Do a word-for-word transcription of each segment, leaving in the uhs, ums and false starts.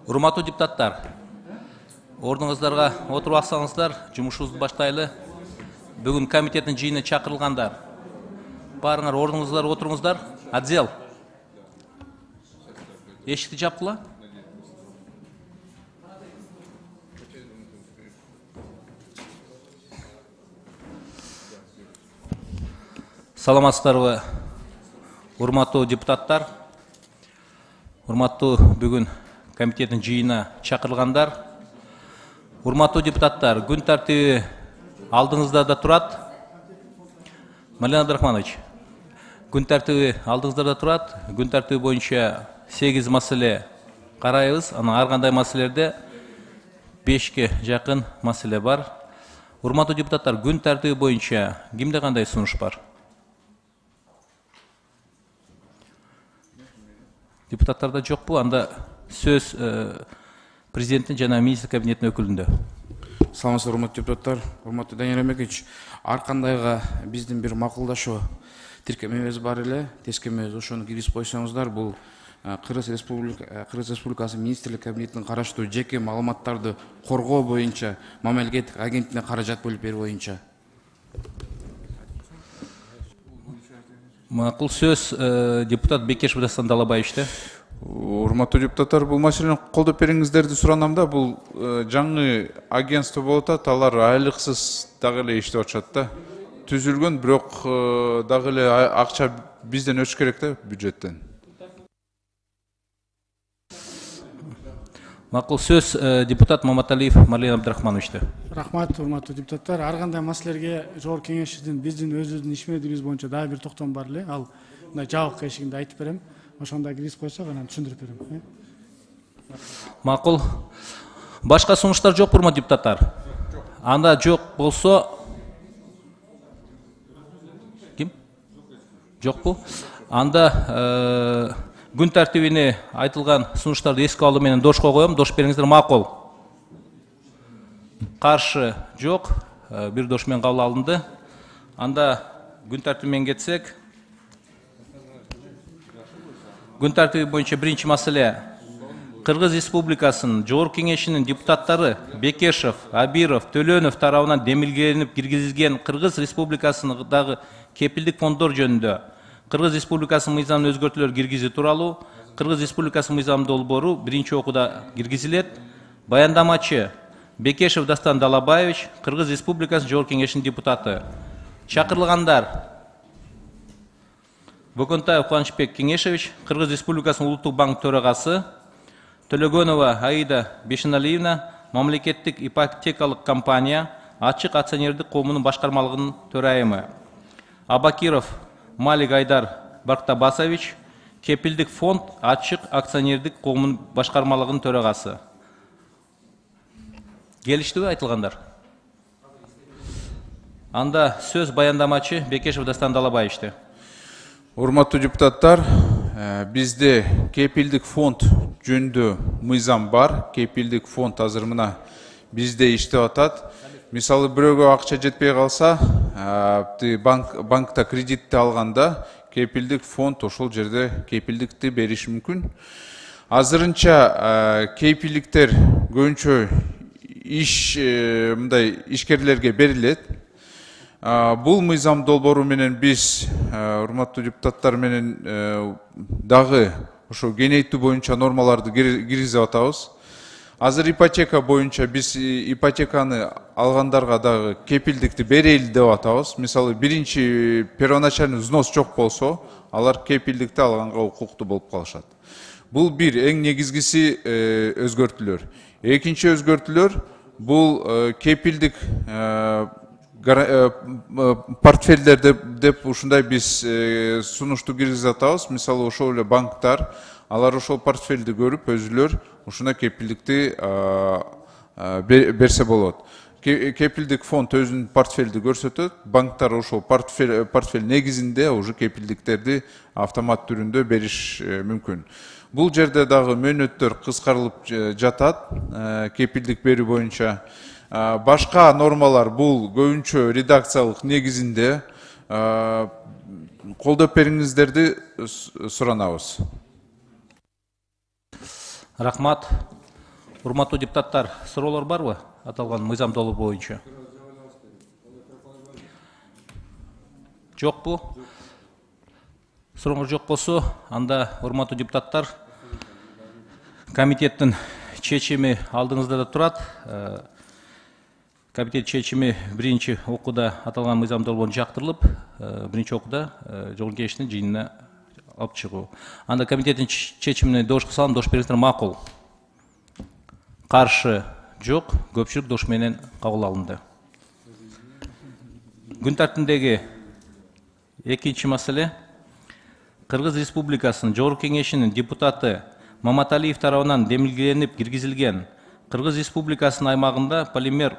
Урматтуу депутаттар, ордуңуздарга отуруп алсаңыздар, жумушубузду баштайлы. Бүгүн комитеттин жыйынына чакырылгандар. Барыңар ордуңуздарга отуруңуздар. Отдел. Эшикти жапкыла. Саламатсыздарбы, урматтуу депутаттар. Урматтуу бүгүн комитеттин жыйынына чакырылгандар. Урматтуу депутаттар, күн тартиби алдыңыздарда турат. Мален Абдрахманович, күн тартиби алдыңыздарда турат. Күн тартиби боюнча сегиз маселе карайбыз. Анан ар кандай маселелерде бешке жакын маселе бар. Урматтуу депутаттар, күн тартиби боюнча кимде кандай сунуш бар? Депутаттарда жокпу? Анда сөз президенттин жана министр кабинетинин өкүлүндө. Саламатсыздар, урматтуу депутаттар, урматтуу Данияр Эмекевич. Ар кандайга биздин бир макулдашуу тиркемебиз бар эле, тескемебиз ошону киргизип койсоңуздар. Бул Кыргыз Республика Кыргыз Республикасы министрлик кабинетинин караштуу жеке маалыматтарды коргоо боюнча мамлекеттик агенттигине каражат бөлүп берүү боюнча. Макул сөз депутат Бекешев Дастан Далабаевичте. Урматтуу депутаттар, бул маселени колдоп бериңиздерди суранам да. Бул жаңы агентство болуп атат, алар айлыксыз дагы эле иштеп атышат да. Түзүлгөн, бирок дагы эле акча бизден өчүш керек да, бюджеттен. Макул сөз депутат Маматалиев Мален Абдрахмановичте. Рахмат, урматтуу депутаттар. Ар кандай маселелерге жогорку кеңешибиздин биздин өзүбүздүн иш мезгилибиз боюнча дагы бир токтом бар эле. Ал мындай жабык эшигинде айтып берем. Ошондо киргизип койсок, анан түшүндүрүп берем. Макул. Башка сунуштар жок, урматтуу депутаттар? Анда жок болсо ким? Жокпу? Анда күн тартибине айтылган сунуштарды эске алуу менен дошко коем. Дош бериңиздер. Макул. Каршы жок. Бир дош менен кабыл алынды. Анда күн тартиби менен кетсек. Күн тартиби боюнча биринчи маселе. Кыргыз Республикасынын Жогорку кеңешинин депутаттары Бекешев, Абиров, Төлөнов тарабынан демилгеленип киргизилген Кыргыз Республикасындагы кепилдик фонддор жөнүндө Кыргыз Республикасынын мыйзамына өзгөртүүлөр киргизүү тууралуу Кыргыз Республикасынын мыйзам долбоору биринчи окууда киргизилет. Баяндамачы Бекешев Дастан Далабаевич, Кыргыз Республикасынын Жогорку кеңешинин депутаты. Чакырылгандар: Бөкөнтаев Кубанычбек Кеңешевич, Кыргыз Республикасынын Улуттук банк төрагасы; Төлөгөнова Аида Бешеналиевна, мамлекеттик ипотекалык компания Ачык акционердик коомунун башкармалыгынын төрайымы; Абакиров Малик Айдар Барктабасович, кепилдик фонд Ачык акционердик коомунун башкармалыгынын төрагасы. Келиштиби айтылгандар? Анда сөз баяндамачы Бекешев Дастан Далабаевичте. Урматтуу депутаттар, бизде кепилдик фонд жөнүндө мыйзам бар. Кепилдик фонд азыр мына бизде иштеп атат. Мисалы бирөөгө акча жетпей калса, банк банкта кредитти алганда кепилдик фонд ошол жерде кепилдикти бериши мүмкүн. Азырынча кепилдиктер көбүнчө иш мындай ишкерлерге берилет. Бул мыйзам долбоору менен биз урматтуу депутаттар менен дагы ошо кеңейтүү боюнча нормаларды киргизип атабыз. Азыр ипотека боюнча биз ипотеканы алгандарга дагы кепилдикти берели деп атабыз. Мисалы биринчи первоначальный взнос жок болсо, алар кепилдикти алганга укуктуу болуп калышат. Бул бир эң негизгиси өзгөртүүлөр. Экинчи өзгөртүүлөр бул кепилдик портфелдер деп ушундай биз сунушту киргизип атабыз. Мисалы ошол эле банктар, алар ошол портфелди көрүп өзүлөр ушуна кепилдикти берсе болот. Кепилдик фонд өзүнүн портфелди көрсөтөт, банктар ошол портфель портфель негизинде уже кепилдиктерди автомат түрүндө бериш мүмкүн. Бул жерде дагы мөөнөттөр кыскарылып жатат кепилдик берүү боюнча. Башка нормалар бул көбүнчө редакциялык негизинде. Колдоп бериңиздерди суранабыз. Рахмат. Урматтуу депутаттар, суроолор барбы аталган мыйзам долбоор боюнча? Жокпу? Сурооңор жок болсо, анда урматтуу депутаттар, комитеттин чечими алдыңызда да турат. Комитет чечими биринчи окууда аталган мыйзам долбоорун жактырылып, биринчи окууда Жогорку Кеңештин жыйынына алып чыгуу. Анда комитеттин чечимине добушка салам, добуш бериңиздер. Макул. Каршы жок, көпчүлүк добуш менен кабыл алынды. Күн тартибиндеги экинчи маселе. Кыргыз Республикасынын Жогорку Кеңешинин депутаты Маматалиев тарабынан демилгеленип киргизилген Кыргыз Республикасынын аймагында полимер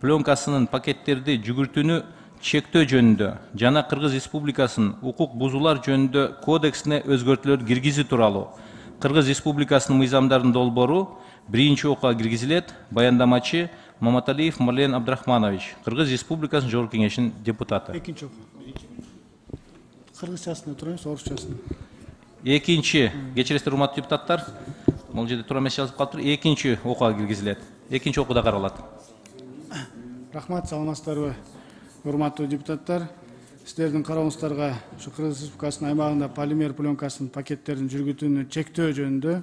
пленкасынын пакеттерди жүгүртүүнү чектөө жөнүндө жана Кыргыз Республикасынын укук бузуулар жөнүндө кодексине өзгөртүүлөр киргизүү тууралуу Кыргыз Республикасынын мыйзамдардын долбоору биринчи окууга киргизилет. Баяндамачы Маматалиев Марлен Абдрахманович, Кыргыз Республикасынын Жогорку Кеңешинин депутаты. Экинчи окуу. Кыргызчасына турайбыз, орусчасына. Экинчи, кечиресиздер урматтуу депутаттар, бул жерде туура эмес жазып калыптыр. Экинчи окууга киргизилет. Экинчи окууда каралат. Рахмат, саламатсыздарбы, урматтуу депутаттар. Сиздердин карооңуздарга ушу Кыргыз Республикасынын аймагында полимер пленкасынын пакеттерин жүргүтүүнү чектөө жөнүндө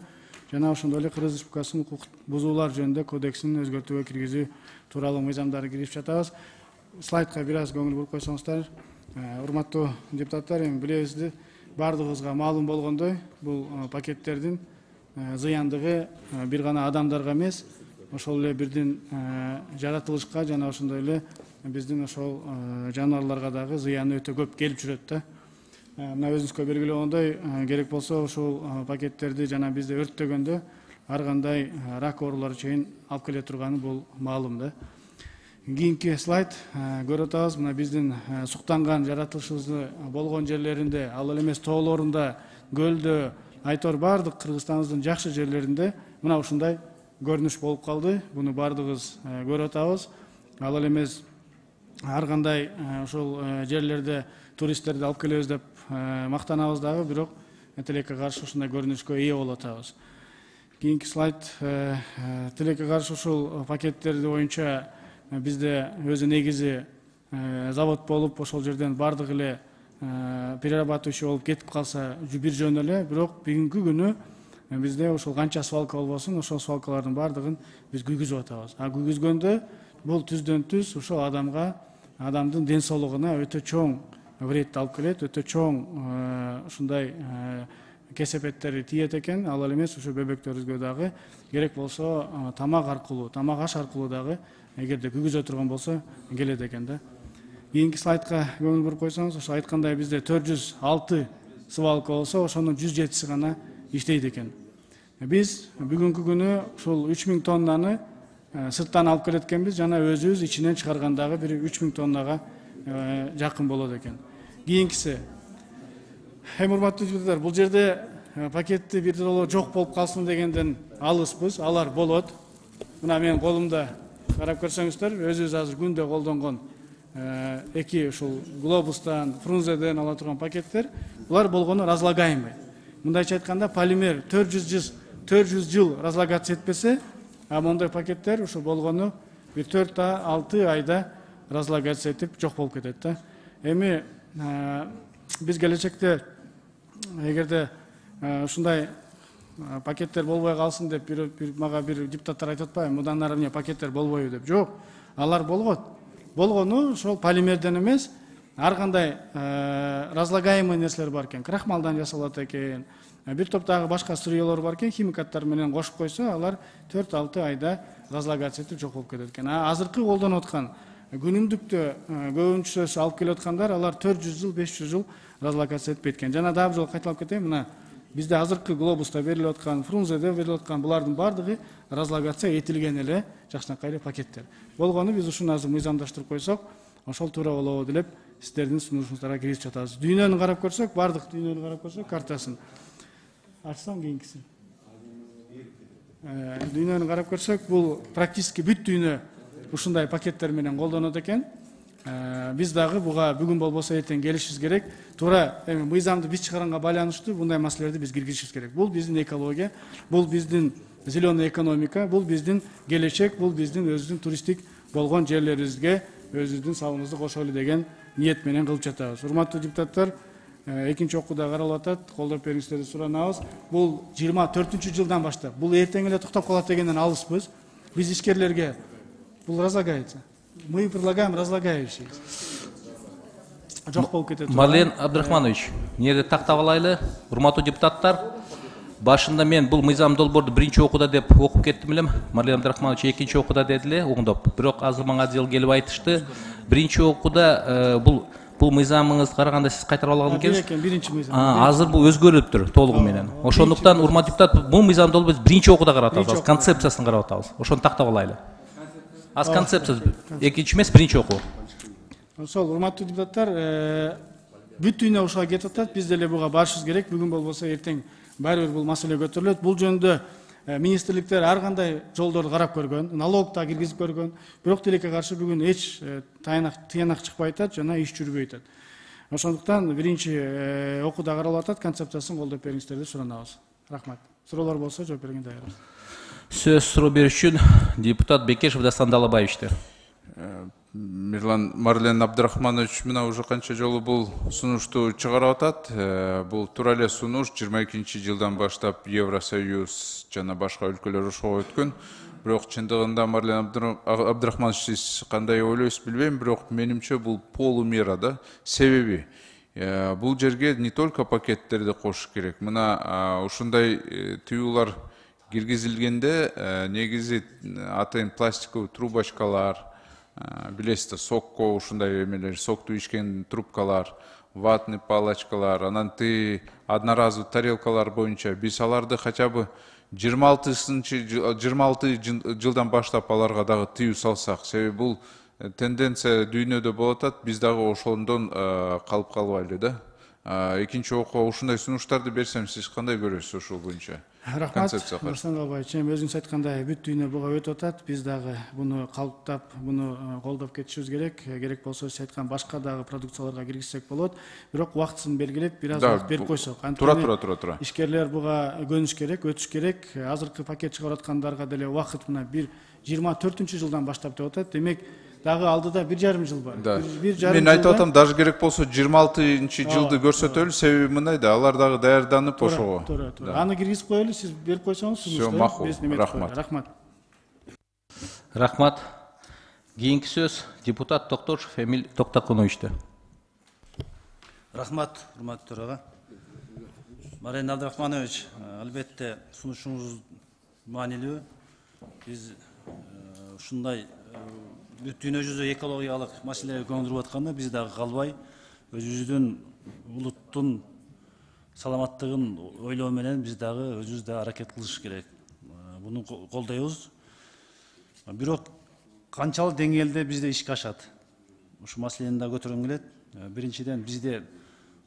жана ошондой эле Кыргыз Республикасынын укук бузуулар жөнүндө кодексин өзгөртүүгө киргизүү тууралуу мыйзамдарды кирип жатабыз. Слайдка бир аз көңүл буруп койсоңуздар. Урматтуу депутаттар, эми билебизди, бардыгыбызга маалым болгондой, бул пакеттердин зыяндыгы бир гана адамдарга эмес, ошол эле бирдин жаратылышка жана ошондой эле биздин ошол жаныбарларга дагы зыяны өтө көп келип жүрөт да. Мына өзүңүзгө белгилүү болгондой, керек болсо ушул пакеттерди жана бизде өрттөгөндө ар кандай рак оорулары чейин алып келе турганы бул маалым да. Кийинки слайд көрүп атабыз. Мына биздин суктанган жаратылышыбыз болгон жерлеринде, ал эле эмес тоолорунда, көлдө, айтор бардык Кыргызстаныбыздын жакшы жерлеринде мына ушундай көрүнүш болуп калды. Буну бардыгыбыз көрүп атабыз. Ал эле эмес ар кандай ошол жерлерде туристтерди алып келебиз деп мактанабыз дагы, бирок тилекке каршы ушундай көрүнүшкө ээ болуп атабыз. Кийинки слайд. Тилекке каршы ушул пакеттерди боюнча бизде өзү негизи завод болуп, ошол жерден бардык эле перерабатывающий болуп кетип калса бир жөн эле, бирок бүгүнкү күнү бизде ошол канча свалка болбосун, ошол свалкалардын бардыгын биз күйгүзүп атабыз. А күйгүзгөндө бул түздөн түз ошол адамга, адамдын ден соолугуна өтө чоң вред алып келет, өтө чоң ушундай кесепеттери тиет экен. Ал эле эмес ошо бөбөктөрүбүзгө дагы керек болсо тамак аркылуу, тамак аш аркылуу дагы эгерде күйгүзө турган болсо келет экен да. Кийинки слайдка көңүл буруп койсоңуз, ошо айткандай бизде төрт жүз алты свалка болсо, ошонун жүз жетиси гана иштейт экен. Биз бүгүнкү күнү ушул үч миң тоннаны сырттан алып келет экенбиз, жана өзүбүз ичинен чыгаргандагы бир үч миң тоннага жакын болот экен. Кийинкиси. Эми урматтуу депутаттар, бул жерде пакетти бир жолу жок болуп калсын дегенден алыспыз, алар болот. Мына менин колумда карап көрсөңүздөр, өзүбүз азыр күндө колдонгон эки ушул глобустан, фрунзеден ала турган пакеттер, булар болгону разлагаемый. Мындайча айтканда, полимер төрт жүз жыл разлагаться этпесе, а мондой пакеттер ушу болгону бир төрт алты айда разлагация этип жок болуп кетет да. Эми биз келечекте эгерде ушундай пакеттер болбой калсын деп бир мага бир депутаттар айтып атпайбы, мындан ары эмне пакеттер болбойбу деп. Жок, алар болгот. Болгону ошол полимерден эмес, ар кандай разлагаемый нерселер бар экен. Крахмалдан жасалат экен. Бир топ дагы башка сырьёлор бар экен, химикаттар менен кошуп койсо, алар төрт алты айда разлагация этип жок болуп кетет экен. А азыркы колдонуп аткан күнүмдүктө көбүнчөсү алып келип аткандар, алар төрт жүз жыл, беш жүз жыл разлагация этпейт экен. Жана дагы бир жолу кайталап кетейин, мына бизде азыркы глобуста берилип аткан, фрунзеде берилип аткан булардын бардыгы разлагация этилген эле жакшынакай эле пакеттер. Болгону биз ушуну азыр мыйзамдаштырып койсок, ошол туура болобу деп сиздердин сунушуңуздарга киргизип жатабыз. Дүйнөнү карап көрсөк, бардык дүйнөнү карап көрсөк, картасын ачсам кийинкисин. Дүйнөнү карап көрсөк, бул практически бүт дүйнө ушундай пакеттер менен колдонот экен. Биз дагы буга бүгүн болбосо эртең келишибиз керек. Туура эми мыйзамды биз чыгарганга байланыштуу мындай маселелерди биз киргизишибиз керек. Бул биздин экология, бул биздин зеленый экономика, бул биздин келечек, бул биздин өзүбүздүн туристтик болгон жерлерибизге өзүбүздүн салымыбызды кошолу деген ниет менен кылып жатабыз. Урматтуу депутаттар, экинчи окууда каралып атат, колдоп бериңиздерди суранабыз. Бул жыйырма төртүнчү жылдан баштап, бул эртең эле токтоп калат дегенден алыспыз. Биз ишкерлерге бул разлагается. Мы предлагаем разлагающий. Жок болуп кетет. Марлен Абдрахманович, эмне тактап алайлы? Урматтуу депутаттар, башында мен бул мыйзам долбоорду биринчи окууда деп окуп кеттим элем. Марлен Абдрахманович экинчи окууда деди эле, оңдоп. Бирок азыр мага жыл келип айтышты. Биринчи окууда бул бул мыйзамыңызды караганда сиз кайтарып алган экенсиз. Биринчи мыйзам. Азыр бул өзгөрүлүптүр толугу менен. Ошондуктан урматтуу депутат, бул мыйзам долбоорду биринчи окууда карап атабыз, концепциясын карап атабыз. Ошону тактап алайлы. Аз концепция экинчи эмес, биринчи окуу. Ошол, урматтуу депутаттар, бүт дүйнө ушуга кетип атат, биз деле буга барышыбыз керек. Бүгүн болбосо эртең баары бир бул маселе көтөрүлөт. Бул жөнүндө министрликтер ар кандай жолдорду карап көргөн, налог да киргизип көргөн. Бирок тилекке каршы бүгүн эч тыянак чыкпай атат жана иш жүрбөй атат. Ошондуктан биринчи окууда каралып атат, концепциясын колдоп бериңиздерди суранабыз. Рахмат. Суроолор болсо жооп берген даярбыз. Сөз суроо берүү үчүн депутат Бекешев Дастан Далабаевичтер. Мирлан Марлен Абдрахманович мына уже канча жолу бул сунушту чыгарып атат. Бул туура эле сунуш жыйырма экинчи жылдан баштап Евросоюз жана башка өлкөлөр ошого өткөн. Бирок чындыгында Марлен Абдрахманович сиз кандай ойлойсуз билбейм, бирок менимче бул полумера да. Себеби бул жерге не только пакеттерди кошуш керек. Мына ушундай тыюулар киргизилгенде негизи атайын пластиковый трубочкалар, билесиздер, сокко ушундай эмелер, сокту ичкен трубкалар, ватный палочкалар, анан ты одноразовый тарелкалар боюнча биз аларды хотя бы жыйырма алтынчы жыйырма алты жылдан баштап аларга дагы тыюу салсак, себеби бул тенденция дүйнөдө болуп атат, биз дагы ошондон калып калбайлы да. Экинчи окуу ушундай сунуштарды берсем, сиз кандай көрөсүз ошол боюнча? Рахмат, Нурсан Албаевич. Өзүңүз айткандай бүт дүйнө буга өтүп атат. Биз дагы буну калыптап, буну колдоп кетишибиз керек. Керек болсо сиз айткан башка дагы продукцияларга киргизсек болот. Бирок убактысын белгилеп, бир аз убакыт берип койсок. Тура, тура, тура, тура. Ишкерлер буга көнүш керек, өтүш керек. Азыркы пакет чыгарып аткандарга деле убакыт мына бир жыйырма төртүнчү жылдан баштап деп атат. Демек, дагы алдыда бир жарым жыл бар. Мен айтып атам, даже керек болсо жыйырма алтынчы жылды көрсөтөлү, себеби мындай да, алар дагы даярданып ошого. Туура, туура. Аны киргизип коелу, сиз берип койсоңуз, Всё, макул. Рахмат. Рахмат. Рахмат. Кийинки сөз депутат Токтошев Эмиль Токтокуновичте. Рахмат, урматтуу төрага. Марлен Абдрахманович, албетте сунушуңуз маанилүү. Биз ушундай бүт дүйнө жүзү экологиялык маселелерге көңүл буруп атканда биз дагы калбай өзүбүздүн улуттун саламаттыгын ойлоо менен биз дагы өзүбүз да аракет кылыш керек. Буну колдойбуз. Бирок канчалык деңгээлде бизде ишке ашат? Ушу маселени да көтөргүм келет. Биринчиден бизде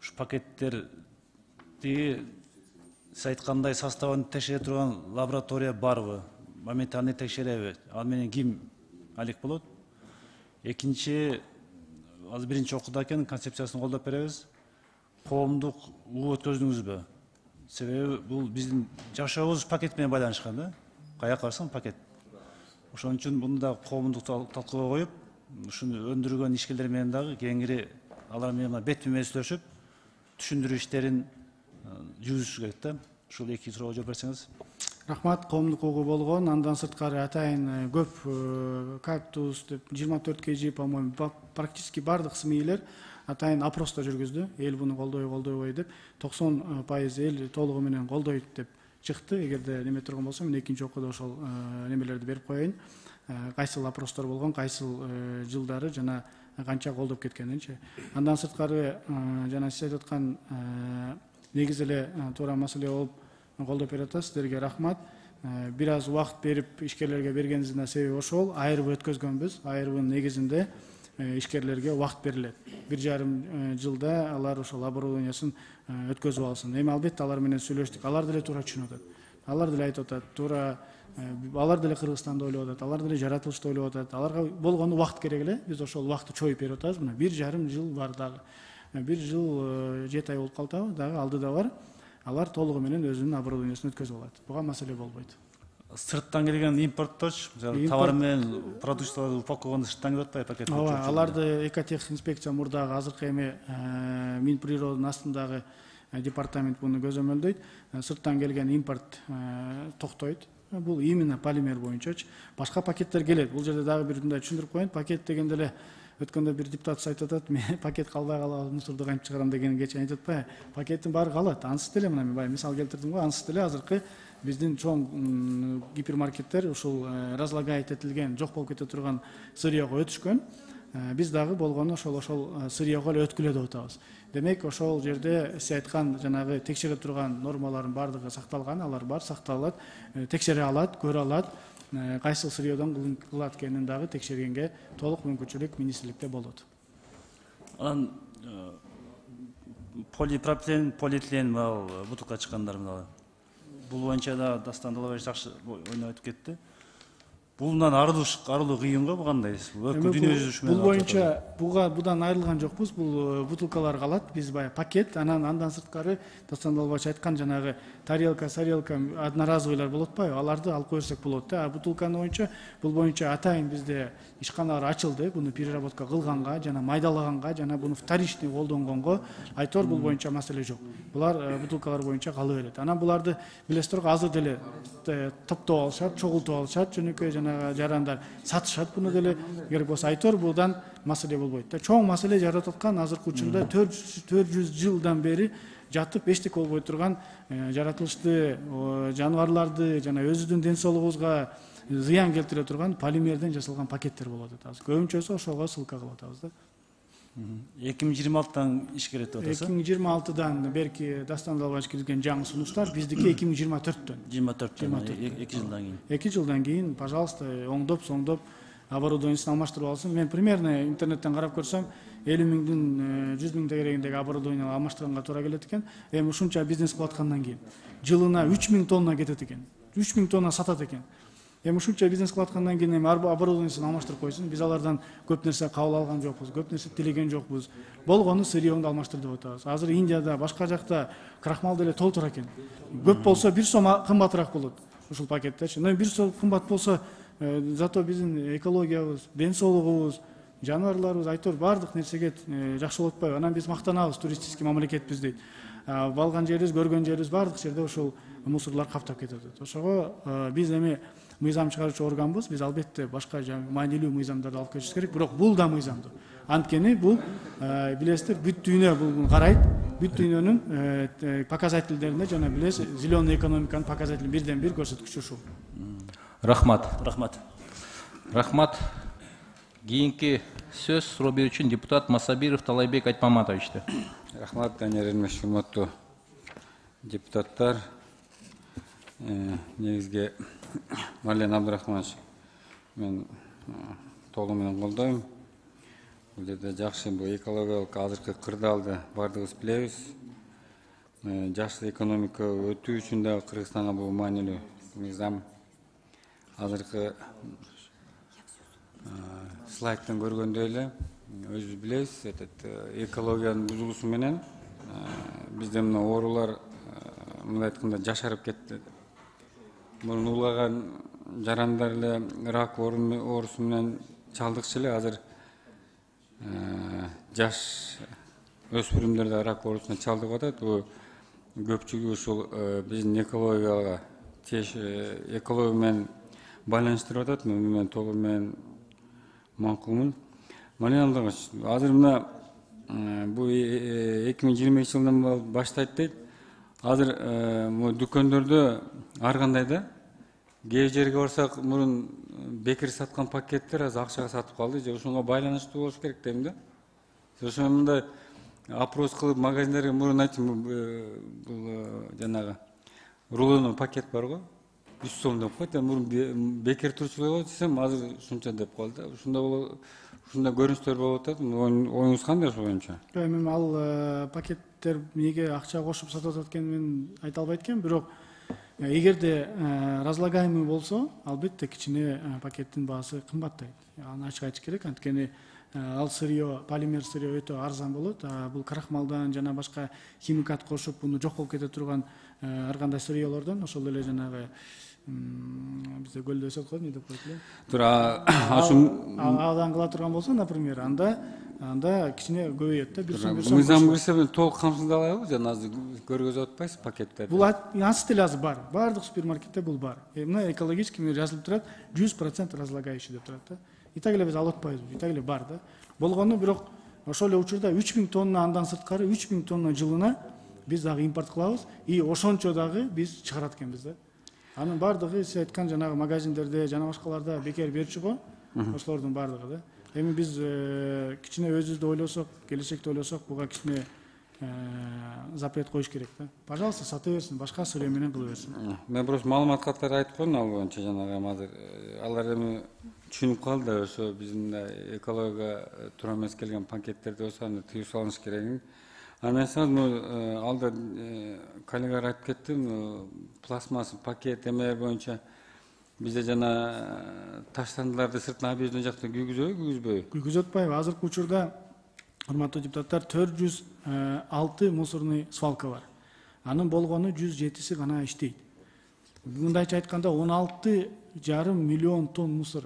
ушу пакеттерди сиз айткандай составын текшере турган лаборатория барбы? Моментально текшереби? Ал менен ким алек болот? Экинчи, азыр биринчи окууда экен, концепциясын колдоп беребиз. Коомдук уу өткөздүңүзбү? Себеби бул биздин жашообуз пакет менен байланышкан да. Каяка барсаң пакет. Ошон үчүн муну да коомдук талкууга коюп, ушуну өндүргөн ишкерлер менен дагы кеңири алар менен бетме-бет сүйлөшүп, түшүндүрүү иштерин жүргүзүш керек да. Ушул эки суроого жооп берсеңиз. Рахмат, коомдук угу болгон. Андан сырткары атайын көп кактус деп жыйырма төрт кж, по-моему, практически бардык СМИлер атайын опросто жүргүздү. Эл буну колдой, колдойбой деп токсон пайыз эл толугу менен колдойт деп чыкты. Эгерде неме турган болсо, мен экинчи окууда ошол немелерди берип коеюн. Кайсыл опростор болгон, кайсыл жылдары жана канча колдоп кеткенинчи. Андан сырткары жана сиз айтып аткан негизи эле туура маселе болуп колдоп берип атасыз. Сиздерге рахмат. Бир аз убакыт берип ишкерлерге бергениңиздин себеби ошол. Айырып өткөзгөнбүз. Айырыбын негизинде ишкерлерге убакыт берилет. Бир жарым жылда алар ошол оборудованиясын өткөзүп алсын. Эми албетте алар менен сүйлөштүк. Алар деле туура түшүнүп атат. Алар деле айтып атат, туура алар деле Кыргызстанды ойлоп атат, алар деле жаратылышты ойлоп атат. Аларга болгону убакыт керек эле. Биз ошол убакытты чоюп берип атабыз. Мына бир жарым жыл бар дагы. Бир жыл жети ай болуп калдыбы, дагы алдыда бар. Алар толугу менен өзүнүн оборудованиясын өткөзүп алат. Буга маселе болбойт. сырттан келген импортточ, мисалы товар менен продукцияларды упаковканы сырттан келип атпайбы пакет? Ооба, аларды Экотех инспекция мурдагы азыркы эми Минприроддун астындагы департамент буну көзөмөлдөйт. Сырттан келген импорт токтойт. Бул именно полимер боюнчачы. Башка пакеттер келет. Бул жерде дагы бир мындай түшүндүрүп коеюн. Пакет дегенде эле өткөндө бир депутат айтып атат, мен пакет калбай калабы, мусорду кантип чыгарам деген кече айтып атпайбы? Пакеттин баары калат. Ансыз деле мына мен баягы мисал келтирдим го, ансыз деле азыркы биздин чоң гипермаркеттер ушул разлагает этилген, жок болуп кете турган сырьёго өтүшкөн. Биз дагы болгону ошол ошол сырьёго эле өткүлө деп атабыз. Демек, ошол жерде сиз айткан жанагы текшере турган нормалардын баардыгы сакталган, алар бар, сакталат, текшере алат, көрө алат. Кайсыл сырьёдон кылат экенин дагы текшергенге толук мүмкүнчүлүк министрликте болот. Анан полипропилен, полиэтилен бутылка чыккандар мына. Бул боюнча да Дастан Далабаев жакшы ойноп айтып кетти. Бундан арылуу арылуу кыйын го, бу кандай? Бул боюнча буга будан айрылган жокпуз. Бул бутылкалар калат. Биз баягы пакет, анан андан сырткары Дастан Далабаев айткан жанагы тарелка, сарелка, одноразовыйлар болот атпайбы? Аларды алып койсок болот да. А бутылканы боюнча бул боюнча атайын бизде ишканалар ачылды. Буну переработка кылганга, жана майдалаганга, жана буну вторичный колдонгонго айтор бул боюнча маселе жок. Булар бутылкалар боюнча кала берет. Анан буларды билесиздер го, азыр деле топтоп алышат, чогултуп алышат, жөнөкөй жана жарандар сатышат. Буну деле керек болсо айтор булдан маселе болбойт да. Чоң маселе жаратып аткан азыркы учурда төрт жүз жылдан бери жатып эчтеке болбой турган жаратылышты жаныбарларды жана өзүбүздүн ден соолугубузга зыян келтире турган полимерден жасалган пакеттер болот атабыз. Көбүнчөсү ошого ссылка кылып атабыз да. эки миң жыйырма алтыдан иш керет деп атасыз. эки миң жыйырма алтыдан берки Дастан Далабаев киргизген жаңы сунуштар, биздики эки миң жыйырма төрттөн. жыйырма төрттөн, эки жылдан кийин. эки жылдан кийин, пожалуйста, оңдоп, соңдоп оборудованиесин алмаштырып алсын. Мен примерно интернеттен карап көрсөм, элүү миңдин жүз миң тегерегиндеги оборудование алмаштырганга туура келет экен. Эми ушунча бизнес кылып аткандан кийин жылына үч миң тонна кетет экен. үч миң тонна сатат экен. Эми ушунча бизнес кылып аткандан кийин эми оборудованиесин алмаштырып койсун. Биз алардан көп нерсе кабыл алган жокпуз, көп нерсе тилеген жокпуз. Болгону сырьёңду алмаштыр деп атабыз. Азыр Индияда, башка жакта крахмал деле толтура экен. Көп болсо бир сом кымбатыраак болот ушул пакеттечи. Но бир сом кымбат болсо, зато биздин экологиябыз, ден соолугубуз, жаныбарларыбыз айтор баардык нерсеге жакшы болуп атпайбы? Анан биз мактанабыз, туристический мамлекетпиз дейт. Балган жерибиз, көргөн жерибиз баардык жерде ушул мусорлар каптап кетет. Ошого биз эми мыйзам чыгаруучу органбыз. Биз албетте башка маанилүү мыйзамдарды алып келишибиз керек, бирок бул да мыйзамдуу. Анткени бул билесиздер, бүт дүйнө бул карайт. Бүт дүйнөнүн показательдерине жана билесиз, зеленый экономиканын показателин бирден бир көрсөткүчү ушул. Рахмат. Рахмат. Рахмат. Кийинки сөз суроо берүүчү депутат Масабиров Талайбек Айтмаматовичте. Рахмат, Данияр Эрмеш, урматтуу депутаттар. Негизги Марлен Абдрахманович, мен толугу менен колдойм. Бул жерде жакшы, бул экологиялык азыркы кырдаалды баардыгыбыз билебиз. Жакшы экономика өтүү үчүн да Кыргызстанга бул маанилүү мыйзам. Азыркы слайдтан көргөндөй эле өзүбүз билебиз, экологиянын бузулуусу менен бизде мына оорулар мындай айтканда жашарып кетти. Мурун улгаган жарандар эле рак оорусу менен чалдыкчу эле, азыр жаш өспүрүмдөр да рак оорусуна чалдыгып атат. Бул көпчүлүгү ушул биздин экологияга, экология менен байланыштырып атат. Мен толугу менен макулмун. Марлен Абдрахманович, азыр мына бул эки миң жыйырма экинчи жылдан баштайт дейт. Азыр дүкөндөрдө ар кандай да, кээ жерге барсак мурун бекер саткан пакеттер азыр акчага сатып калды, же ошонго байланыштуу болуш керек дейм да. Ошо мындай опрос кылып магазиндерге мурун айтым, бул жанагы рулоный пакет бар го, үч сом деп коет. Мурун бекер турчулук десем, азыр ушунча деп калды. Ушундай боло, ушундай көрүнүштөр болуп атат. Оюңуз кандай ошол боюнча? Эми ал пакеттер эмнеге акча кошуп сатып атат экенин мен айта албайт экенмин, бирок эгерде разлагаемый болсо, албетте кичине пакеттин баасы кымбаттайт. Аны ачык айтыш керек. Анткени ал сырье, полимер сырье өтө арзан болот. Бул крахмалдан жана башка химикат кошуп буну жок болуп кете турган ар кандай сырьелордон, ошол эле жанагы бизде көлдө өсөт го, эмне деп коет эле. Тура ашын Адан кыла турган болсо, например, анда анда кичине көбөйөт да, бир сом бир сом. мыйзам кирсе толук камсыздалабы? Жана азыр көргөзүп атпайсыз пакеттерди? Бул ансы деле азыр бар. Бардык супермаркетте бул бар. Мына экологический жазылып турат, жүз процент разлагающий деп турат да. И так эле биз алып атпайбыз, и так эле бар да. Болгону бирок ошол эле учурда үч миң тонна андан сырткары үч миң тонна жылына биз дагы импорт кылабыз, и ошончо дагы биз чыгарат экенбиз да. Анын бардыгы сиз айткан жанагы магазиндерде жана башкаларда бекер берчү го, ошолордун бардыгы да. Эми биз кичине өзүбүздү ойлосок, келечекте ойлосок, буга кичине запрет коюш керек да. Пожалуйста, сата берсин, башка сырье менен кыла берсин. Мен просто маалымат катары айтып койдум ал боюнча, жанагы азыр алар эми түшүнүп калды да, ошо биздин экологияга туура эмес келген пакеттерди болсо аны тыюу салыш керек. Анан эсиңиз алда коллегалар айтып кетти, пластмасс пакет эмелер боюнча бизде жана таштандыларды сыртына объезден жакта күйгүзөбү, күйгүзбөйбү? Күйгүзүп атпайбы? Азыркы учурда, урматтуу депутаттар, төрт жүз алты мусорный свалка бар. Анын болгону жүз жетиси гана иштейт. Мындайча айтканда он алты жарым миллион тонн мусор.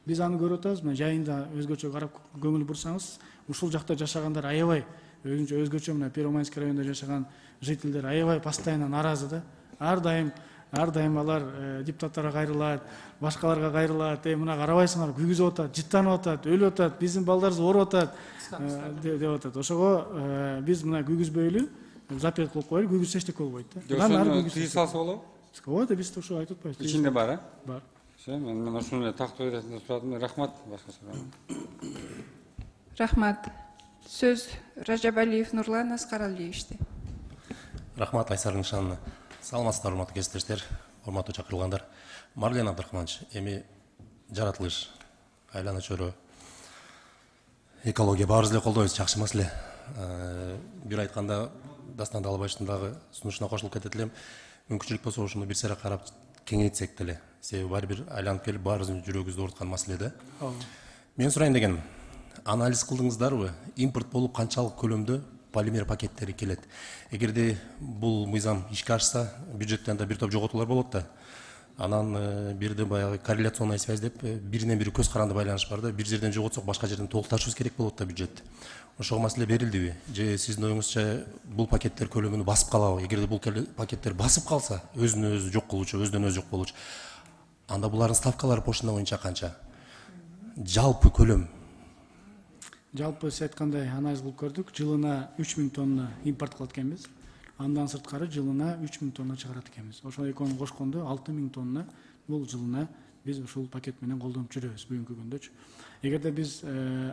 Биз аны көрүп атабыз, мына жайында өзгөчө карап көңүл бурсаңыз, ушул жакта жашагандар аябай өзүнчө өзгөчө, мына Первомайский районунда жашаган жителдер аябай постоянно наразы да. Ар дайым ар дайым алар депутаттарга кайрылат, башкаларга кайрылат. Э, мына карабайсыңар, күйгүзүп атат, жыттанып атат, өлүп атат, биздин балдарыбыз ооруп атат деп атат. Ошого биз мына күйгүзбөйлү, запрет кылып коелу, күйгүзсө эчтеке болбойт да. Ошону тыюу салса болобу? Болот, биз ошо айтып атпайбыз. Ичинде бар, э? Бар. Мен ошону тактоо иретинде сурадым. Рахмат, башка суроо. Рахмат. Сөз Ражабалиев Нурлан Аскаралиевичте. Рахмат, Айсар Нишановна. Саламатсыздар, урматтуу кесиптештер, урматтуу чакырылгандар. Марлен Абдрахманович, эми жаратылыш, айлана чөйрө, экология баарыбыз эле колдойбуз, жакшы маселе. Бир айтканда Дастан Далбаевичтин дагы сунушуна кошулуп кетет элем. Мүмкүнчүлүк болсо ушуну бир сыйра карап кеңейтсек деле. Себеби баары бир айланып келип баарыбыздын жүрөгүбүздү ооруткан маселе да. Мен сурайын дегеним, анализ кылдыңыздарбы? Импорт болуп канчалык көлөмдө полимер пакеттери келет? Эгерде бул мыйзам ишке ашса, бюджеттен да бир топ жоготуулар болот да. Анан бирде баягы корреляционный связь деп биринен бири көз каранды байланыш бар да. Бир жерден жоготсок, башка жерден толукташыбыз керек болот да бюджетти. Ошого маселе берилдиби? Же сиздин оюңузча бул пакеттер көлөмүнү басып калабы? Эгерде бул пакеттер басып калса, өзүнө өзү жок болуучу, өзүнөн өзү жок болуучу, анда булардын ставкалары пошна боюнча канча? Жалпы көлөм? Жалпы сиз айткандай анализ кылып көрдүк. Жылына үч миң тонна импорт кылат экенбиз. Андан сырткары жылына үч миң тонна чыгарат экенбиз. Ошол экөөнү кошкондо алты миң тонна бул жылына биз ушул пакет менен колдонуп жүрөбүз бүгүнкү күндөчү. Эгерде биз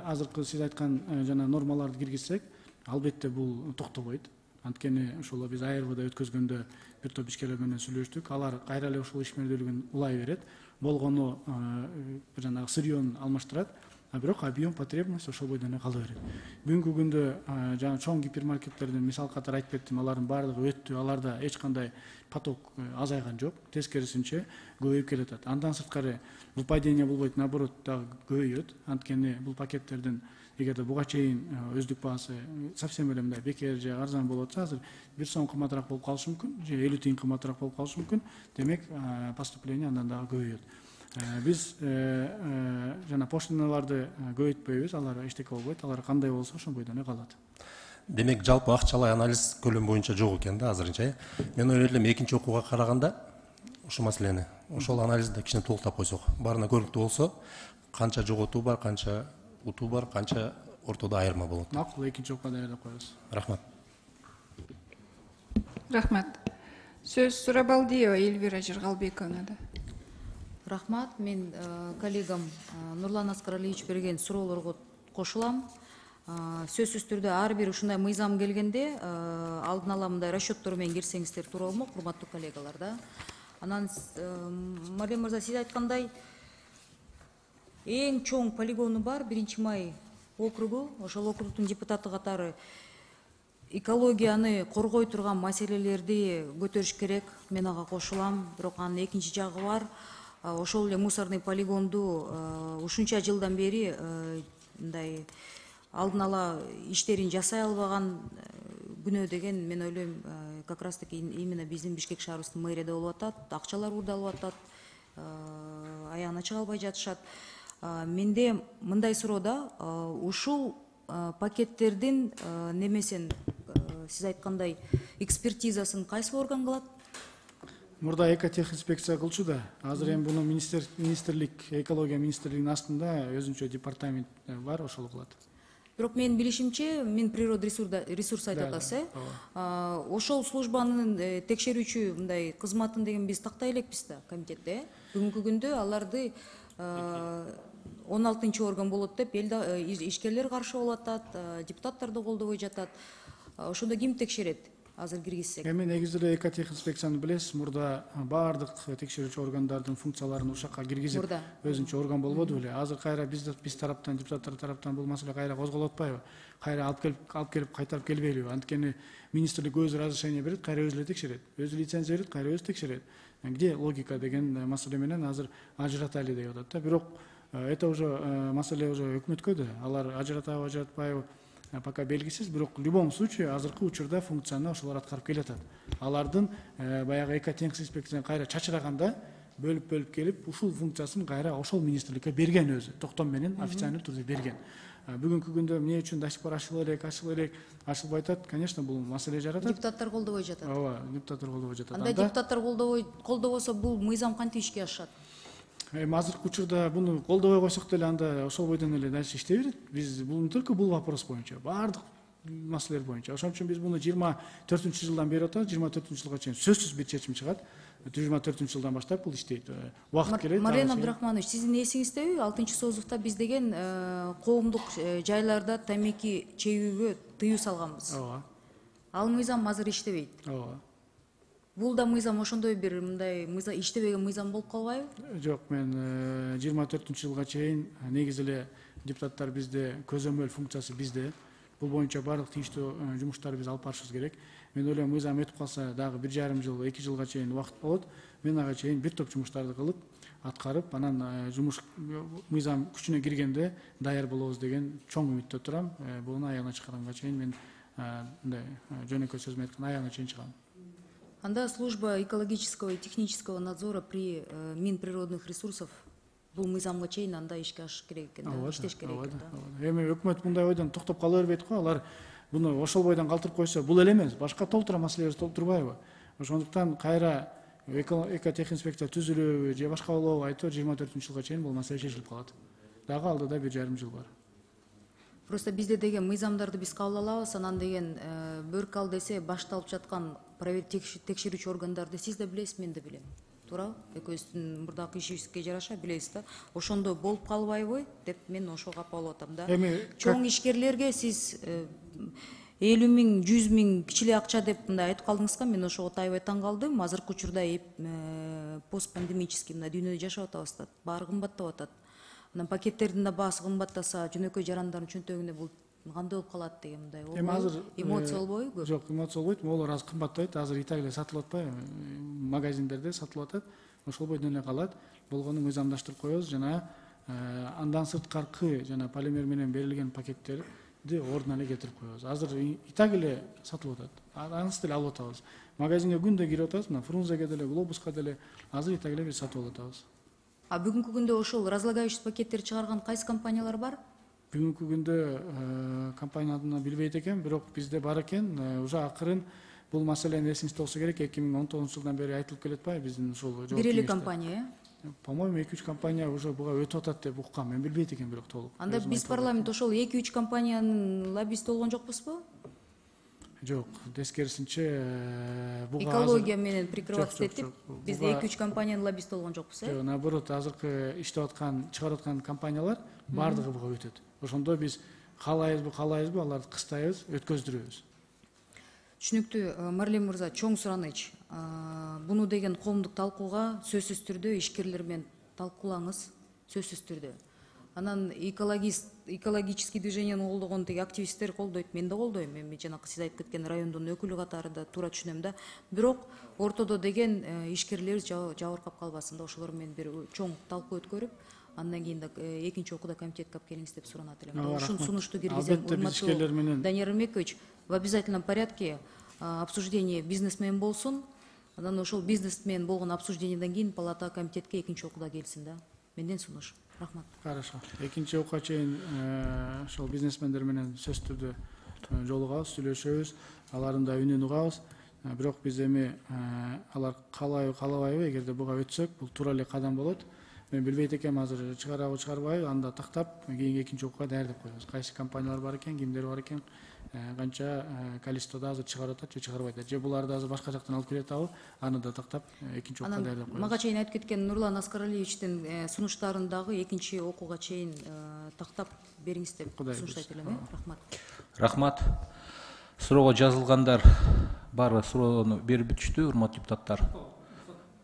азыркы сиз айткан жана нормаларды киргизсек, албетте бул токтобойт. Анткени ошол биз А Р Вда өткөзгөндө бир топ ишкерлер менен сүйлөштүк. Алар кайра эле ушул ишмердүүлүгүн улай берет. Болгону жанагы сырьён алмаштырат. А бирок объем потребность ошол бойдон эле кала берет. Бүгүнкү күндө жана чоң гипермаркеттердин мисал катары айтып кеттим, алардын баардыгы өттү, аларда эч кандай поток азайган жок, тескерисинче көбөйүп келатат. Андан сырткары выпадение болбойт, наоборот дагы көбөйөт. Анткени бул пакеттердин эгерде буга чейин өздүк баасы совсем эле мындай бекер же арзан болуп атса, азыр бир сом кымбатыраак болуп калышы мүмкүн, же элүү тыйын кымбатыраак болуп калышы мүмкүн. Демек, поступление андан дагы көбөйөт. Биз жана пошталарды көбөйтпөйбүз, алар эчтеке болбойт, алар кандай болсо ошол бойдон эле калат. Демек, жалпы акчалай анализ көлөм боюнча жок экен да азырынча. Мен ойлойт элем экинчи окууга караганда ушул маселени, ошол анализди кичине толуктап койсок, баарына көрүнүктүү болсо, канча жоготуу бар, канча утуу бар, канча ортодо айырма болот. Макул, экинчи окууга даярдап коебуз. Рахмат. Рахмат. Сөз Сурабалдиева Эльвира Жыргалбековнада. Рахмат, мен коллегам Нурлан Аскаралиевич берген суроолорго кошулам. Сөзсүз түрдө ар бир ушундай мыйзам келгенде алдын ала мындай расчеттор менен кирсеңиздер туура болмок, урматтуу коллегалар да. Анан Марлен мырза, сиз айткандай эң чоң полигону бар биринчи май округу, ошол округдун депутаты катары экологияны коргой турган маселелерди көтөрүш керек. Мен ага кошулам. Бирок анын экинчи жагы бар. Ошол эле мусорный полигонду ушунча жылдан бери мындай алдын ала иштерин жасай албаган күнөө деген мен ойлойм как раз таки именно биздин Бишкек шаарыбыздын мэрияда болуп атат, акчалар уурдалып атат, аягына чыга албай жатышат. Менде мындай суроо да, ушул пакеттердин немесин сиз айткандай экспертизасын кайсы орган кылат? Мурда экотехинспекция кылчу да. Азыр эми буну министрлик, экология министрлигинин астында өзүнчө департамент бар, ошол кылат. Бирок менин билишимче, Минприрода ресурс айтып атасыз, э? Ошол службанын текшерүүчү мындай кызматын деген биз тактай элекпиз да комитетте. Бүгүнкү күндө аларды он алтынчы орган болот деп ишкерлер каршы болуп атат, депутаттар да колдобой жатат. Ошондо ким текшерет? Азыр киргизсек. Эми негизи эле экотехинспекцияны билесиз, мурда баардык текшерүүчү органдардын функцияларын ушакка киргизип өзүнчө орган болбоду беле. Азыр кайра биз биз тараптан, депутаттар тараптан бул маселе кайра козголуп атпайбы? Кайра алып келип алып келип кайтарып келбейлиби? Анткени министрлик өзү разрешение берет, кайра өзү эле текшерет. Өзү лицензия берет, кайра өзү текшерет. Где логика деген маселе менен азыр ажыратайлы деп атат да. Бирок это уже маселе уже өкмөткө да. Алар ажыратабы, ажыратпайбы? Пока белгисиз, бирок в любом случае азыркы учурда функцияны ошолор аткарып келатат. Алардын баягы экотехинспекцияны кайра чачыраганда бөлүп-бөлүп келип, ушул функциясын кайра ошол министрликке берген өзү, токтом менен официальный түрдө берген. Бүгүнкү күндө эмне үчүн до сих пор ачылып элек, ачылып элек, ачылбай атат? Конечно, бул маселе жаратат. Депутаттар колдобой жатат. Ооба, депутаттар колдобой жатат. Анда депутаттар колдобой колдобосо бул мыйзам кантип ишке ашат? Эми азыркы учурда буну колдобой койсок деле анда ошол бойдон эле дальше иштей берет. Биз бул только бул вопрос боюнча, баардык маселелер боюнча. Ошон үчүн биз буну жыйырма төртүнчү жылдан бери атабыз, жыйырма төртүнчү жылга чейин сөзсүз бир чечим чыгат. жыйырма төртүнчү жылдан баштап бул иштейт. Убакыт келет. Марен Абдрахманович, сиздин эсиңиздеби? алтынчы созувда биз деген коомдук жайларда тамеки чегүүгө тыюу салганбыз. Ооба. Ал мыйзам азыр иштебейт. Ооба. Бул да мыйзам ошондой бир мындай мыйзам иштебеген мыйзам болуп калбайбы? Жок, мен жыйырма төртүнчү жылга чейин негизи эле депутаттар бизде, көзөмөл функциясы бизде. Бул боюнча баардык тийиштүү жумуштарды биз алып барышыбыз керек. Мен ойлойм, мыйзам өтүп калса дагы бир жарым жыл, эки жылга чейин убакыт болот. Мен ага чейин бир топ жумуштарды кылып, аткарып, анан жумуш мыйзам күчүнө киргенде даяр болобуз деген чоң үмүттө турам. Буну аягына чыгарганга чейин мен мындай жөнөкөй сөз менен айтканда аягына чейин чыгам. Анда служба экологического и технического надзора при Минприродных ресурсов бул мыйзамга чейин анда ишке ашыш керек экен, иштеш керек экен да. Эми өкмөт мындай ойдон токтоп кала бербейт го, алар буну ошол бойдон калтырып койсо, бул эле эмес, башка толтура маселелер толтурбайбы? Ошондуктан кайра экотехинспекция түзүлөбү же башка болобу айтор жыйырма төртүнчү жылга чейин бул маселе чечилип калат. Дагы алдыда бир жарым жыл бар. Просто бизде деген мыйзамдарды биз кабыл алабыз, анан деген бөрк ал десе башталып жаткан текшерүүчү органдарды сиз да билесиз, мен да билем. Туурабы? Экөөбүздүн мурдакы ишибизге жараша билесиз да. Ошондо болуп калбайбы деп мен ошого капа болуп атам да. Чоң ишкерлерге сиз элүү миң, жүз миң кичиле акча деп мындай айтып калдыңызга, мен ошого аябай таң калдым. Азыркы учурда постпандемический мындай дүйнөдө жашап атабыз да, баары кымбаттап атат. Анан пакеттердин да баасы кымбаттаса, жөнөкөй жарандардын чөнтөгүнө бул кандай болуп калат деген мындай Эми азыр эмоция болбойбу? Жок, эмоция болбойт. Могулар азыр кымбаттайт. Азыр и так эле сатылып атпайбы? Магазиндерде сатылып атат. Ошол бойдон эле калат. Болгону мыйзамдаштырып коебуз жана андан сырткаркы жана полимер менен берилген пакеттерди ордуна эле кетирип коебуз. Азыр и так эле сатылып атат. Анысы деле алып атабыз. Магазинге күндө кирип атабыз, мына Фрунзеге деле, Глобуска деле азыр и так эле биз сатып алып атабыз. А бүгүнкү күндө ошол разлагающий пакеттерди чыгарган кайсы компаниялар бар? Бүгүнкү күндө компанияны билбейт экен, бирок бизде бар экен. Уже акырын бул маселени эсиңизде болсо керек, эки миң он тогузунчу жылдан бери айтылып келет атпайбы биздин ушул жооп. Бир эле компания, э? По-моему, эки үч компания уже буга өтүп атат деп уккам. Мен билбейт экен бирок толук. Анда биз парламент ошол эки үч компаниянын лоббисти болгон жокпузбу? Жок, тескерисинче буга экология менен прикрываться этип, бизде эки үч компаниянын лоббисти болгон жокпуз, э? Жок, наоборот, азыркы иштеп аткан, чыгарып аткан компаниялар баардыгы буга өтөт. Ошондо биз каалайбызбы, каалайбызбы, аларды кыстайбыз, өткөздүрөбүз. Түшүнүктүү, Марлен мырза, чоң сураныч. Буну деген коомдук талкууга сөзсүз түрдө ишкерлер менен талкуулаңыз, сөзсүз түрдө. Анан экологический движениени колдогон теги активисттер колдойт, мен да колдойм. Эми жанакы сиз айтып кеткен райондун өкүлү катарында туура түшүнөм да. Бирок ортодо деген ишкерлер жабыркап калбасын да, ошолор менен бир чоң талкуу өткөрүп, андан кийин да экинчи окууда комитетке алып келиңиз деп суранат элем. Ооба, Ушул рахмат. сунушту киргизем. Албетте, биз ишкерлер менен- Данияр Эрмекович, в обязательном порядке а, обсуждение бизнесмен болсун. Анан ошол бизнесмен болгон обсуждениеден кийин палата комитетке экинчи окууда келсин да. Менден сунуш. Рахмат. Хорошо. Экинчи окууга чейин э, ошол бизнесмендер менен сөзсүз түрдө э, жолугабыз, сүйлөшөбүз, алардын да үнүн угабыз. Э, Бирок биз эми э, алар каалайбы, каалабайбы, эгерде буга өтсөк, бул туура эле кадам болот. Мен билбейт экенм азыр чыгарабы, чыгарбайбы, анда тактап кийинки экинчи окууга даярдап коебуз. Кайсы компаниялар бар экен, кимдер бар экен, э, канча э, количестводо азыр чыгарып атат же чыгарбайт атат, же буларды азыр башка жактан алып келип атабы, аны да тактап э, экинчи окууга Анан даярдап коебуз. мага чейин айтып кеткен Нурлан Аскаралиевичтин э, сунуштарын дагы экинчи окууга чейин э, тактап бериңиз деп Кудай сунуштайт буйруса. элем. э? Рахмат. Рахмат. Суроого жазылгандар баары суроону берип бүтүштү, урматтуу депутаттар.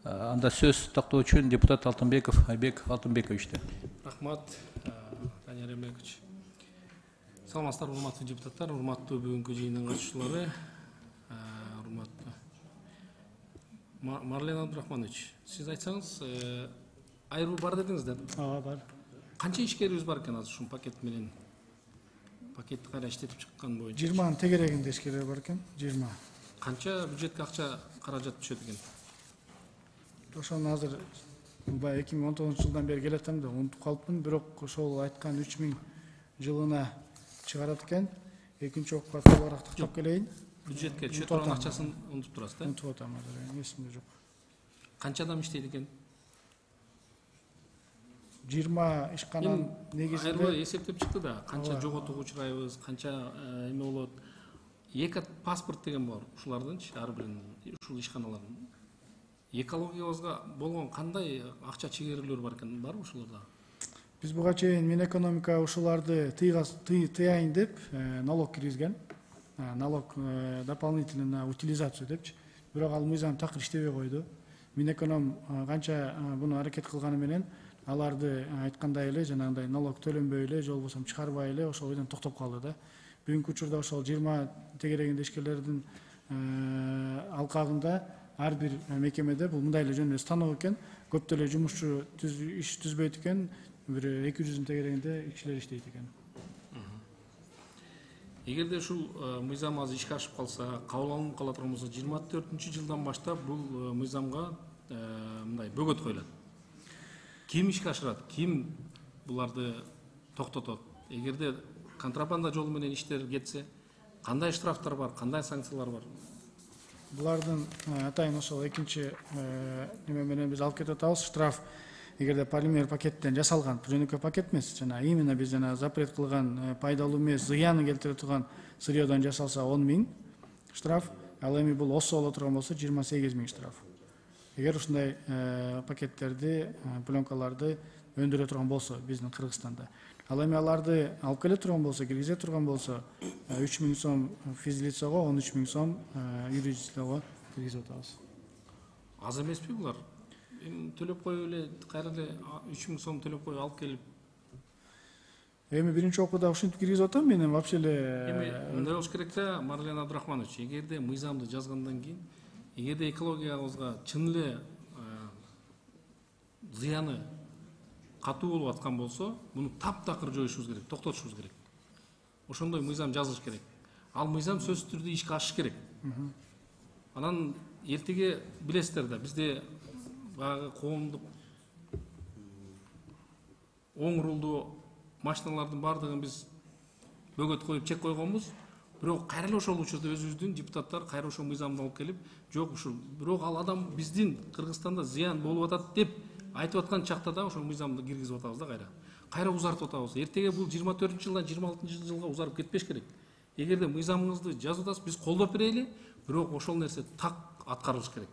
Э, Анда сөз тактоо үчүн депутат Алтынбеков Айбек Алтынбековичте. Рахмат, Данияр Эрмекович. Саламатсыздар, урматтуу депутаттар, урматтуу бүгүнкү жыйындын катышуучулары, урматтуу Ма- Марлен Абдрахманович, сиз айтсаңыз, э, айыруу бар дедиңиз да. Ооба, бар. Канча ишкерибиз бар экен азыр ушул пакет менен? Пакетти кайра иштетип чыккан боюнча. жыйырманын тегерегинде ишкерлер бар экен, жыйырма. Канча бюджетке акча каражат түшөт экен? Ошону азыр баягы эки миң он тогузунчу жылдан бери келатам да унутуп калыпмын, бирок ошол айткан үч миң жылына чыгарат экен. Экинчи окууга толугураак тактап келейин. Бюджетке түшө турган акчасын унутуп турасыз да? Унутуп атам азыр, эсимде жок. Канча адам иштейт экен? жыйырма ишкананын Айырбай негизинде эсептеп чыкты да, канча жоготууга учурайбыз, канча э, эме болот. Эки паспорт деген бар, ушулардынчы ар биринин, ушул ишканалардын. Экологиябызга болгон кандай акча чегерүүлөр бар экен, барбы ушуларда? биз буга чейин Минэкономика ушуларды тыйгас- тый- тыяйын деп э, налог киргизген. Э, Налог э, дополнительно на утилизацию депчи. Бирок ал мыйзам такыр иштебей койду. Минэконом э, канча э, буну аракет кылганы менен аларды э, айткандай эле жанагындай налог төлөнбөй эле, же болбосо чыгарбай эле ошол бойдон токтоп калды да. Бүгүнкү учурда ошол жыйырма тегерегинде ишкерлердин э, алкагында ар бир мекемеде бул мындай эле жөн эле станок экен, көп деле жумушчу түз- иш түзбөйт экен, бир эки жүздүн тегерегинде кишилер иштейт экен. Эгерде ушул э, мыйзам азыр ишке ашып калса, кабыл алынып кала турган болсо, жыйырма төртүнчү жылдан баштап бул э, мыйзамга э, мындай бөгөт коюлат. Ким ишке ашырат, ким буларды токтотот? Эгерде контрабанда жолу менен иштер кетсе, кандай штрафтар бар, кандай санкциялар бар? Булардын э, атайын ошол экинчи э, неме менен биз алып кетип атабыз. Штраф эгерде полимер пакеттен жасалган, жөнөкөй пакет эмес, жана именно биз жана запрет кылган э, пайдалуу эмес, зыяны келтире турган сырьёдон жасалса он миң штраф, ал эми бул осо боло турган болсо жыйырма сегиз миң штраф. Эгер ушундай э, пакеттерди, э, пленкаларды өндүрө турган болсо биздин Кыргызстанда. Ал эми аларды алып келе турган болсо, киргизе турган болсо, э, үч миң сом физлицого, он үч миң сом э, юридического киргизип атабыз. Аз эмеспи булар? Эми төлөп коюп эле, кайра эле үч миң сом төлөп коюп алып келип. Эми биринчи окууда ушинтип киргизип атам, мен вообще эле Эми мындай болуш керек да, Марлен Абдрахманович, эгерде мыйзамды жазгандан кийин, эгерде экологиябызга чын эле зыяны катуу болуп аткан болсо, муну таптакыр жоюшубуз керек, токтотушубуз керек. Ошондой мыйзам жазылыш керек. Ал мыйзам сөзсүз түрдө ишке ашыш керек. Анан эртеге билесиздер да, бизде баягы коомдук оң рулдуу машиналардын баардыгын биз бөгөт коюп чек койгонбуз. Бирок кайра эле ошол учурда өзүбүздүн депутаттар кайра ошол мыйзамды алып келип, жок ушул, бирок ал адам биздин Кыргызстанда зыян болуп атат деп айтып аткан чакта да ошол мыйзамды киргизип атабыз да кайра. Кайра узартып атабыз. Эртеге бул жыйырма төртүнчү жылдан жыйырма алтынчы жылга узарып кетпеш керек. Эгерде мыйзамыңызды жазып атасыз, биз колдоп берели, бирок ошол нерсе так аткарылыш керек.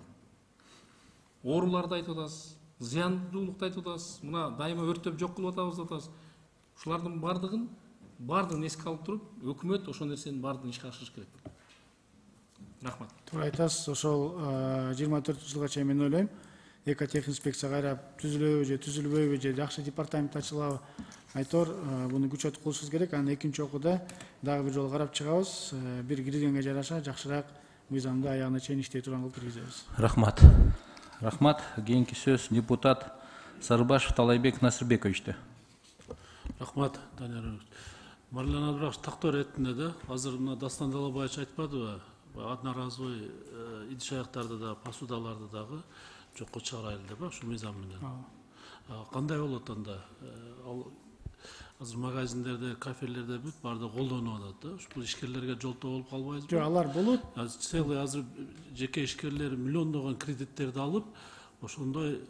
Ооруларды айтып атасыз, зыяндуулукту айтып атасыз, мына дайыма өрттөп жок кылып атабыз деп атасыз. Ушулардын бардыгын бардыгын эске алып туруп, өкмөт ошол нерсенин бардыгын ишке ашырыш керек. Рахмат. Туура айтасыз, ошол жыйырма төртүнчү жылга чейин мен ойлойм, экотехинспекция кайра түзүлөбү же түзүлбөйбү же жакшы департамент ачылабы, айтор буну күчөтүп кылышыбыз керек. Анан экинчи окууда дагы бир жолу карап чыгабыз, бир киргенге жараша жакшыраак мыйзамды аягына чейин иштей турган кылып киргизебиз. Рахмат. Рахмат. Кийинки сөз депутат Сарыбашев Талайбек Насырбековичти. Рахмат, Данияр. Марлен Абдрахович тактоо иретинде да, азыр мына Дастан Далабаевич айтпадыбы? Одноразовый идиш аяктарды да, посудаларды дагы жокко чыгарайлы деп, ушу мыйзам менен. Кандай болот анда? Ал азыр магазиндерде, кафелерде бүт баарды колдонуп атат да. Ушул ишкерлерге жолтоо болуп калбайбызбы? Жок, алар болот. Целый азыр жеке ишкерлер миллиондогон кредиттерди алып, ошондой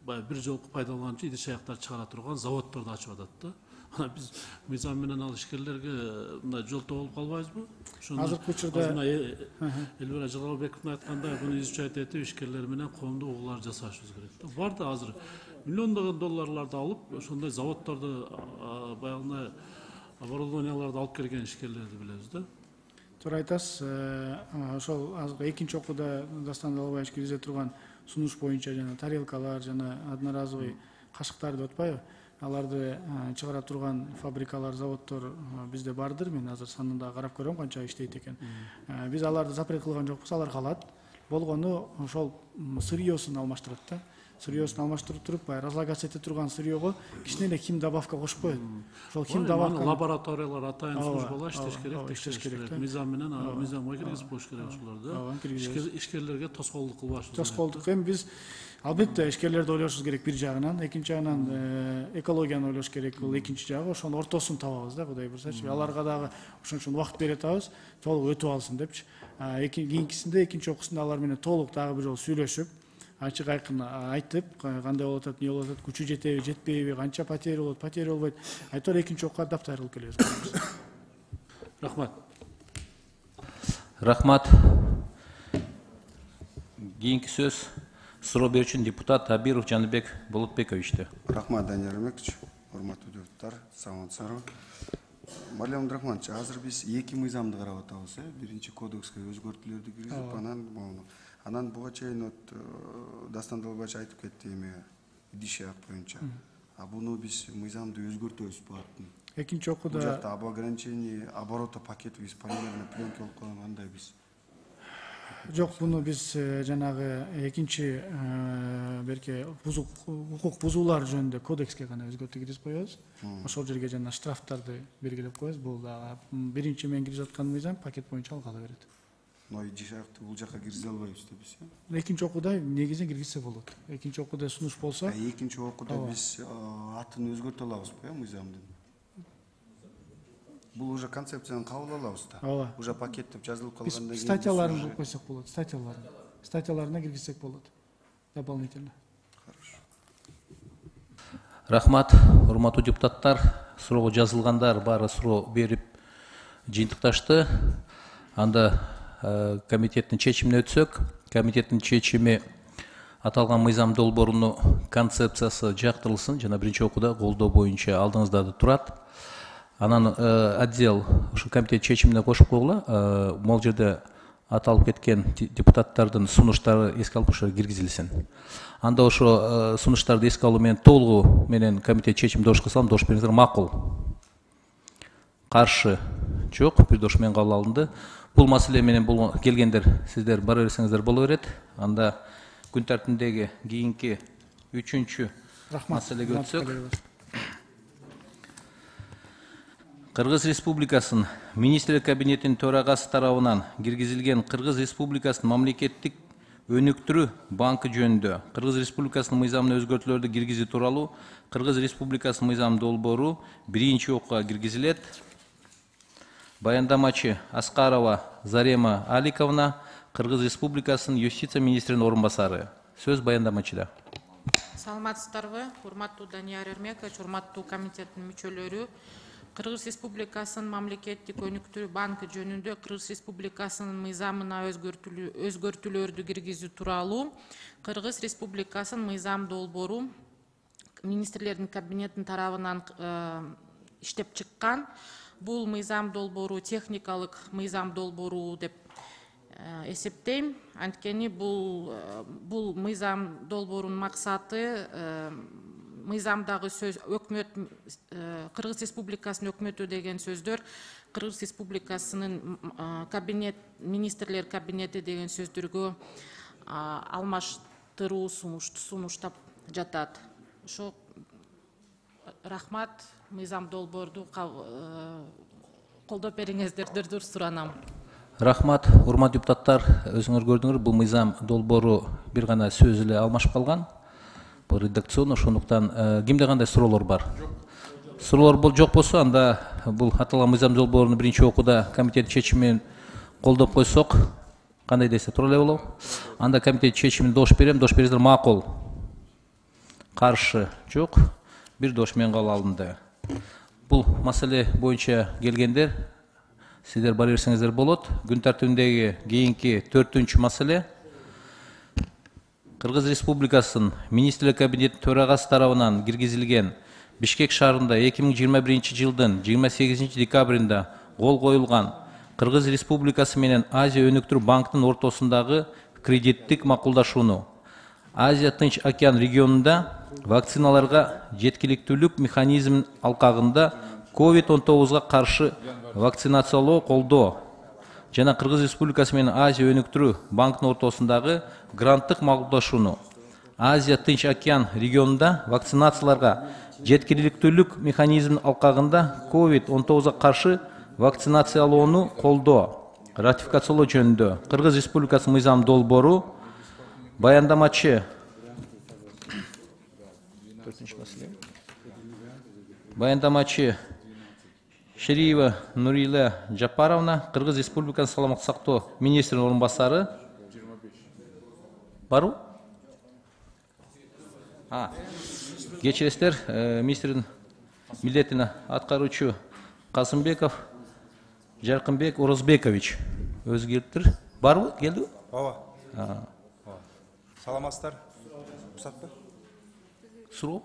баягы бир жолку пайдаланчу идиш аяктар чыгара турган заводдорду ачып атат да. Ана биз мыйзам менен ал ишкерлерге мындай жолтоо болуп калбайбызбы? Азыркы учурда Элвира Жалалбековдун айткандай буну изучать этип ишкерлер менен коомдук угуулар жасашыбыз керек да. Бар да азыр миллиондогон долларларды алып, ошондой заводдорду баягындай оборудованияларды алып келген ишкерлерди билебиз да. Туура айтасыз. Ошол азыркы экинчи окууда Дастан Далабаевич киргизе турган сунуш боюнча жана тарелкалар жана одноразовый кашыктар деп атпайбы? Аларды чыгара турган фабрикалар, заводдор бизде бардыр. Мен азыр санында карап көрөм канча иштейт экен. Биз аларды запрет кылган жокпуз, алар калат. Болгону ошол сырьёсун алмаштырат да. Сырьёсун алмаштырып туруп, баягы разлагаться эте турган сырьёго кичине эле хим добавка кошуп коет. Ошол хим добавка лабораториялар атайын службалар иштеш керек, иштеш керек. Мыйзам менен мыйзамга киргизип коюш керек ошолорду. Ишкерлерге тоскоолдук кылбаш. Тоскоолдук эми биз албетте ишкерлерди ойлошубуз керек бир жагынан, экинчи жагынан экологияны ойлош керек, бул экинчи жагы. Ошонун ортосун табабыз да, Кудай буйрсачы. Аларга дагы ошон үчүн убакыт бере атабыз, толук өтүп алсын депчи. Кийинкисинде экинчи окуусунда алар менен толук дагы бир жолу сүйлөшүп, ачык айкын айтып, кандай болуп атат, эмне болуп атат, күчү жетеби, жетпейби, канча потери болот, потери болбойт. Айтор экинчи окууга даптар кылып келебиз. Рахмат. Рахмат. Кийинки сөз суроо берүүчү депутат Абиров Жаныбек Болотбековичте. Рахмат, Данияр Эрмекович, урматтуу депутаттар, саламатсыздарбы? Марлен Абдрахманович, азыр биз эки мыйзамды карап атабыз, э? Биринчи кодекске өзгөртүүлөрдү киргизип, анан анан буга чейин Дастан Далабаевич айтып кетти эме идиш аяк боюнча. А буну биз мыйзамды өзгөртөбүз булардын. Экинчи окууда бул жакта об ограничении оборота пакетов из полимерной пленки болуп калган, андай биз. Жок, буну биз жанагы экинчи берке бузук укук бузуулар жөнүндө кодекске гана өзгөртүү киргизип коебуз. Ошол жерге жана штрафтарды белгилеп коебуз. Бул дагы биринчи мен киргизип аткан мыйзам пакет боюнча ал кала берет. Но идиш аякты бул жака киргизе албайбыз да биз. Экинчи окууда негизинен киргизсе болот. Экинчи окууда сунуш болсо, экинчи окууда биз атын өзгөртө алабызбы, э, мыйзамдын? Бул уже концепцияны кабыл алабыз да. Ооба. Уже пакет деп жазылып калгандан кийин статьяларын кылып койсок болот, статьяларын. Статьяларына киргизсек болот. Дополнительно. Хорошо. Рахмат, урматтуу депутаттар, суроого жазылгандар баары суроо берип жыйынтыкташты. Анда комитеттин чечимине өтсөк, комитеттин чечими аталган мыйзам долбоорунун концепциясы жактырылсын жана биринчи окууда колдоо боюнча алдыңызда турат. Анан отдел ушу комитет чечимине кошуп койгула, могул жерде аталып кеткен депутаттардын сунуштары эске алып ошо киргизилсин. Анда ошо сунуштарды эске алуу менен толугу менен комитет чечимин дош кылсам, дош бериңиздер, макул. Каршы жок, бир дош менен кабыл алынды. Бул маселе менен бул келгендер сиздер бара берсеңиздер боло берет. Анда күн тартибиндеги кийинки үчүнчү маселеге өтсөк. Кыргыз Республикасынын Министрлер Кабинетинин төрагасы тарабынан киргизилген Кыргыз Республикасынын мамлекеттик өнүктүрүү банкы жөнүндө Кыргыз Республикасынын мыйзамына өзгөртүүлөрдү киргизүү тууралуу Кыргыз Республикасынын мыйзам долбоору биринчи окууга киргизилет. Баяндамачы Аскарова Зарема Аликовна, Кыргыз Республикасынын юстиция министринин орун басары. Сөз баяндамачыда. Саламатсыздарбы, урматтуу Данияр Эрмекович, урматтуу комитеттин мүчөлөрү. Кыргыз Республикасынын мамлекеттик өнүктүрүү банкы жөнүндө Кыргыз Республикасынын мыйзамына өзгөртүүлөрдү киргизүү тууралуу Кыргыз Республикасынын мыйзам долбоору министрлердин кабинетинин тарабынан иштеп чыккан. Бул мыйзам долбоору техникалык мыйзам долбоору деп эсептейм. Анткени бул бул мыйзам долбоорунун максаты мыйзамдагы сөз өкмөт Кыргыз Республикасынын өкмөтү деген сөздөр Кыргыз Республикасынын кабинет министрлер кабинети деген сөздөргө алмаштыруу сунуштап жатат. Ошо рахмат, мыйзам долбоорду колдоп бериңиздерди суранам. Рахмат, урматтуу депутаттар, өзүңөр көрдүңөр, бул мыйзам долбоору бир гана сөз эле алмашып калган. Бул редакционно, ошондуктан кимде кандай суроолор бар? Суроолор бул жок болсо, анда бул аталган мыйзам долбоорун биринчи окууда комитет чечими менен колдоп койсок, кандай десе туура эле болобу? Анда комитет чечимине дош берем, дош бериңиздер, макул. Каршы жок, бир дош менен кабыл алынды. Бул маселе боюнча келгендер, сиздер бара берсеңиздер болот. Күн тартибиндеги кийинки төртүнчү маселе Кыргыз Республикасынын Министрлер Кабинетинин төрагасы тарабынан киргизилген Бишкек шаарында эки миң жыйырма биринчи жылдын жыйырма сегизинчи декабрында кол коюлган Кыргыз Республикасы менен Азия өнүктүрүү банкынын ортосундагы кредиттик макулдашууну Азия Тынч океан регионунда вакциналарга жеткиликтүүлүк механизминин алкагында ковид он тогузга каршы вакцинациялоо колдоо жана Кыргыз Республикасы менен Азия өнүктүрүү банкынын ортосундагы гранттык макулдашууну Азия Тынч океан регионунда вакцинацияларга жеткиликтүүлүк механизминин алкагында ковид он тогузга каршы вакцинациялоону колдоо ратификациялоо жөнүндө Кыргыз Республикасынын мыйзам долбоору баяндамачы баяндамачы Шериева Нурила Жапаровна, Кыргыз Республикасынын саламаттык сактоо министринин орун басары. Барбы? А, кечиресиздер, министрдин милдетин аткаруучу Касымбеков Жаркынбек Орозбекович өзү келиптир. Барбы? Келдиби? Ооба. Саламатсыздар. Рухсатпы? Суроо?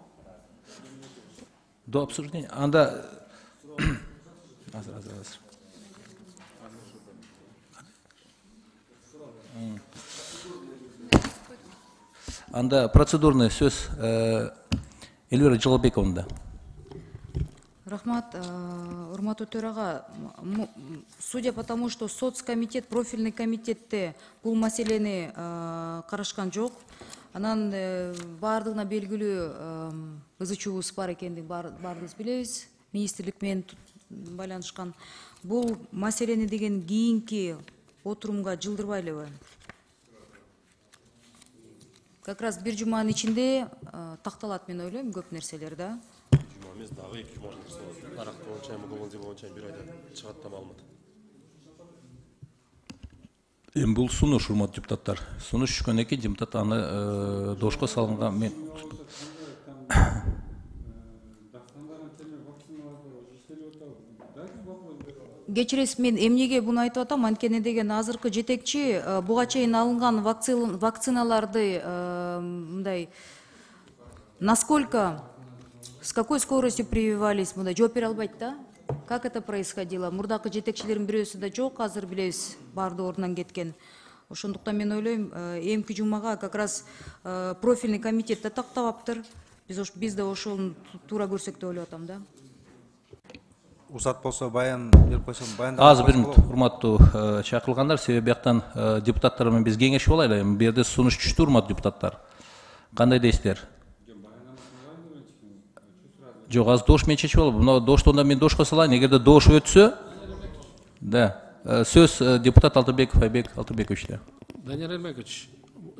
До обсуждения. Анда азыр азыр азыр. Анда процедурный сөз Эльвира Жалалбековна. Рахмат, урматтуу төрага, судя по тому, что соцкомитет, профильный комитетте бул маселени карашкан жок, анан баардыгына белгилүү ызы чуубуз бар экендигин баарыбыз билебиз, министрлик менен байланышкан. Бул маселени деген кийинки отурумга жылдырбай элеби? Как раз бир жуманын ичинде такталат, мен ойлойм, көп нерселер да. Жума эмес, дагы эки жума такталат. Арак боюнча, мугулунжа боюнча бир айда чыгат да маалымат. Эми бул сунуш, урматтуу депутаттар. Сунуш түшкөндөн кийин депутат аны дошко салынган мен Кечиресиз, мен эмнеге буну айтып атам, анткени деген азыркы жетекчи буга чейин алынган вакциналарды мындай насколько, с какой скоростью прививались, мындай жооп бере албайт да. Как это происходило? Мурдакы жетекчилердин бирөөсү да жок, азыр билебиз, баардыгы ордунан кеткен. Ошондуктан мен ойлойм, эмки жумага как раз профильный комитет да тактабаптыр. Биз биз да ошону туура көрсөк деп ойлоп атам да. Уруксат болсо баян берип койсом, баяндама. Азыр бир мүнөт, урматтуу чакырылгандар, себеби бияктан депутаттар менен биз кеңешип алайлы. Бу жерде сунуш түштү, урматтуу депутаттар. Кандай дейсиздер? Жок, азыр дош менен чечип алып, мына доштон да мен дошко салайын. Эгерде дош өтсө, да, сөз депутат Алтынбеков Айбек Алтынбековичте. Данияр Эрмекович,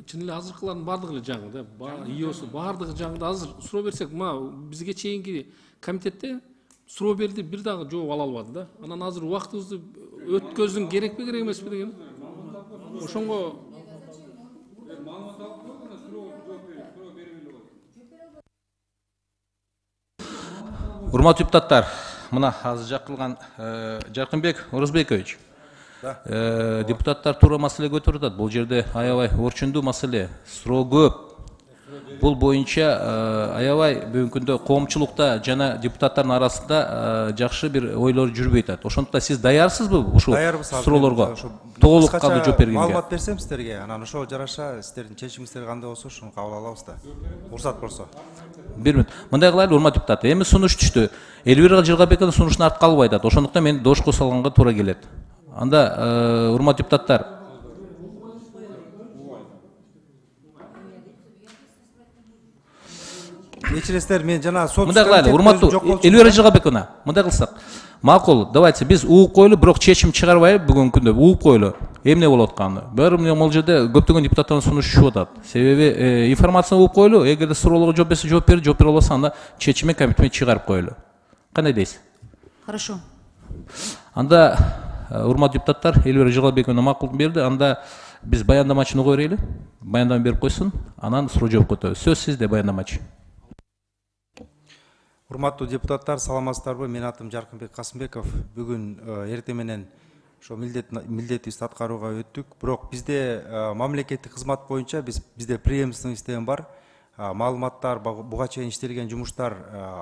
чын эле азыркылардын баардыгы эле жаңы да, иосу баардыгы жаңы да. Азыр суроо берсек, мына бизге чейинки комитетте суроо берди, бир дагы жооп ала албады да. Анан азыр убактыбызды өткөздүң керекпи, керек эмеспи деген. Ошонго урматтуу депутаттар, мына азыр жакырылган Жаркынбек Орозбекович, депутаттар туура маселе көтөрүп атат. Бул жерде аябай орчундуу маселе, суроо көп. Бул боюнча аябай бүгүнкү күндө коомчулукта жана депутаттардын арасында жакшы бир ойлор жүрбөй атат. Ошондуктан сиз даярсызбы ушул суроолорго толук кандуу жооп бергенге? Маалымат берсем сиздерге, анан ошого жараша сиздердин чечимиңиздер кандай болсо ошону кабыл алабыз да. Уруксат болсо. Бир мүнөт. Мындай кылайлы, урматтуу депутат. Эми сунуш түштү. Эльвира Жалалбековна сунуштун артка албай атат. Ошондуктан мен дошко салганга туура келет. Анда урматтуу депутаттар, кечиресиздер, мен жана сот мындай кылайлы, урматтуу Элвира Жыгалбековна, мындай кылсак макул, давайте биз угуп коелу, бирок чечим чыгарбай бүгүнкү күндө угуп коелу. Эмне болуп атканы? Баары бул жерде көптөгөн депутаттардын сунушу чыгып атат. Себеби информацияны угуп коелу, эгерде суроолорго жооп берсе жооп берип, жооп бере албаса анда чечими комитетке чыгарып коелу. Кандай дейсиз? Хорошо. Анда урматтуу депутаттар, Элвира Жыгалбековна макул берди. Анда биз баяндамачыны кое берели. Баяндама берип койсун, анан суроо жооп өтөбүз. Сөз сизде, баяндамачы. Урматтуу депутаттар, саламатсыздарбы? Менин атым Жаркынбек Касымбеков. Бүгүн эртең менен ошо милдетибизди аткарууга өттүк. Бирок бизде мамлекеттик кызмат боюнча биз бизде преемственный система бар. Маалыматтар, буга чейин иштелген жумуштар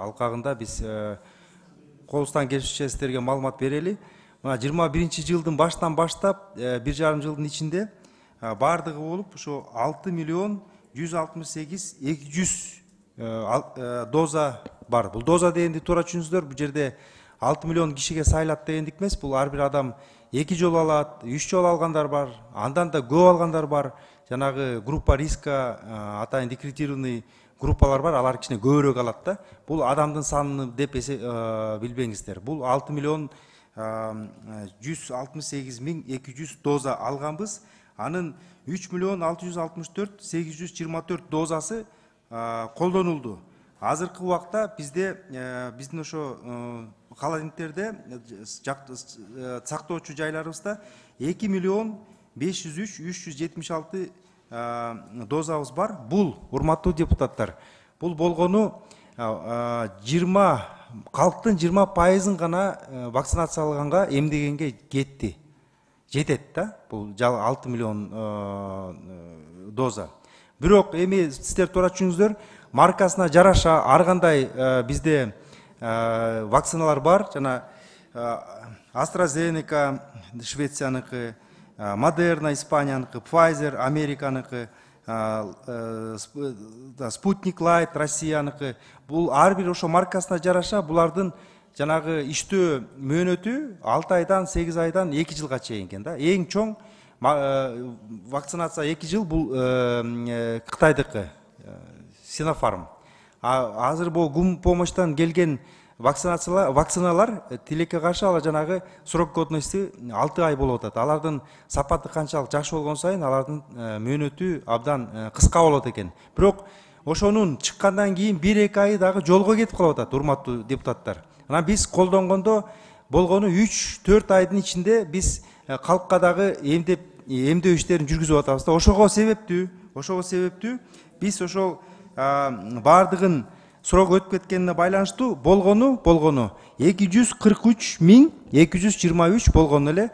алкагында биз колубуздан келишинче сиздерге маалымат берели. Мына жыйырма биринчи жылдын баштан баштап бир жарым жылдын ичинде баардыгы болуп ошо алты миллион жүз алтымыш сегиз эки жүз доза бар. Бул доза дегенди туура түшүнүңүздөр. Бул жерде алты миллион кишиге сайлат дегендик эмес. Бул ар бир адам эки жолу алат, үч жолу алгандар бар, андан да көп алгандар бар. Жанагы группа риска, атайын декретированный группалар бар, алар кичине көбүрөөк алат да. Бул адамдын санын деп билбеңиздер. Бул алты миллион жүз алтымыш сегиз миң эки жүз доза алганбыз. Анын үч миллион алты жүз алтымыш төрт сегиз жүз жыйырма төрт дозасы колдонулду. Азыркы убакта бизде биздин ошо холодильниктерде сактоочу жайларыбызда эки миллион беш жүз үч үч жүз жетимиш алты дозабыз бар. Бул, урматтуу депутаттар, бул болгону жыйырма калктын жыйырма пайызын гана вакцинациялаганга, эмдегенге кетти. Жетет да, бул алты миллион доза. Бирок эми сиздер туура түшүнүңүздөр, маркасына жараша ар кандай бизде вакциналар бар. Жана AstraZeneca Швецияныкы, Модерна Испанияныкы, Pfizer Американыкы, Спутник Лайт Россияныкы. Бул ар бир ошо маркасына жараша булардын жанагы иштөө мөөнөтү алты айдан сегиз айдан эки жылга чейин экен да. Эң чоң вакцинация эки жыл бул Кытайдыкы Синофарм. Азыр бул гум помощтан келген вакцинациялар, вакциналар тилекке каршы ала жанагы срок годности алты ай болуп атат. Алардын сапаты канчалык жакшы болгон сайын алардын мөөнөтү абдан кыска болот экен. Бирок ошонун чыккандан кийин бир эки ай дагы жолго кетип калып атат, урматтуу депутаттар. Анан биз колдонгондо болгону үч төрт айдын ичинде биз калкка дагы эмдеп эмдөө иштерин жүргүзүп атабыз да. Ошого себептүү, ошого себептүү биз ошол баардыгын срок өтүп кеткенине байланыштуу болгону болгону эки жүз кырк үч миң эки жүз жыйырма үч болгон эле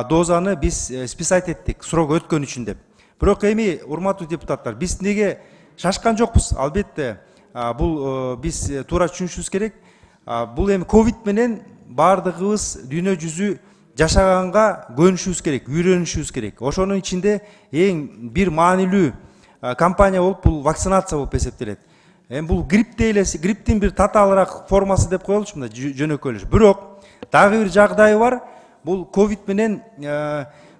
дозаны биз списать эттик срок өткөн үчүн деп. Бирок эми урматтуу депутаттар, биз неге шашкан жокпуз? Албетте бул биз туура түшүнүшүбүз керек. Бул эми ковид менен баардыгыбыз дүйнө жүзү жашаганга көнүшүбүз керек, үйрөнүшүбүз керек. Ошонун ичинде эң бир маанилүү компания болуп бул вакцинация болуп эсептелет. Эми бул грипп дейлес, грипптин бир татаалыраак формасы деп коелучу, мындай жөнөкөйлөш. Бирок дагы бир жагдайы бар. Бул ковид менен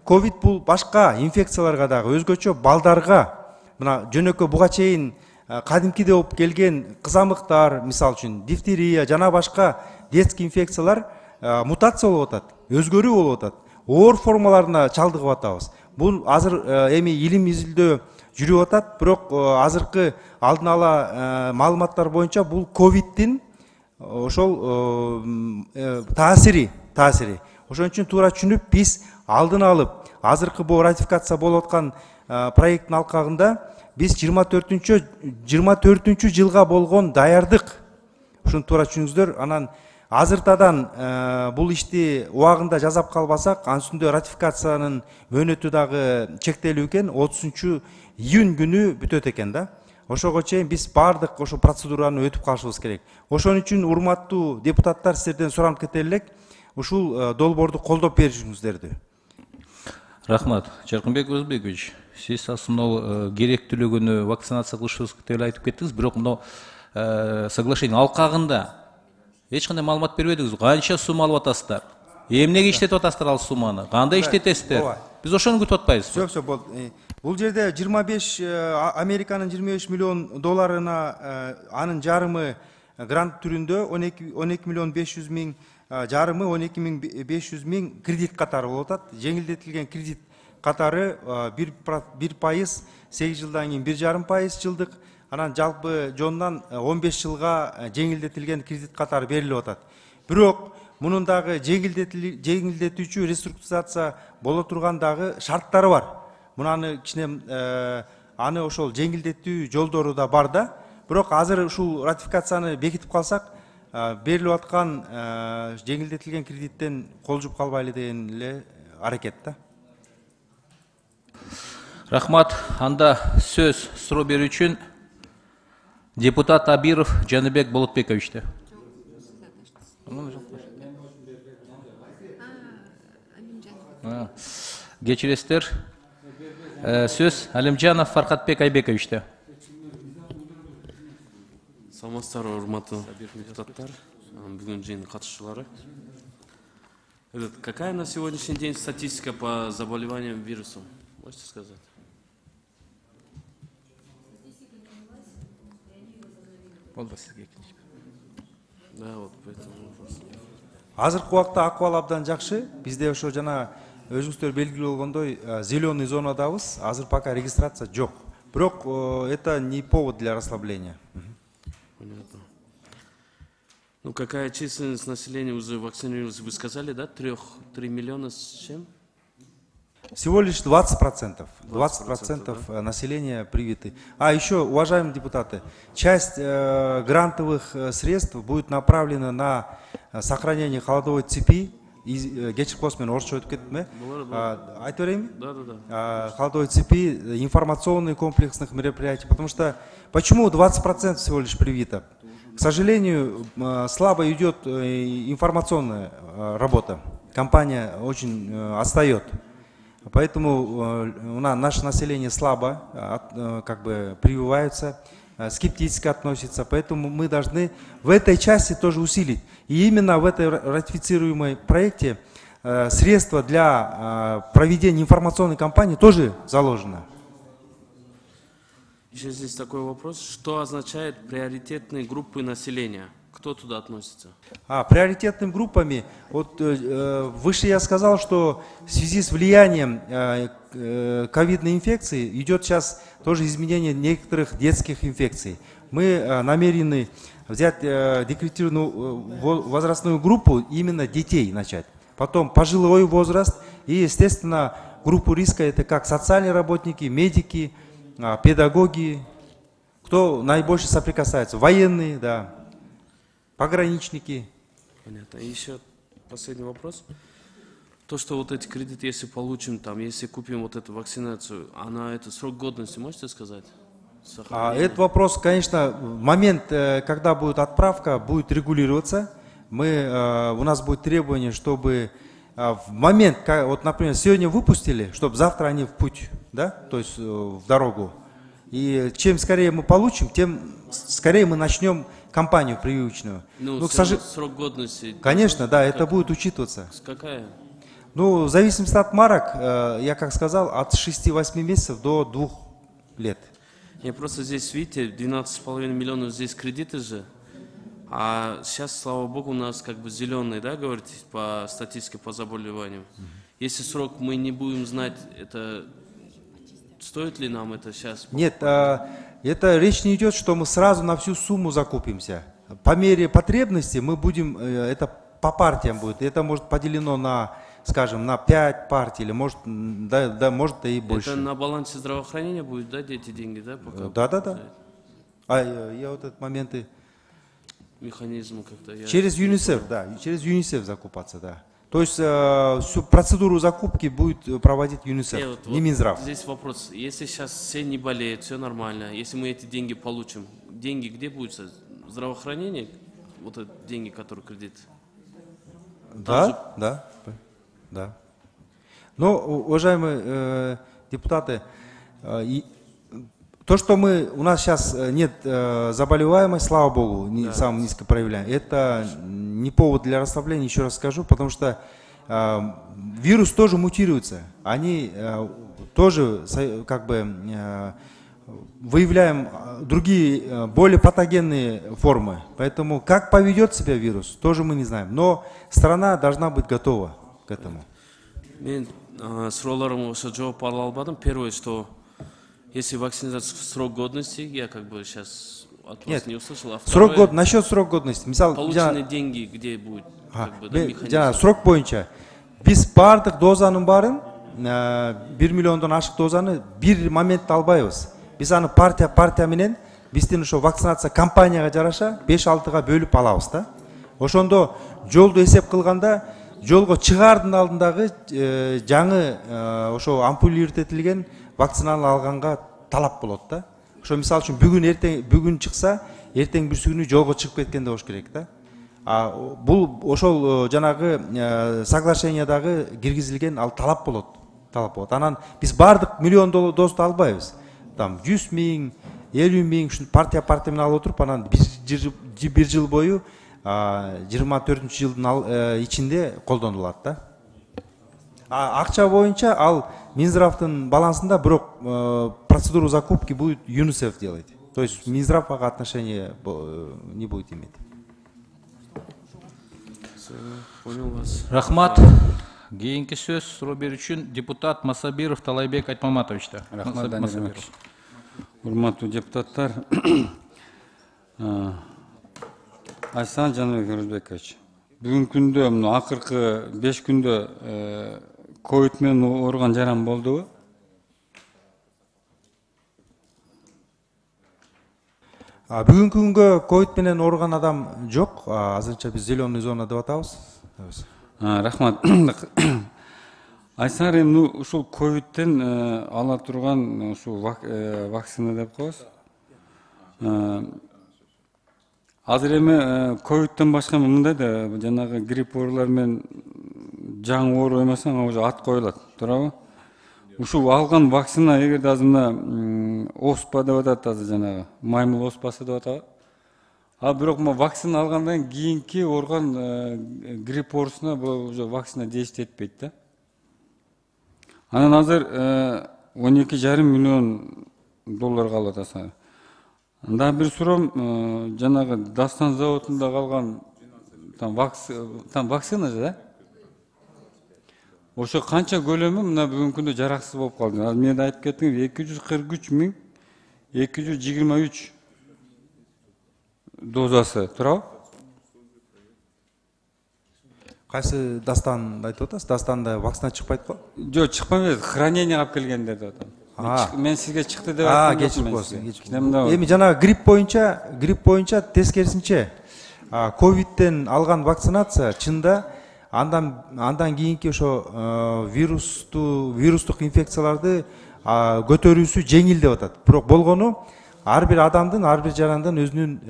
ковид бул башка инфекцияларга дагы өзгөчө балдарга, мына жөнөкөй буга чейин кадимкиде болуп келген кызамыктар, мисалы үчүн дифтерия жана башка детский инфекциялар мутация болуп атат, өзгөрүү болуп атат. Оор формаларына чалдыгып атабыз. Бул азыр эми илим изилдөө жүрүп атат, бирок азыркы алдын ала маалыматтар боюнча бул ковиддин ошол таасири, таасири. Ошон үчүн туура түшүнүп биз алдын алып, азыркы бул ратификация болуп аткан проекттин алкагында биз жыйырма төртүнчү жылга болгон даярдык, ушуну туура түшүнүңүздөр. Анан азыртадан бул ишти убагында жасап калбасак, анын үстүндө ратификациянын мөөнөтү дагы чектелүү экен, отузунчу июнь күнү бүтөт экен да. Ошого чейин биз баардык ошо процедураны өтүп калышыбыз керек. Ошон үчүн урматтуу депутаттар, сиздерден суранып кете элек, ушул долбоорду колдоп беришиңиздерди. Рахмат. Жаркынбек Өзбекович, сиз мынау керектүүлүгү күнү вакцинация кылышыбыз деп айтып кеттиңиз, бирок мынау соглашение алкагында эч кандай маалымат бербедиңиз. Канча сумма алып атасыздар? Эмнеге иштетип атасыздар ал сумманы? Кандай иштетесиздер? Биз ошону күтүп атпайбызбы? Все, все, болду. Бул жерде жыйырма беш Американын жыйырма беш миллион долларына анын жарымы грант түрүндө он эки миллион беш жүз миң, жарымы он эки миң беш жүз миң кредит катары болуп атат. Жеңилдетилген кредит катары бир пайыз, сегиз жылдан кийин бир жарым пайыз жылдык, анан жалпы жонунан он беш жылга жеңилдетилген кредит катары берилип атат. Бирок мунун дагы жеңилдетүүчү реструктуризация боло турган дагы шарттары бар. Мунаны кичине аны ошол жеңилдетүү жолдору да бар да. Бирок азыр ушул ратификацияны бекитип калсак, берилип аткан жеңилдетилген кредиттен кол жуп калбайлы деген эле аракет да. Рахмат. Анда сөз суроо берүү үчүн депутат Абиров Жаныбек Болотбековичте. Кечиресиздер. Сөз Алимжанов Фаркатбек Айбековичте. Саламатсыздарбы, урматтуу депутаттар, бүгүн жыйын катышуучулары. Какая на сегодняшний день статистика по заболеваниям вирусом? Можете сказать? Да, вот поэтому вопрос. Азыркы убакта акыбал абдан жакшы. Бизде ошо жана өзүңүздөр белгилүү болгондой зеленый зонадабыз. Азыр пока регистрация жок. Бирок это не повод для расслабления. Понятно. Ну какая численность населения уже вакцинировалась? Вы сказали, да? Трех, три миллиона с чем? Всего лишь двадцать процентов. двадцать процентов да? Населения привиты. А еще, уважаемые депутаты, часть э, грантовых средств будет направлена на сохранение холодовой цепи. Кечирип коесуз, мен орусча өтүп кеттим, э? Айтып берейинби? Да, да, да. Холодовой цепи, информационных комплексных мероприятий. Потому что почему двадцать процентов всего лишь привито? К сожалению, слабо идет информационная работа. Компания очень отстает. Поэтому у нас наше население слабо как бы прививаются, скептически относится. Поэтому мы должны в этой части тоже усилить. И именно в этой ратифицируемой проекте средства для проведения информационной кампании тоже заложено. Еще здесь такой вопрос. Что означает приоритетные группы населения? Кто туда относится? А, приоритетными группами, вот э, выше я сказал, что в связи с влиянием э, э, ковидной инфекции идет сейчас тоже изменение некоторых детских инфекций. Мы э, намерены взять э, декретированную возрастную группу именно детей начать. Потом пожилой возраст и, естественно, группу риска это как социальные работники, медики, э, педагоги, кто наибольше соприкасается, военные, да. Пограничники. Понятно. И еще последний вопрос. То, что вот эти кредиты, если получим, там, если купим вот эту вакцинацию, она, это срок годности, можете сказать? А, этот вопрос, конечно, в момент, когда будет отправка, будет регулироваться. Мы, у нас будет требование, чтобы в момент, вот, например, сегодня выпустили, чтобы завтра они в путь, да, то есть в дорогу. И чем скорее мы получим, тем скорее мы начнем кампанию прививочную. Ну, ну к сожалению, срок годности. Конечно, да, как, это будет учитываться. Какая? Ну, в зависимости от марок, я как сказал, от шести-восьми месяцев до двух лет. Я просто здесь, видите, двенадцать с половиной миллионов здесь кредиты же, а сейчас, слава богу, у нас как бы зеленый, да, говорите, по статистике по заболеваниям. Mm-hmm. Если срок мы не будем знать, это стоит ли нам это сейчас? Нет, это речь не идет, что мы сразу на всю сумму закупимся. По мере потребности мы будем, это по партиям будет, это может поделено на, скажем, на пять партий, или может, да, да, может и больше. Это на балансе здравоохранения будет, да, эти деньги, да? Пока да, да, да. А я, я вот этот моменты... Механизм как-то... Я... Через ЮНИСЕФ, да, через ЮНИСЕФ закупаться, да. То есть э, всю процедуру закупки будет проводить ЮНИСЕФ, Э, вот, не вот Минздрав. Здесь вопрос. Если сейчас все не болеют, все нормально, если мы эти деньги получим, деньги где будут? Здравоохранение? Вот эти деньги, которые кредит? Да, же... да, да. Но, уважаемые э, депутаты, э, и, то, что мы, у нас сейчас нет э, заболеваемости, слава богу, не, да. самым низко проявляем, это не повод для расслабления, еще раз скажу, потому что вирус тоже мутируется. Они тоже как бы выявляем другие более патогенные формы. Поэтому как поведет себя вирус, тоже мы не знаем. Но страна должна быть готова к этому. Мен суроолоруңа ошо жооп ала албадым. Первое, что если вакцинация срок годности, я как бы сейчас от вас не услышал. А срок год, насчет срок годности. Мисал, полученные деньги где будет? Как бы, да, механизм? Срок боюнча. Биз бардык дозанын баарын бир миллиондон ашык дозаны бир моментте албайбыз. Биз аны партия партия менен биздин ошо вакцинация кампанияга жараша беш алтыга бөлүп алабыз да. Ошондо жолду эсеп кылганда жолго чыгаардын алдындагы жаңы ошо ампуль иртетилген вакцинаны алганга талап болот да. Ошо мисалы үчүн бүгүн эртең бүгүн чыкса, эртең бүрсү күнү жолго чыгып кеткенде болуш керек да. А бул ошол жанагы соглашениядагы киргизилген ал талап болот. Талап болот. Анан биз бардык миллион дозду албайбыз. Там жүз миң, элүү миң ушул партия партия менен алып отуруп, анан бир жыл бою жыйырма төртүнчү жылдын ичинде колдонулат да. Акча боюнча ал Минздравдын балансында, бирок процедуру закупки будет ЮНИСЕФ делать. То есть Минздрав ага отношения не будет иметь. Понял вас. Рахмат. Кийинки сөз суроо берүү үчүн депутат Масабиров Талайбек Айтмаматовичте. Рахмат, Данил. Урматтуу депутаттар, Айсан Жаныбек Өрөзбекович, бүгүнкү күндө мына акыркы беш күндө ковид менен ооруган жаран болдубу? Бүгүнкү күнгө ковид менен ооруган адам жок. Азырынча биз зеленый зона деп атабыз. Рахмат. Айсан эми ушул ковидтен ала турган ушул вакцина деп коебуз. Азыр эми ковидтен башка мындай да жанагы грипп оорулар менен жаңы оору эмесең уже ат коюлат, туурабы? Ушул алган вакцина эгерде азыр мына оспа деп атат, азыр жанагы маймыл оспасы деп атабы. А бирок мо вакцина алгандан кийинки ооруган грипп оорусуна бул уже вакцина действие этпейт да. Анан азыр он эки жарым миллион доллар калып атасың. Анда бир суроом, жанагы Дастан заводунда калган там вакцина да? Ошо канча көлөмү мына бүгүнкү күндө жараксыз болуп калды. Ал мен айтып кеттиң, эки жүз кырк үч миң эки жүз жыйырма үч дозасы, туурабы? Кайсы Дастанды айтып атасыз? Дастанда вакцина чыкпайт го? Жок, чыкпайт, хранение алып келгендер деп атам. Мен сизге чыкты деп айттым. А, кечирип коесуң. Эми жанагы грипп боюнча, грипп боюнча тескерисинче ковидтен алган вакцинация чында андан андан кийинки ошо вирусту вирустук инфекцияларды көтөрүүсү жеңил деп атат. Бирок болгону ар бир адамдын, ар бир жарандын өзүнүн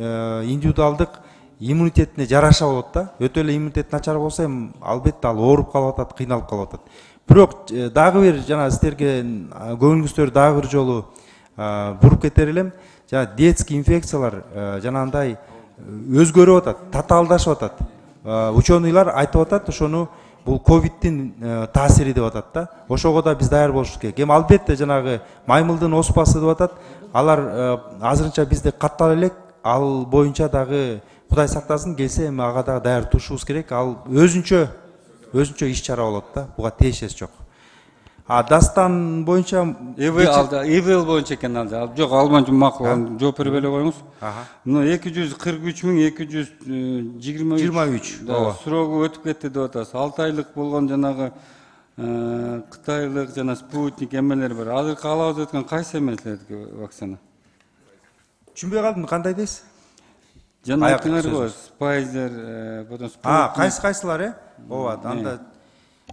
индивидуалдык иммунитетине жараша болот да. Өтө эле иммунитет начар болсо эми албетте ал ооруп калып атат, кыйналып калып атат. Бирок дагы бир жана сиздерге көңүлүңүздөр дагы бир жолу буруп кетер элем. Жана детский инфекциялар жанагындай өзгөрүп атат, татаалдашып атат. Ученыйлар айтып атат, ошону бул ковидтин таасири деп атат да. Ошого да биз даяр болушубуз керек. Эми албетте жанагы маймылдын оспасы деп атат. Алар азырынча бизде каттала элек, ал боюнча дагы Кудай сактасын келсе эми ага дагы даяр турушубуз керек. Ал өзүнчө өзүнчө иш чара болот да. Буга тиешеси жок. А Дастан боюнча эвел алда, эвел боюнча экен алда. Ал жок, албанча макул жооп берип эле коюңуз. Мына эки жүз кырк үч миң эки жүз жыйырма үч срогу өтүп кетти деп атасыз. алты айлык болгон жанагы Кытайлык жана спутник эмелер бар. Азыр каалабыз өткөн кайсы эмелердики вакцина? Түшүнбөй калдым, кандай дейсиз? Жана айттыңар го, Pfizer, потом Sputnik. А, кайсы кайсылар, э? Ооба, анда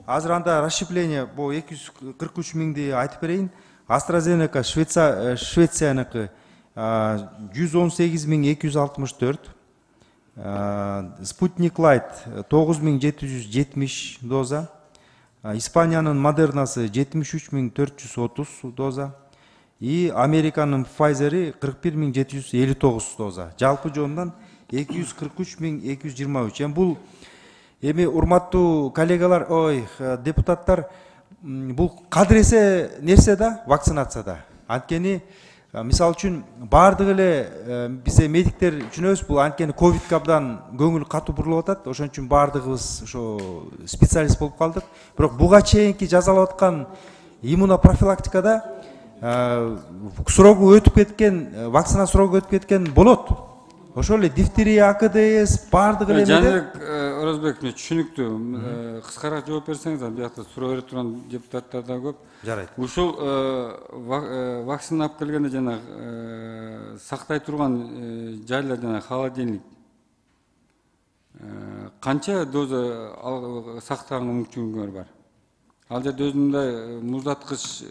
азыр анда расщепление бул эки жүз кырк үч миңди айтып берейин. AstraZeneca Швеция Швецияныкы жүз он сегиз миң эки жүз алтымыш төрт. Sputnik Light тогуз миң жети жүз жетимиш доза. Испаниянын Модернасы жетимиш үч миң төрт жүз отуз доза. И Американын Pfizer'i кырк бир миң жети жүз элүү тогуз доза. Жалпы жонунан эки жүз кырк үч миң эки жүз жыйырма үч. Эми бул Эми урматтуу коллегалар, ой, депутаттар, бул кадыресе нерсе да вакцинацияда. Анткени мисалы үчүн баардык эле бизе медиктер түшүнөбүз, бул анткени ковидке абдан көңүл катуу бурулуп атат. Ошон үчүн баардыгыбыз ошо специалист болуп калдык. Бирок буга чейинки жасалып аткан иммунопрофилактикада срогу өтүп кеткен, вакцина срогу өтүп кеткен болот. Ошол эле дифтерия, А К Д С баардык эле Жаныбек Оразбек, түшүнүктүү. Кыскараак жооп берсеңиз, биякта суроо берип турган депутаттар да көп. Жарайт. Ушул вакцина алып келгенде жана сактай турган жайлар жана холодильник канча доза сактаганга мүмкүнчүлүгүңөр бар? Ал жерде өзүндөй муздаткыч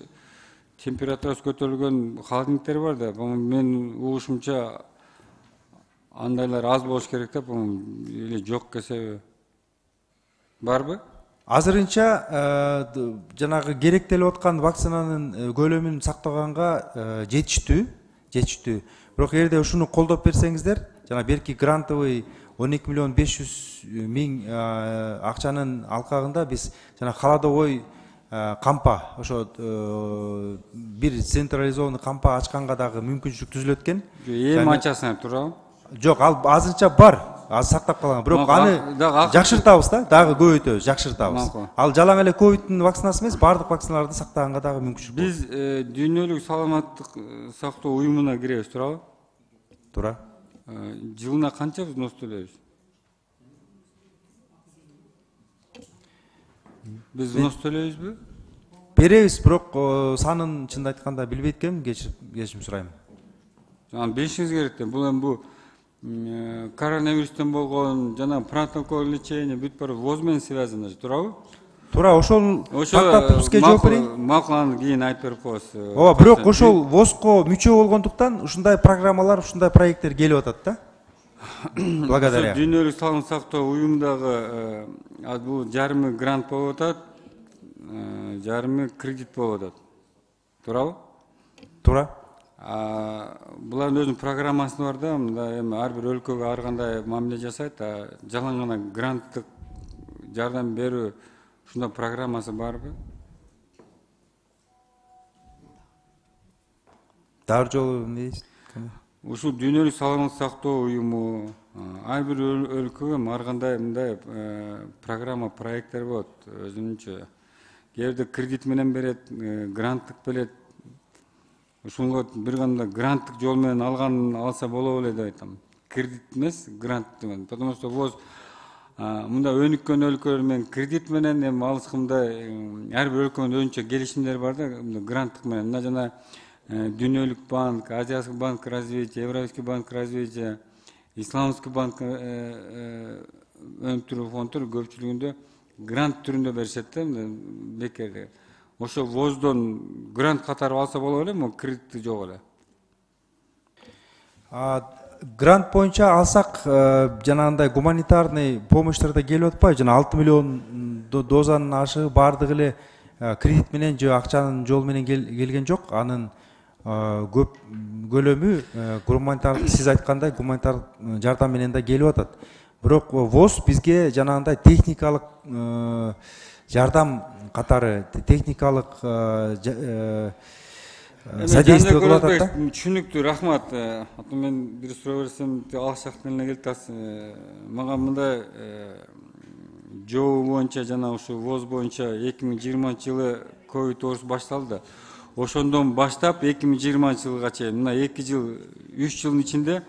температурасы көтөрүлгөн холодильниктер бар да. Мен угушумча андайлар аз болуш керек деп, эле жок кесеби барбы? Азырынча жанагы керектелип аткан вакцинанын көлөмүн сактаганга жетиштүү, жетиштүү. Бирок эгерде ушуну колдоп берсеңиздер, жана берки грантовый он эки миллион беш жүз миң акчанын алкагында биз жана холодовой кампа, ошо бир централизованный кампа ачканга дагы мүмкүнчүлүк түзүлөт экен. Эми ачасың, туурабы? Жок, ал азырынча бар, аз сактап калган. Бирок аны жакшыртабыз да, дагы көбөйтөбүз, жакшыртабыз. Ал жалаң эле ковидтин вакцинасы эмес, баардык вакциналарды сактаганга дагы мүмкүнчүлүк бар. Биз дүйнөлүк саламаттык сактоо уюмуна киребиз, туурабы? Туура. Жылына канча взнос төлөйбүз? Биз взнос төлөйбүзбү? Беребиз, бирок санын чынын айтканда билбейт экенмин, кечирим сурайм. Анан билишиңиз керек да, бул эми бул коронавирустан болгон жана протокол лечения бүт баары воз менен связано, туурабы? Туура, ошол тактап бизге жооп берейин. Макул, аны кийин айтып берип коебуз. Ооба, бирок ошол возго мүчө болгондуктан ушундай программалар, ушундай проекттер келип атат да. Благодаря. Дүйнөлүк саламат сактоо уюмундагы бул жарымы грант болуп атат, жарымы кредит болуп атат. Туурабы? Туура. Булардын өзүнүн программасы бар да, мында эми ар бир өлкөгө ар кандай мамиле жасайт, жалаң гана гранттык жардам берүү ушундай программасы барбы? Дагы жолу эмне дейсиз? Ушул дүйнөлүк саламат сактоо уюму ар бир өлкөгө ар кандай мындай программа, проекттер болот өзүнчө. Кээде кредит менен берет, гранттык берет. Ушунга бир кандай гранттык жол менен алган алса боло эле деп айтам. Кредит эмес, грант деген. Потому что воз мында өнүккөн өлкөлөр менен кредит менен, эми алыскымдай ар бир өлкөнүн өзүнчө келишимдери бар да, гранттык менен. Мына жана Дүйнөлүк банк, Азиатский банк развития, Европейский банк развития, Исламский банк өнүктүрүү фонддор көпчүлүгүндө грант түрүндө беришет да, бекерге. Ошо воздон грант катары алса боло эле, кредитти жок эле. Грант боюнча алсак, жанагындай гуманитарный помощьтар да келип атпайбы? Жана алты миллион дозанын ашы баардыгы эле кредит менен же акчанын жол менен келген жок. Анын көп көлөмү гуманитардык, сиз айткандай гуманитардык жардам менен да келип атат. Бирок воз бизге жанагындай техникалык жардам катары, техникалык содействие кылып атат да. Түшүнүктүү, рахмат. Мен бир суроо берсем, алыс жактан эле келип атасыз. Мага мындай жоо боюнча жана ушу воз боюнча эки миң жыйырманчы жылы ковид оорусу башталды. Ошондон баштап эки миң жыйырманчы жылга чейин мына эки жыл, үч жылдын ичинде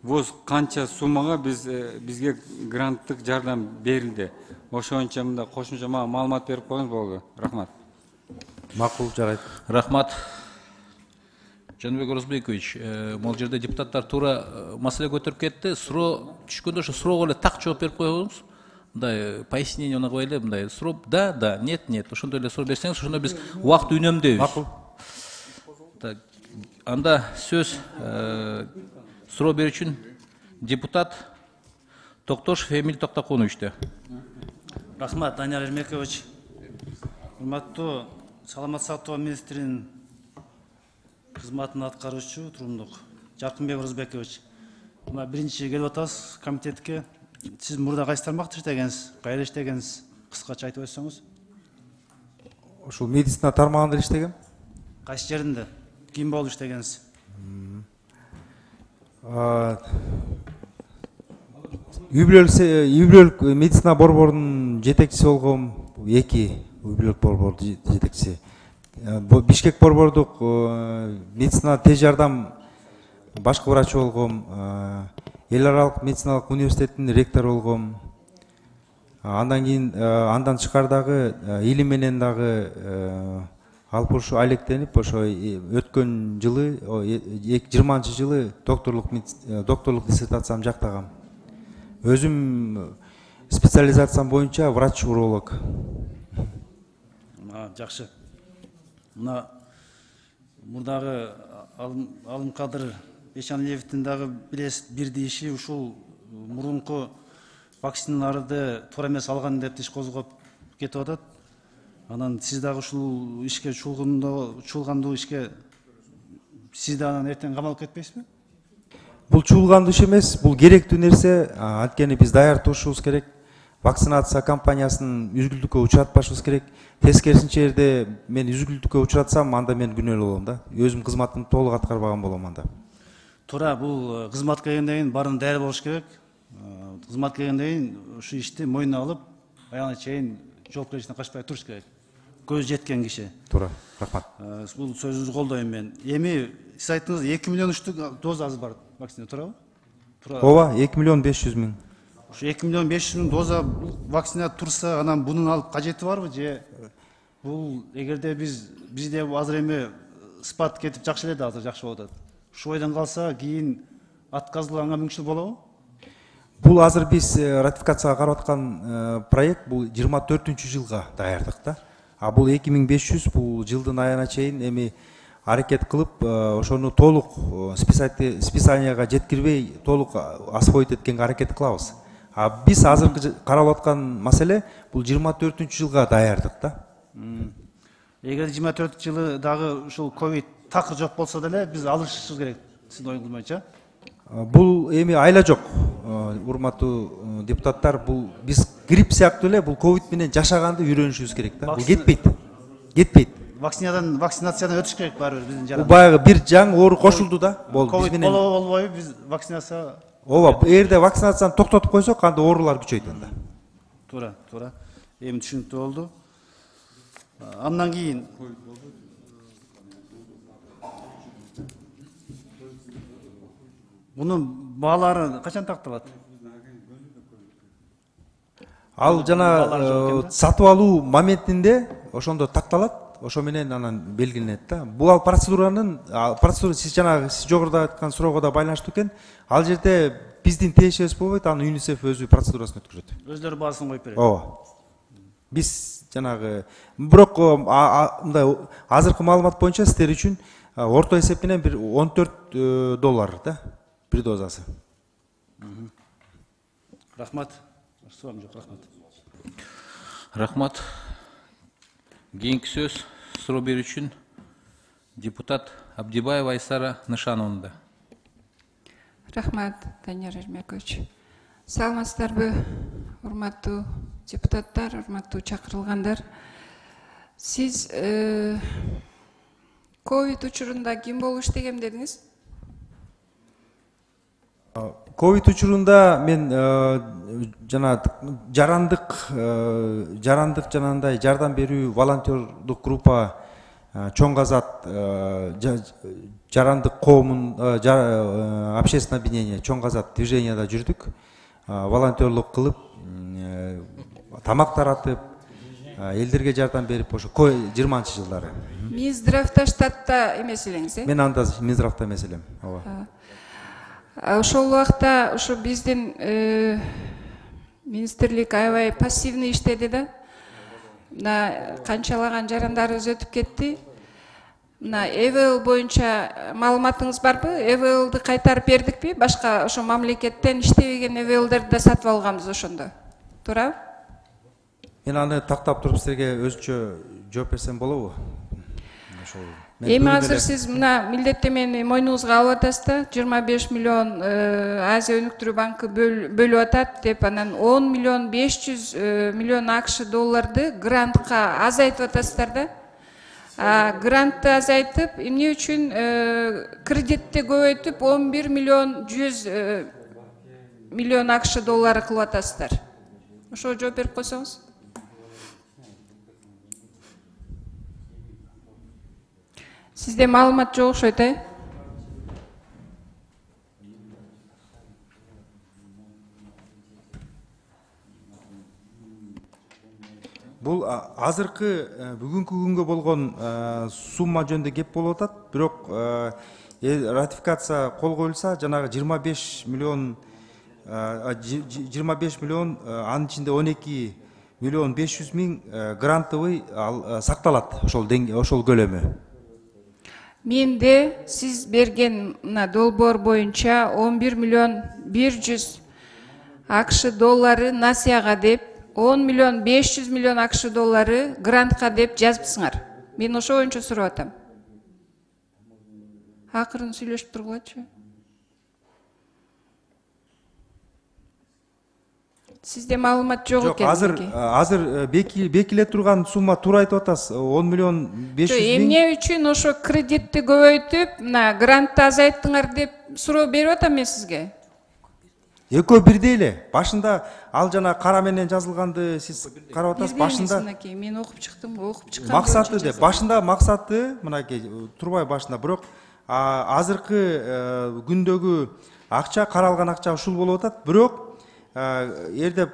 воз канча суммага биз бизге гранттык жардам берилди. Ошончо мында кошумча мага маалымат берип коюңуз болду. Рахмат. Макул, жарайт. Рахмат. Жаныбек Оразбекович, могул жерде депутаттар туура маселе көтөрүп кетти. Суроо түшкөндө ошо суроого эле так жооп берип коюңуз. Мындай пояснение оногой эле, мындай суроо да, да, нет, нет. Ошондой эле суроо берсеңиз, ошондо биз убакыт үнөмдөйбүз. Макул. Анда сөз суроо берүүчүн депутат Токтошев Эмиль Токтокуновичте. Рахмат, Данияр Эрмекович. Урматтуу саламат сактоо министринин кызматын аткаруучу турумдук Жаркынбек Оразбекович. Мына биринчи келип атабыз комитетке. Сиз мурда кайсы тармакта иштегенсиз, кайда иштегенсиз? Кыскача айтып өтсөңүз. Ушул медицина тармагында иштегем. Кайсы жеринде? Ким болуп иштегенсиз? Үй бүлөлүк медицина борборунун жетекчиси болгом, эки үй бүлөлүк борбордун жетекчиси. Бишкек борбордук медицина тез жардам башкы врачы болгом, эл аралык медициналык университеттин ректору болгом. Андан кийин андан тышкары дагы илим менен дагы алып ушу алектенип, ошо өткөн жылы жыйырманчы жылы докторлук докторлук диссертациямды жактагам. Өзүм специализациям боюнча врач-уролог. Жакшы. Мына мурдагы Алымкадыр Эшаниевдин дагы билесиз бир дейиши ушул мурунку вакциналарды туура эмес алган деп иш козгоп кетип атат. Анан сиз дагы ушул ишке чуулгандуу ишке сиз да анан эртең камалып кетпейсизби? Бул чуулгандуу иш эмес, бул керектүү нерсе. Анткени биз даяр турушубуз керек. Вакцинация кампаниясын үзгүлтүккө учуратпашыбыз керек. Тескерисинче жерде мен үзгүлтүккө учуратсам, анда мен күнөөлүү болом да. Өзүм кызматымды толук аткарбаган болом анда. Туура, бул кызматка келгенден кийин баарын даяр болуш керек. Кызматка келгенден кийин ушу ишти мойнуна алып, аягына чейин жоопкерчиликтен качпай туруш керек. Көз жеткен киши. Туура, рахмат. Бул сөзүңүздү колдойм мен. Эми сиз айттыңыз эки миллион үчтүк доза азыр бар вакцина, туурабы? Ооба, эки миллион беш жүз миң. Ушу эки миллион беш жүз миң доза вакцина турса, анан бунун алып кажети барбы же бул эгерде биз бизде азыр эми спад кетип жакшы эле да азыр жакшы болуп атат. Ушу ойдон калса кийин отказланганга мүмкүнчүлүк болобу? Бул азыр биз ратификацияга карап аткан проект бул жыйырма төртүнчү жылга даярдык да. А бул эки миң беш жүз бул жылдын аягына чейин эми аракет кылып, ошону толук списанияга жеткирбей, толук освоить эткенге аракет кылабыз. А биз азыркы каралып аткан маселе бул жыйырма төртүнчү жылга даярдык да. Эгер жыйырма төртүнчү жылы дагы ушул ковид такыр жок болсо деле биз алышыбыз керек. Сиздин оюңуз боюнча? Бул эми айла жок, урматтуу депутаттар. Бул биз грипп сыяктуу эле бул ковид менен жашаганды үйрөнүшүбүз керек да. Бул кетпейт. Кетпейт. Вакцинадан вакцинациядан өтүш керек баары бир биздин жаран. Бул баягы бир жаңы оору кошулду да. Болду биз менен. Болобу болбойбу биз вакцинация. Ооба, эгерде вакцинацияны токтотуп койсок, анда оорулар күчөйт анда. Туура, туура. Эми түшүнүктүү болду. Андан кийин мунун баалары качан такталат? Ал жана сатып алуу моментинде ошондо такталат, ошо менен анан белгиленет да. Бул ал процедуранын процедура сиз жана сиз жогоруда айткан суроого да байланыштуу экен. Ал жерде биздин тиешебиз болбойт, аны ЮНИСЕФ өзү процедурасын өткөрөт. Өздөрү баасын коюп берет. Ооба. Биз жанагы бирок мындай азыркы маалымат боюнча сиздер үчүн орто эсеп менен бир он төрт доллар да бир дозасы. Рахмат. Сурам жок, рахмат. Рахмат. Кийинки сөз суроо берүү үчүн депутат Абдибаева Айсара Нышановна. Рахмат, Данияр Эрмекович. Саламатсыздарбы, урматтуу депутаттар, урматтуу чакырылгандар. Сиз ковид учурунда ким болуп иштегем дедиңиз? Ковид учурунда мен жана жарандык жарандык жанагындай жардам берүү волонтердук группа Чоң Казат жарандык коомун общественное объединение Чоң Казат движенияда жүрдүк. Волонтерлук кылып, тамак таратып, элдерге жардам берип, ошо жыйырманчы жылдары. Минздравда штатта эмес элеңиз, э? Мен анда Минздравда эмес элем. Ооба. Ошол убакта ушу биздин министрлик аябай пассивный иштеди да. Мына канчалаган жарандарыбыз өтүп кетти. Мына ЭВЛ боюнча маалыматыңыз барбы? ЭВЛды кайтарып бердикпи? Башка ошо мамлекеттен иштебеген ЭВЛдерди да сатып алганбыз ошондо. Туурабы? Мен аны тактап туруп силерге өзүнчө жооп берсем болобу? эми азыр сиз мына милдеттемени мойнуңузга алып атасыз да, жыйырма беш миллион Азия өнүктүрүү банкы бөлүп атат деп, анан он миллион беш жүз миллион акш долларды грантка азайтып атасыздар да. Грантты азайтып, эмне үчүн кредитти көбөйтүп он бир миллион жүз миллион акш доллары кылып атасыздар? Ошого жооп берип койсоңуз. Сизде маалымат жок окшойт, э? Бул азыркы бүгүнкү күнгө болгон сумма жөнүндө кеп болуп атат, бирок ратификация кол коюлса, жанагы жыйырма беш миллион жыйырма беш миллион, анын ичинде он эки миллион беш жүз миң грантовый сакталат, ошол ошол көлөмү. Менде сиз берген мына долбоор боюнча он бир миллион бир жүз акш доллары насияга деп, он миллион беш жүз миллион акш доллары грантка деп жазыпсыңар. Мен ошо боюнча сурап атам. Акырын сүйлөшүп тургулачы. Сизде маалымат жок экен. Азыр азыр бекиле турган сумма туура айтып атасыз, он миллион беш жүз миң. Эмне үчүн ошо кредитти көбөйтүп, мына грантты азайттыңар деп суроо берип атам мен сизге. Экөө бирдей эле. Башында ал жана кара менен жазылганды сиз карап атасыз. Башында мен окуп чыктым, окуп чыккан. Максаты деп, башында максаты мынакей турбай башында, бирок азыркы күндөгү акча, каралган акча ушул болуп атат, бирок эрде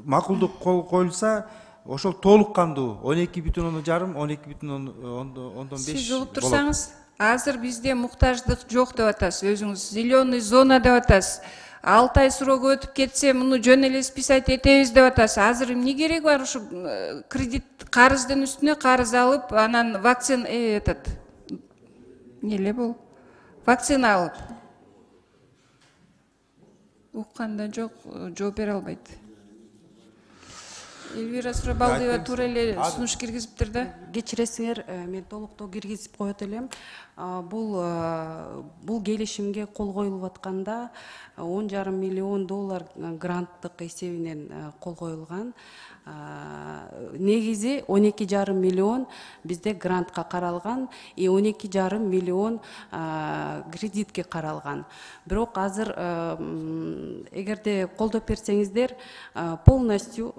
макулдук кол коюлса, ошол толук кандуу он эки бүтүн ондон жарым, он эки бүтүн ондон беш. Сиз угуп турсаңыз, азыр бизде муктаждык жок деп атасыз, өзүңүз зеленый зона деп атасыз. алты ай срогу өтүп кетсе, муну жөн эле списать этебиз деп атасыз. Азыр эмне кереги бар ушу кредит карыздын үстүнө карыз алып, анан вакцина этот эмне бул? Вакцина алып. Укканда жок, жооп бере албайт. Элвира Сурабалдиева туура эле сунуш киргизиптир да. Кечиресиңер, мен толуктоо киргизип коет элем. Бул бул келишимге кол коюлуп атканда он жарым миллион доллар гранттык эсебинен кол коюлган. Негизи он эки жарым миллион бизде грантка каралган, и он эки жарым миллион кредитке каралган. Бирок азыр эгерде колдоп берсеңиздер, полностью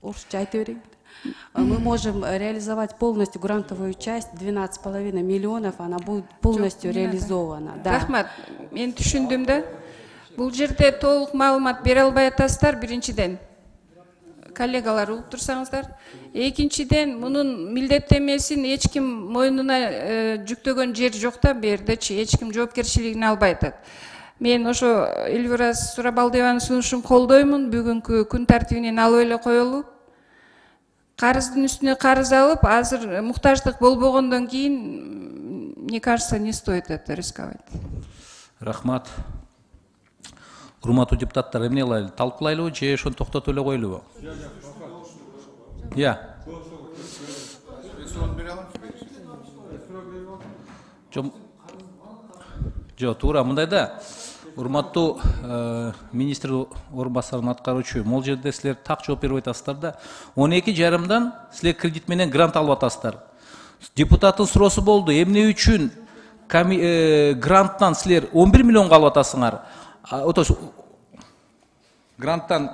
орусча айта берейин. Мы можем реализовать полностью грантовую часть, двенадцать с половиной миллионов, она будет полностью реализована. Рахмат, мен түшүндүм да. Бул жерде толук маалымат бере албай атасыздар, биринчиден. Коллегалар, угуп турсаңыздар. Экинчиден, мунун милдеттемесин эч ким мойнуна жүктөгөн жер жок да, бу жердечи эч ким жоопкерчилигин албай атат. Мен ошо Элвира Сурабалдиеванын сунушун колдоймун, бүгүнкү күн тартибинен алып эле коелу. Карыздын үстүнө карыз алып, азыр муктаждык болбогондон кийин, мне кажется, не стоит это рисковать. Рахмат. Урматтуу депутаттар, эмне кылайлы? Талкуулайлыбы же ошону токтотуп эле коелубу? Я. Жок, туура мындай да. Урматтуу министр орун басарынын аткаруучу, могул жерде силер так жооп берип атасыздар да. он эки жарымдан силер кредит менен грант алып атасыздар. Депутаттын суроосу болду, эмне үчүн гранттан силер он бир миллионго алып атасыңар? Гранттан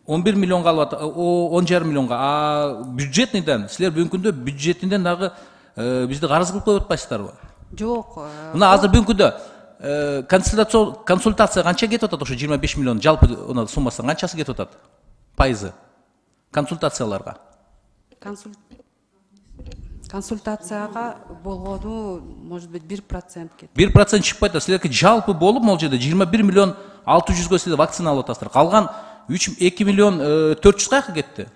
он бир миллионго алып атат, он жарым миллионго, а бюджетныйдан силер бүгүнкү күндө бюджетинден дагы бизди карыз кылып коюп атпайсыздарбы? Жок. Мына азыр бүгүнкү күндө консультация канча кетип атат, ошо жыйырма беш миллион жалпы суммасынан канчасы кетип атат? Пайызы консультацияларга. Консультацияга болгону, может быть, бир процент кетти. бир процент чыкпайт да, силерге жалпы болуп могул жерде жыйырма бир миллион алты жүзгө силер вакцина алып атасыздар. Калган эки миллион төрт жүз каяка кетти?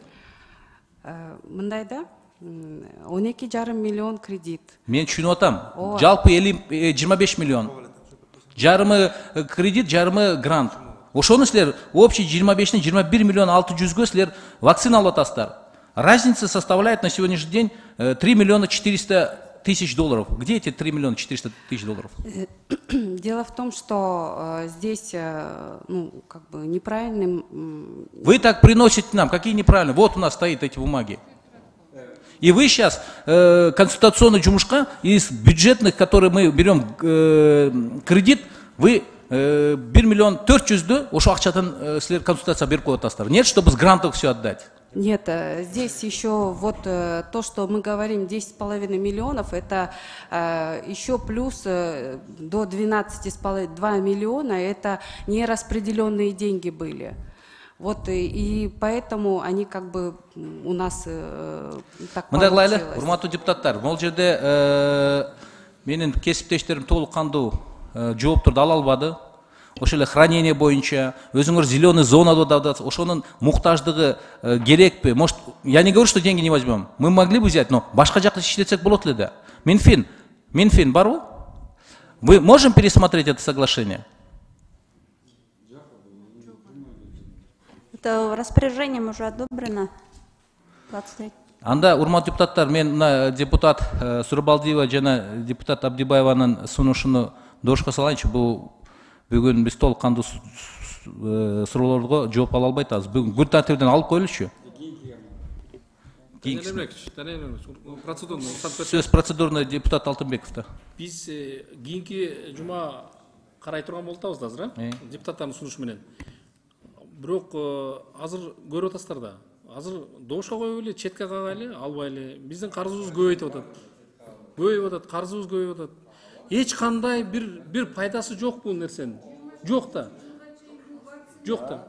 Мындай да, он эки жарым миллион кредит. Мен түшүнүп атам. Жалпы жыйырма беш миллион. Жарымы кредит, жарымы грант. Ошону силер общий жыйырма бештен жыйырма бир миллион алты жүзгө силер вакцина алып атасыздар. Разница составляет на сегодняшний день три миллиона четыреста тысяч долларов. Где эти три миллиона четыреста тысяч долларов? Дело в том, что э, здесь э, ну, как бы неправильным... м, Вы так приносите нам, какие неправильные. Вот у нас стоят эти бумаги. И вы сейчас э, консультационный жумушка из бюджетных, которые мы берем э, кредит, вы э, бир миллион төрт жүздү ошо акчадан э, силер консультация берип коюп атасыздар. Нет, чтобы с грантов все отдать. Нет, э, здесь еще вот э, то, что мы говорим, десять с половиной миллионов, это э, еще плюс э, до двенадцати с половиной, два миллиона, это нераспределенные деньги были. Вот и, и поэтому они как бы у нас э, так Мындай кылайлы, получилось. урматтуу депутаттар, бул жерде э, менин кесиптештерим толук кандуу э, жоопторду ала албады. Ошо эле хранение боюнча, өзүңөр зеленый зонада да, ошонун муктаждыгы э, керекпи? Может, я не говорю, что деньги не возьмем. Мы могли бы взять, но башка жакта иштетсек болот эле да. Минфин, Минфин барбы? Вы можем пересмотреть это соглашение? Это распоряжением уже одобрено. двадцать третьего. Анда урматтуу депутаттар, мен мына депутат э, Сурабалдиева жана депутат Абдибаеванын сунушуну дошко салайынчы. Бул бүгүн биз толук кандуу суроолорго жооп ала албай атабыз. Бүгүн күн тартибинен алып коелучу. Сөз процедурный депутат Алтынбековда. Биз кийинки жума карай турган болуп атабыз да азыр, э? Депутаттардын сунушу менен. Бирок азыр көрүп атасыздар да. Азыр добушка коюп эле, четке кагайлы, албайлы. Биздин карызыбыз көбөйтүп атат. Көбөйүп атат, карызыбыз көбөйүп атат. Эч кандай бир бир пайдасы жок бул нерсенин. Жок да. Жок да.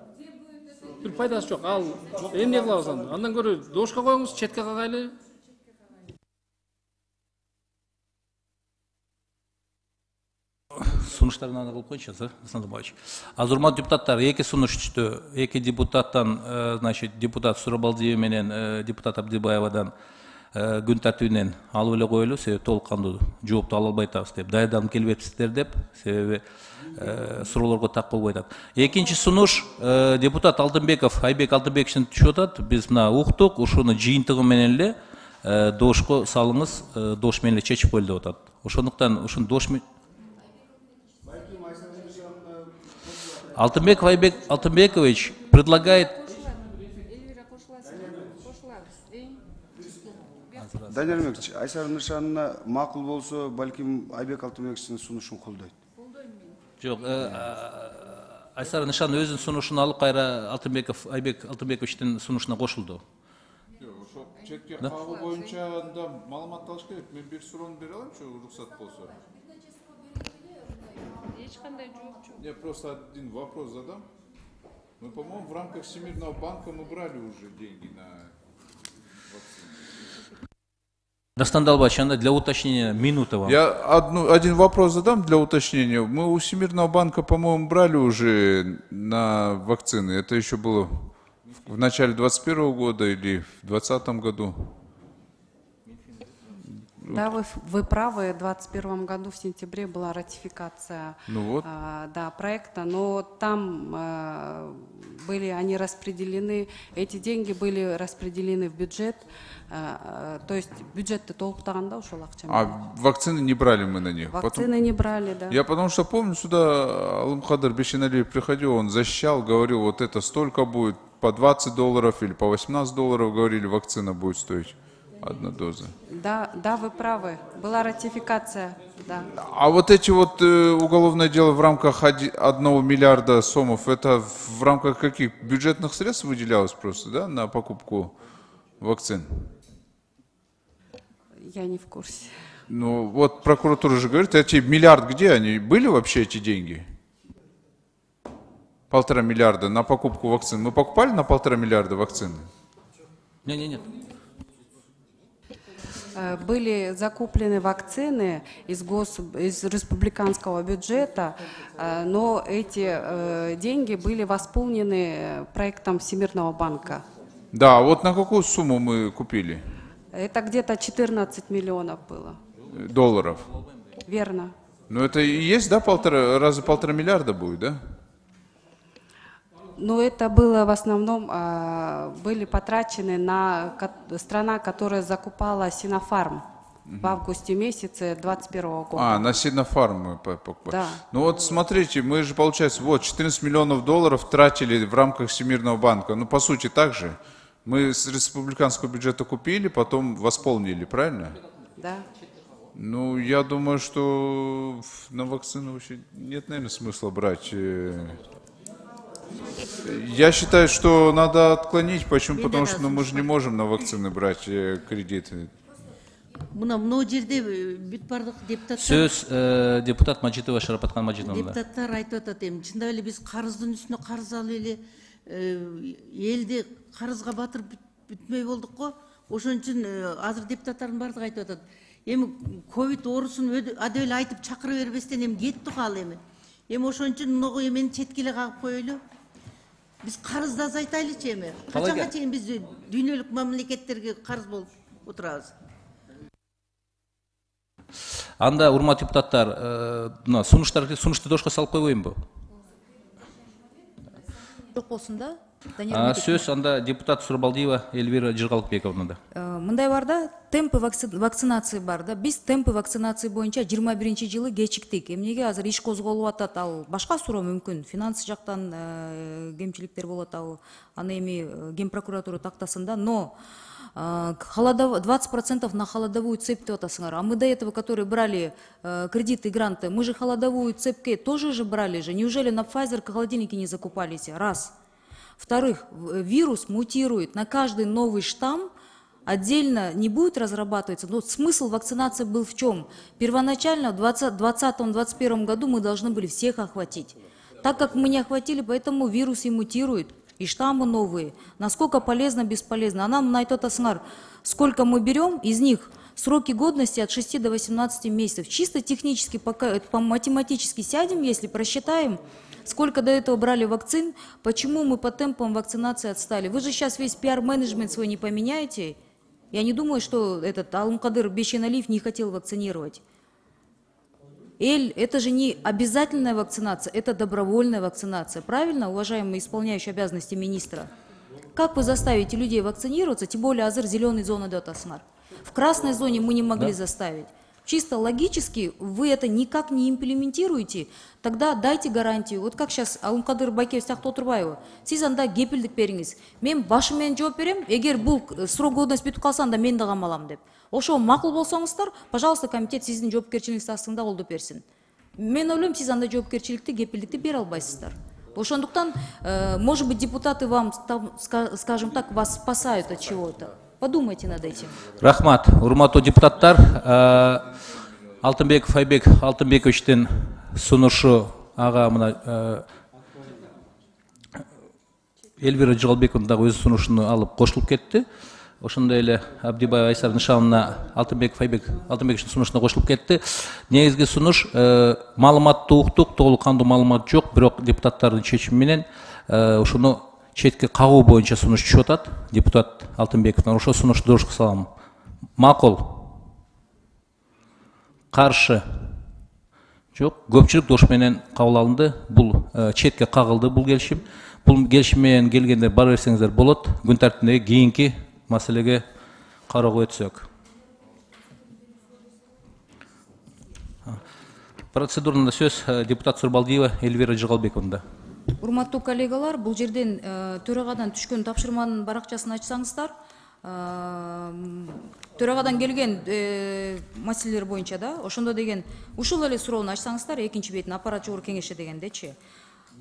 Бир пайдасы жок. Ал эмне кылабыз анда? Андан көрө добушка коюңуз, четке кагайлы. Сунуштарын аны кылып коюнчу, Асанбаевич. Азыр урматтуу депутаттар, эки сунуш түштү. Эки депутаттан, значит, депутат Сурабалдиев менен депутат Абдибаевадан күн тартибинен алып эле коелу, себеби толук кандуу жоопту ала албай атабыз деп, даярданып келбепсиздер деп, себеби суроолорго так болбой атат. Экинчи сунуш депутат Алтынбеков, Айбек Алтынбековичтен түшүп атат. Биз мына уктук, ушуну жыйынтыгы менен эле добушка салыңыз, добуш менен эле чечип коелу деп атат. Ошондуктан ушуну добуш менен Алтынбеков Айбек Алтынбекович предлагает... Данияр Мекич, Айсар Нышанына макул болсо, балким Айбек Алтынбековичтин сунушун колдойт. Жок, Айсар Нышан өзүнүн сунушун алып кайра Алтынбеков Айбек Алтынбековичтин сунушуна кошулду. Ошо четке кагуу боюнча анда маалымат алыш керек. Мен бир суроону бере аламчы, уруксат болсо? Я просто один вопрос задам. Мы, по-моему, в рамках Всемирного банка мы брали уже деньги на вакцину. Дастан Далбаевич, для уточнения минута вам. Я одну, один вопрос задам для уточнения. Мы у Всемирного банка, по-моему, брали уже на вакцины. Это еще было в начале двадцать первого года или в двадцатом году? Да, вы, вы правы. В двадцать первом году в сентябре была ратификация ну вот. э, да, проекта, но там э, были они распределены, эти деньги были распределены в бюджет, э, то есть бюджет-то толуктаганда ушул акча. А вакцины не брали мы на них? Вакцины Потом... не брали, да. Я потому что помню, сюда Алымхадар Бешеналиев приходил, он защищал, говорил, вот это столько будет, по двадцать долларов или по восемнадцать долларов, говорили, вакцина будет стоить. Одна доза. Да, да, вы правы. Была ратификация, да. А вот эти вот э, уголовное дело в рамках оди, одного миллиарда сомов, это в рамках каких бюджетных средств выделялось просто, да, на покупку вакцин? Я не в курсе. Ну, вот прокуратура же говорит, эти миллиард, где они? Были вообще эти деньги? Полтора миллиарда на покупку вакцин. Мы покупали на полтора миллиарда вакцины? Нет, нет, нет. Были закуплены вакцины из, гос... из республиканского бюджета, но эти деньги были восполнены проектом Всемирного банка. Да, вот на какую сумму мы купили? Это где-то четырнадцать миллионов было. Долларов? Верно. Ну это и есть, да, полтора, раза полтора миллиарда будет, да? Но это было в основном, а, были потрачены на ко- страна, которая закупала Синофарм в августе месяце двадцать первого года. А, на Синофарм мы покупали. Да. Ну вот смотрите, мы же, получается, вот четырнадцать миллионов долларов тратили в рамках Всемирного банка. Ну, по сути, так же. Мы с республиканского бюджета купили, потом восполнили, правильно? Да. Ну, я думаю, что на вакцину вообще нет, наверное, смысла брать. Я считаю, что надо отклонить. Почему? Потому что ну, мы же не можем на вакцины брать э, кредиты. Мына мынау жерде бүт бардык депутаттар Сөз э, депутат Мажитова Шарапаткан Мажитовна. депутаттар айтып атат эми чындап эле биз карыздын үстүнө карыз алып эле элди карызга батырып бүтмөй болдук го. Ошон үчүн азыр депутаттардын бардыгы айтып атат. Эми ковид оорусун адеп эле айтып чакыра бербестен эми кетти го ал эми. Эми ошон үчүн мынагу эмени четкеле кагып коелу. Биз карызды азайтайлычы эми. Качанга чейин биз дүйнөлүк мамлекеттерге карыз болуп отурабыз? Анда урматтуу депутаттар, мына сунуштарды сунушту дошко салып койбоймунбу? Жок болсун да. Сөз анда депутат Сурбалдиева Эльвира Жыргалыкбековнада. Мындай бар да, темпы вакцинации бар да. Биз темпы вакцинации боюнча жыйырма биринчи жылы кечиктик. Эмнеге азыр иш козголуп атат, ал башка суроо мүмкүн. Финанс жактан кемчиликтер болуп атабы. Аны эми Ген прокуратура тактасын да, но двадцать процентов на холодовую цепь деп атасыңар. А мы до этого, которые брали э, кредиты, гранты, мы же холодовую цепь тоже же брали же. Неужели на Pfizer холодильники не закупались? Раз. Во-вторых, вирус мутирует. На каждый новый штамм отдельно не будет разрабатываться. Но смысл вакцинации был в чем? Первоначально в двадцатом — двадцать первом году мы должны были всех охватить. Так как мы не охватили, поэтому вирус и мутирует. И штаммы новые. Насколько полезно, бесполезно. А нам на это таснгар, сколько мы берем, из них сроки годности от шести до восемнадцати месяцев. Чисто технически, пока, по математически сядем, если просчитаем, сколько до этого брали вакцин, почему мы по темпам вакцинации отстали. Вы же сейчас весь пиар-менеджмент свой не поменяете. Я не думаю, что этот Алымкадыр Бейшеналиев не хотел вакцинировать. Эль, это же не обязательная вакцинация, это добровольная вакцинация. Правильно, уважаемый исполняющий обязанности министра? Как вы заставите людей вакцинироваться, тем более азыр зеленой зоны датасынар? В красной зоне мы не могли да. заставить. Чисто логически вы это никак не имплементируете, тогда дайте гарантию. Вот как сейчас Алымкадыр Байкеб сиякты отурбайбы. Сиз анда кепилдик бериңиз. Мен башы менен жооп берем, эгер бул срок годности бүтүп калса анда мен да камалам деп. Ошо макул болсоңуздар, пожалуйста, комитет сиздин жоопкерчилигиңизди астында колдоп берсин. Мен ойлойм, сиз анда жоопкерчиликти, кепилдикти бере албайсыздар. Ошондуктан, э, может быть, депутаты вам, там, скажем так, вас спасают от чего-то. Подумайте над этим. Рахмат, урматтуу депутаттар, Алтынбеков Айбек Алтынбековичтин сунушу ага мына Эльвира Жыргалбековна дагы өз сунушун алып кошулуп кетти. Ошондой эле Абдибаев Айсар нышанына Алтынбеков Айбек Алтынбековичтин сунушуна кошулуп кетти. Негизги сунуш маалыматтуу уктук, толук кандуу маалымат жок, бирок депутаттардын чечими менен ошону четке кагуу боюнча сунуш түшүп атат. Депутат Алтынбековдон ошо сунушту дошко салам. Макул. Каршы. Жок, көпчүлүк дош менен кабыл алынды. Бул четке кагылды бул келишим. Бул келишим менен келгенде бара берсеңиздер болот. Күн тартибиндеги кийинки маселеге кароого өтсөк. Процедурада сөз депутат Сурбалдиева Эльвира Жыргалбековнда. Урматтуу коллегалар, бул жерден төрагадан түшкөн тапшырманын баракчасын ачсаңыздар, төрагадан келген маселелер боюнча да, ошондо деген ушул эле суроону ачсаңыздар, экинчи бетин аппарат жогорку кеңеши дегендечи.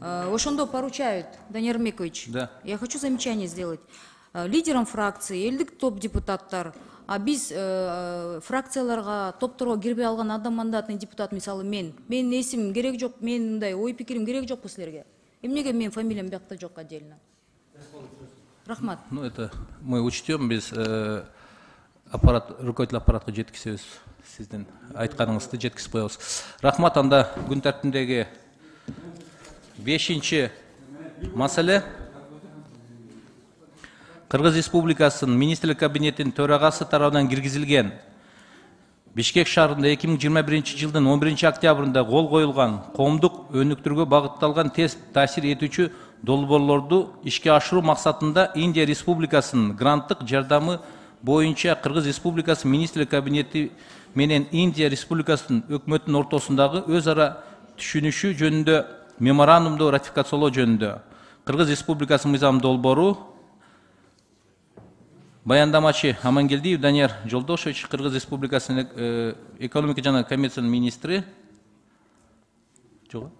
Ошондо поручают, Данияр Эрмекович, да. Я хочу замечание сделать. Лидерам фракции, элдик топ депутаттар, а биз э, фракцияларга, топторго кирбей алган адам мандатный депутат, мисалы мен, мен эсим керек жок, мен мындай ой пикирим керек жокпу силерге. Эмнеге мен фамилиям биякта жок отдельно? Рахмат. Ну это мы учтем, без э, аппарат, руководитель аппаратка жеткизебиз, сиздин айтканыңызды жеткизип коебуз. Рахмат, анда күн тартибиндеги бешинчи маселе. Кыргыз Республикасынын Министрлик кабинетинин төрагасы тарабынан киргизилген Бишкек шаарында эки миң жыйырма биринчи жылдын он биринчи октябрында кол коюлган коомдук өнүктүрүүгө багытталган тест таасир этүүчү долбоорлорду ишке ашыруу максатында Индия Республикасынын гранттык жардамы боюнча Кыргыз Республикасы министрлик кабинети менен Индия Республикасынын өкмөтүнүн ортосундагы өз ара түшүнүшү жөнүндө меморандумду ратификациялоо жөнүндө Кыргыз Республикасынын мыйзам долбоору. Баяндамачы Амангелдиев Данияр Жолдошевич, Кыргыз Республикасынын экономика жана коммерциянын министри. Жок.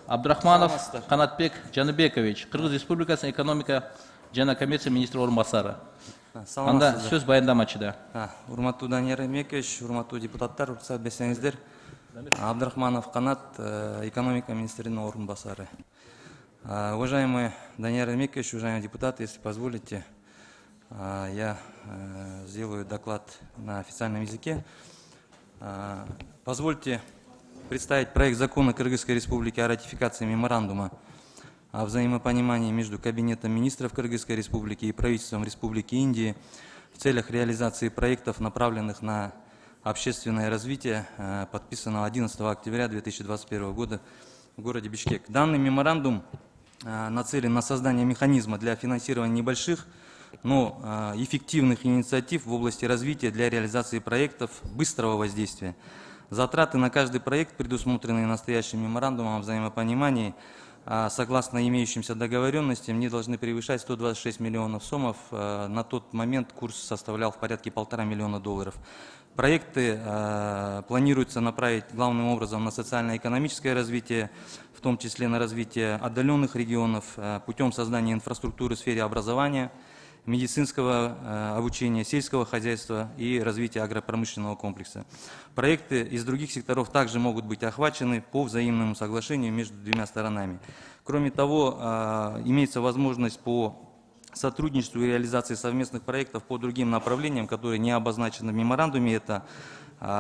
Абдрахманов Канатбек Жаныбекович, Кыргыз Республикасынын экономика жана коммерция министри орун басары. Анда сөз баяндамачыда. Урматтуу Данияр Эмекович, урматтуу депутаттар, уруксат берсеңиздер. Абдрахманов Канат, экономика министринин орун басары. Уважаемый Данияр Эмекович, уважаемые депутаты, если позволите, я сделаю доклад на официальном языке. Позвольте представить проект закона Кыргызской Республики о ратификации меморандума о взаимопонимании между Кабинетом министров Кыргызской Республики и правительством Республики Индии в целях реализации проектов, направленных на общественное развитие, подписанного одиннадцатого октября две тысячи двадцать первого года в городе Бишкек. Данный меморандум нацелен на создание механизма для финансирования небольших, но эффективных инициатив в области развития для реализации проектов быстрого воздействия. Затраты на каждый проект, предусмотренные настоящим меморандумом о взаимопонимании, согласно имеющимся договоренностям, не должны превышать сто двадцать шесть миллионов сомов. На тот момент курс составлял в порядке полтора миллиона долларов. Проекты планируется направить главным образом на социально-экономическое развитие, в том числе на развитие отдаленных регионов, путем создания инфраструктуры в сфере образования, медицинского обучения, сельского хозяйства и развития агропромышленного комплекса. Проекты из других секторов также могут быть охвачены по взаимному соглашению между двумя сторонами. Кроме того, имеется возможность по сотрудничеству и реализации совместных проектов по другим направлениям, которые не обозначены в меморандуме. Это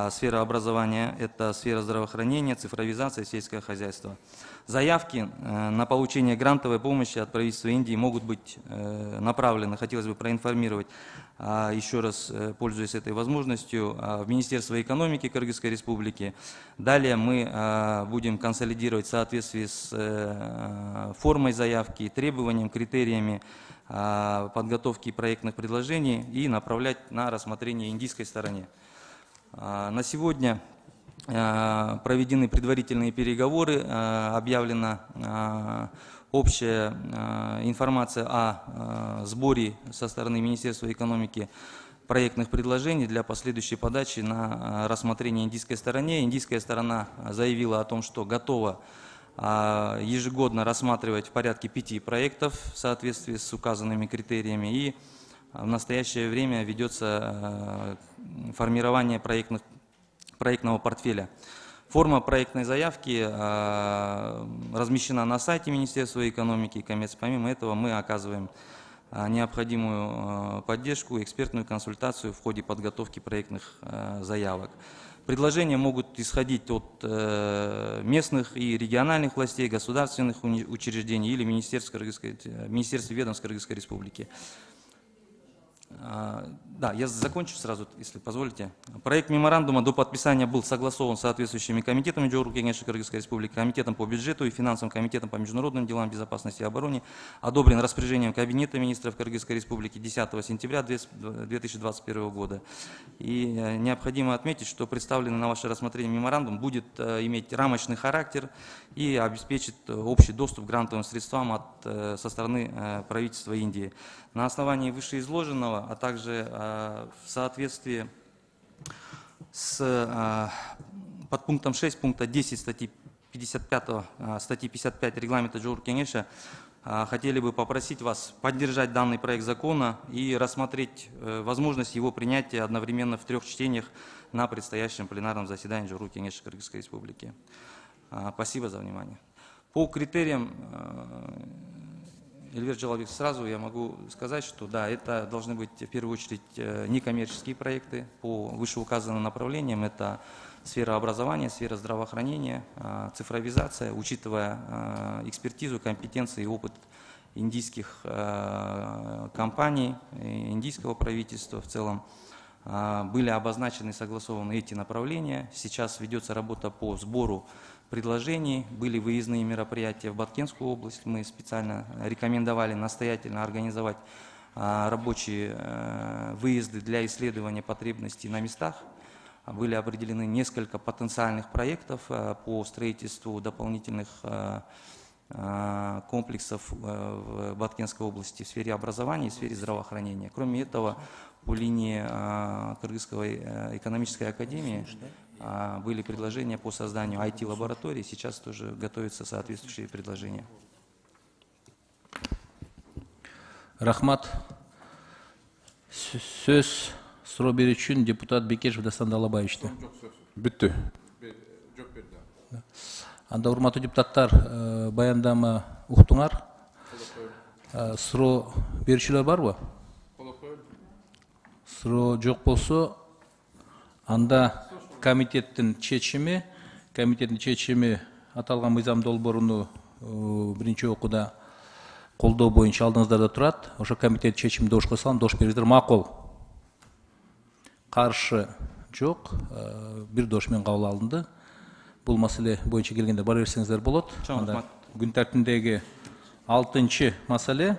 сфера образования, это сфера здравоохранения, цифровизация, сельское хозяйство. Заявки на получение грантовой помощи от правительства Индии могут быть направлены, хотелось бы проинформировать, еще раз пользуясь этой возможностью, в Министерство экономики Кыргызской Республики. Далее мы будем консолидировать в соответствии с формой заявки, требованиям, критериями подготовки проектных предложений и направлять на рассмотрение индийской стороне. На сегодня проведены предварительные переговоры, объявлена общая информация о сборе со стороны Министерства экономики проектных предложений для последующей подачи на рассмотрение индийской стороне. Индийская сторона заявила о том, что готова ежегодно рассматривать в порядке пяти проектов в соответствии с указанными критериями, и в настоящее время ведется формирование проектных, проектного портфеля. Форма проектной заявки размещена на сайте Министерства экономики и коммерции. Помимо этого мы оказываем необходимую поддержку, экспертную консультацию в ходе подготовки проектных заявок. Предложения могут исходить от местных и региональных властей, государственных учреждений или министерств, министерств и ведомств Кыргызской Республики. Да, я закончу сразу, если позволите. Проект меморандума до подписания был согласован с соответствующими комитетами Джоуру Кеңеши Кыргызской Республики, комитетом по бюджету и финансовым комитетом по международным делам, безопасности и обороне, одобрен распоряжением Кабинета министров Кыргызской Республики десятого сентября две тысячи двадцать первого года. И необходимо отметить, что представленный на ваше рассмотрение меморандум будет иметь рамочный характер и обеспечит общий доступ к грантовым средствам от, со стороны правительства Индии. На основании вышеизложенного, а также в соответствии с подпунктом шесть пункта десять статьи пятьдесят пять, статьи пятьдесят пять регламента Джоуру Кеңеша, хотели бы попросить вас поддержать данный проект закона и рассмотреть возможность его принятия одновременно в трех чтениях на предстоящем пленарном заседании Джоуру Кеңеша Кыргызской Республики. Спасибо за внимание. По критериям, Эльвир Джалалбек, сразу я могу сказать, что да, это должны быть в первую очередь некоммерческие проекты по вышеуказанным направлениям. Это сфера образования, сфера здравоохранения, цифровизация, учитывая экспертизу, компетенции и опыт индийских компаний, индийского правительства в целом. Были обозначены и согласованы эти направления. Сейчас ведется работа по сбору предложений. Были выездные мероприятия в Баткенскую область. Мы специально рекомендовали настоятельно организовать рабочие выезды для исследования потребностей на местах. Были определены несколько потенциальных проектов по строительству дополнительных комплексов в Баткенской области в сфере образования и в сфере здравоохранения. Кроме этого, по линии Кыргызской экономической академии были предложения по созданию ай ти-лабораторий. Сейчас тоже готовятся соответствующие предложения. Рахмат. Сөз суроо берүү үчүн депутат Бекешев Дастан Далабаевичте. Бүттү. Анда урматтуу депутаттар, баяндама уктуңар. Суроо берүүчүлөр барбы? Суроо жок болсо, анда комитеттин чечими, комитеттин чечими аталган мыйзам долбооруну биринчи окууда колдоо боюнча алдыңыздарда турат. Ошо комитет чечимди дош койсоң, дош бериңиздер. Макул. Каршы жок, бир дош менен кабыл алынды. Бул маселе боюнча келгенде бара берсеңиздер болот. Анда күн тартибиндеги алтынчы маселе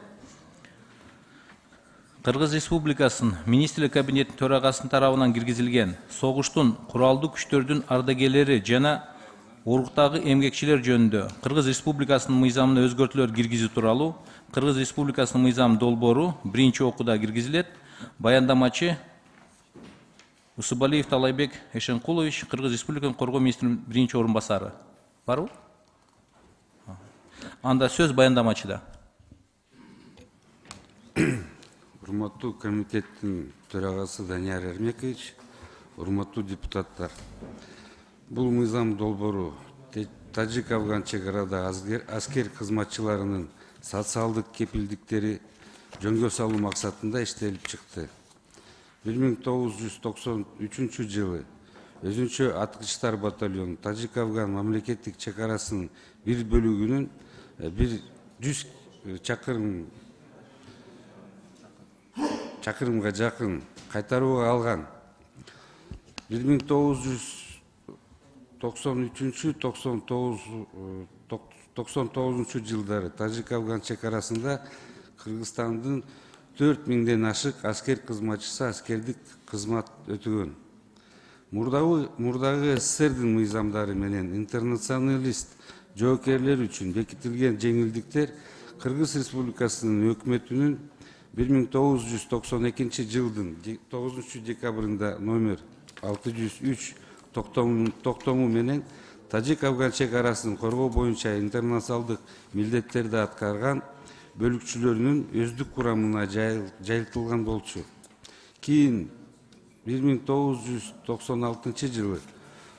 Кыргыз Республикасынын Министрлер Кабинетинин төрагасынын тарабынан киргизилген согуштун куралдуу күчтөрдүн ардагерлери жана оруктагы эмгекчилер жөнүндө Кыргыз Республикасынын мыйзамына өзгөртүүлөр киргизүү тууралуу Кыргыз Республикасынын мыйзам долбоору биринчи окууда киргизилет. Баяндамачы Усубалиев Талайбек Эшенкулович, Кыргыз Республикасынын коргоо министринин биринчи орун басары. Барбы? Анда сөз баяндамачыда. Урматтуу комитеттин төрагасы Данияр Эрмекович, урматтуу депутаттар. Бул мыйзам долбоору Тажик-Афган чек арада аскер кызматчыларынын социалдык кепилдиктери жөнгө салуу максатында иштелип чыкты. бир миң тогуз жүз токсон үчүнчү жылы өзүнчө аткычтар батальону Тажик-Афган мамлекеттик чек арасынын бир бөлүгүнүн бир жүз чакырым чакырымга жакын кайтарууга алган. бир миң тогуз жүз токсон үчүнчү токсон тогузунчу жылдары Тажик-Афган чек арасында Кыргызстандын төрт миңден ашык аскер кызматчысы аскердик кызмат өтөгөн. Мурдагы СССРдин мыйзамдары менен интернационалист жоокерлер үчүн бекитилген жеңилдиктер Кыргыз Республикасынын өкмөтүнүн бир миң тогуз жүз токсон экинчи жылдын тогузунчу декабрында номер алты жүз үч токтому менен Тажик-Афган чек арасын коргоо боюнча интернационалдык милдеттерди аткарган бөлүкчүлөрүнүн өздүк курамына жайылтылган болчу. Кийин бир миң тогуз жүз токсон алтынчы жылы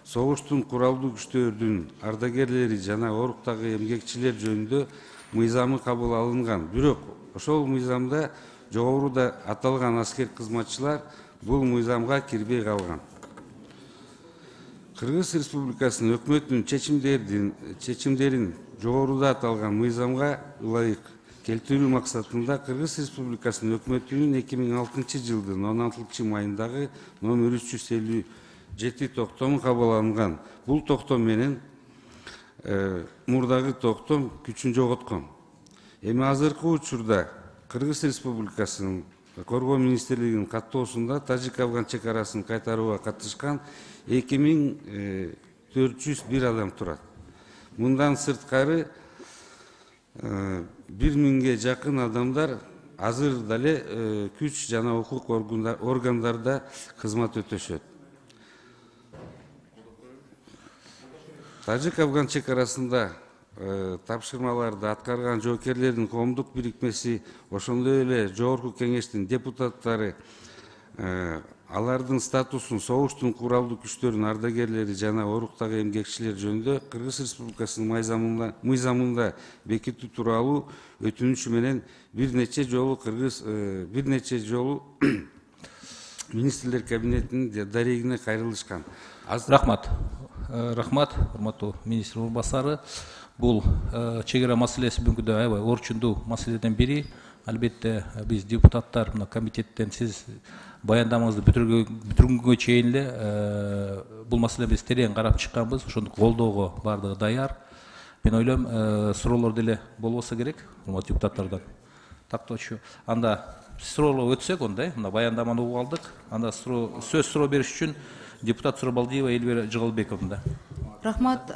согуштун куралдуу күчтөрдүн ардагерлери жана оруктагы эмгекчилер жөнүндө мыйзамы кабыл алынган. Бирок ошол мыйзамда жогоруда аталган аскер кызматчылар бул мыйзамга кирбей калган. Кыргыз Республикасынын өкмөтүнүн чечимдерин чечимдерин жогоруда аталган мыйзамга ылайык келтирүү максатында Кыргыз Республикасынын өкмөтүнүн эки миң алтынчы жылдын он алтынчы майындагы номер үч жүз элүү жети токтому кабыл алынган. Бул токтом менен мурдагы токтом күчүн жоготкон. Эми азыркы учурда Кыргыз Республикасынын коргоо министрлигинин каттоосунда Тажик-Афган чек арасын кайтарууга катышкан эки миң төрт жүз бир адам турат. Мындан сырткары бир миңге жакын адамдар азыр дале күч жана укук органдарда кызмат өтөшөт. Тажик-Афган чек арасында тапшырмаларды аткарган жоокерлердин коомдук бирикмеси, ошондой эле жогорку кеңештин депутаттары алардын статусун согуштун куралдуу күчтөрүнүн ардагерлери жана оруктагы эмгекчилер жөнүндө Кыргыз Республикасынын мыйзамында бекитүү тууралуу өтүнүчү менен бир нече жолу Кыргыз бир нече жолу министрлер кабинетинин дарегине кайрылышкан. Рахмат. Рахмат, урматтуу министр орун басары. Бул чек ара маселеси бүгүнкү аябай орчундуу маселеден бири. албетте биз депутаттар мына комитеттен сиз баяндамаңызды бүтүргөнгө чейин эле бул маселени биз терең карап чыкканбыз, ошондук колдоого баардыгы даяр. Мен ойлойм, суроолор деле болбосо керек урматтуу депутаттардан. Тактоочу. Анда суроолорго өтсөк, ондай, мына баяндаманы угуп алдык. Анда сөз суроо бериш үчүн депутат Сурабалдиева Эльвира Жыгалбековна. Рахмат.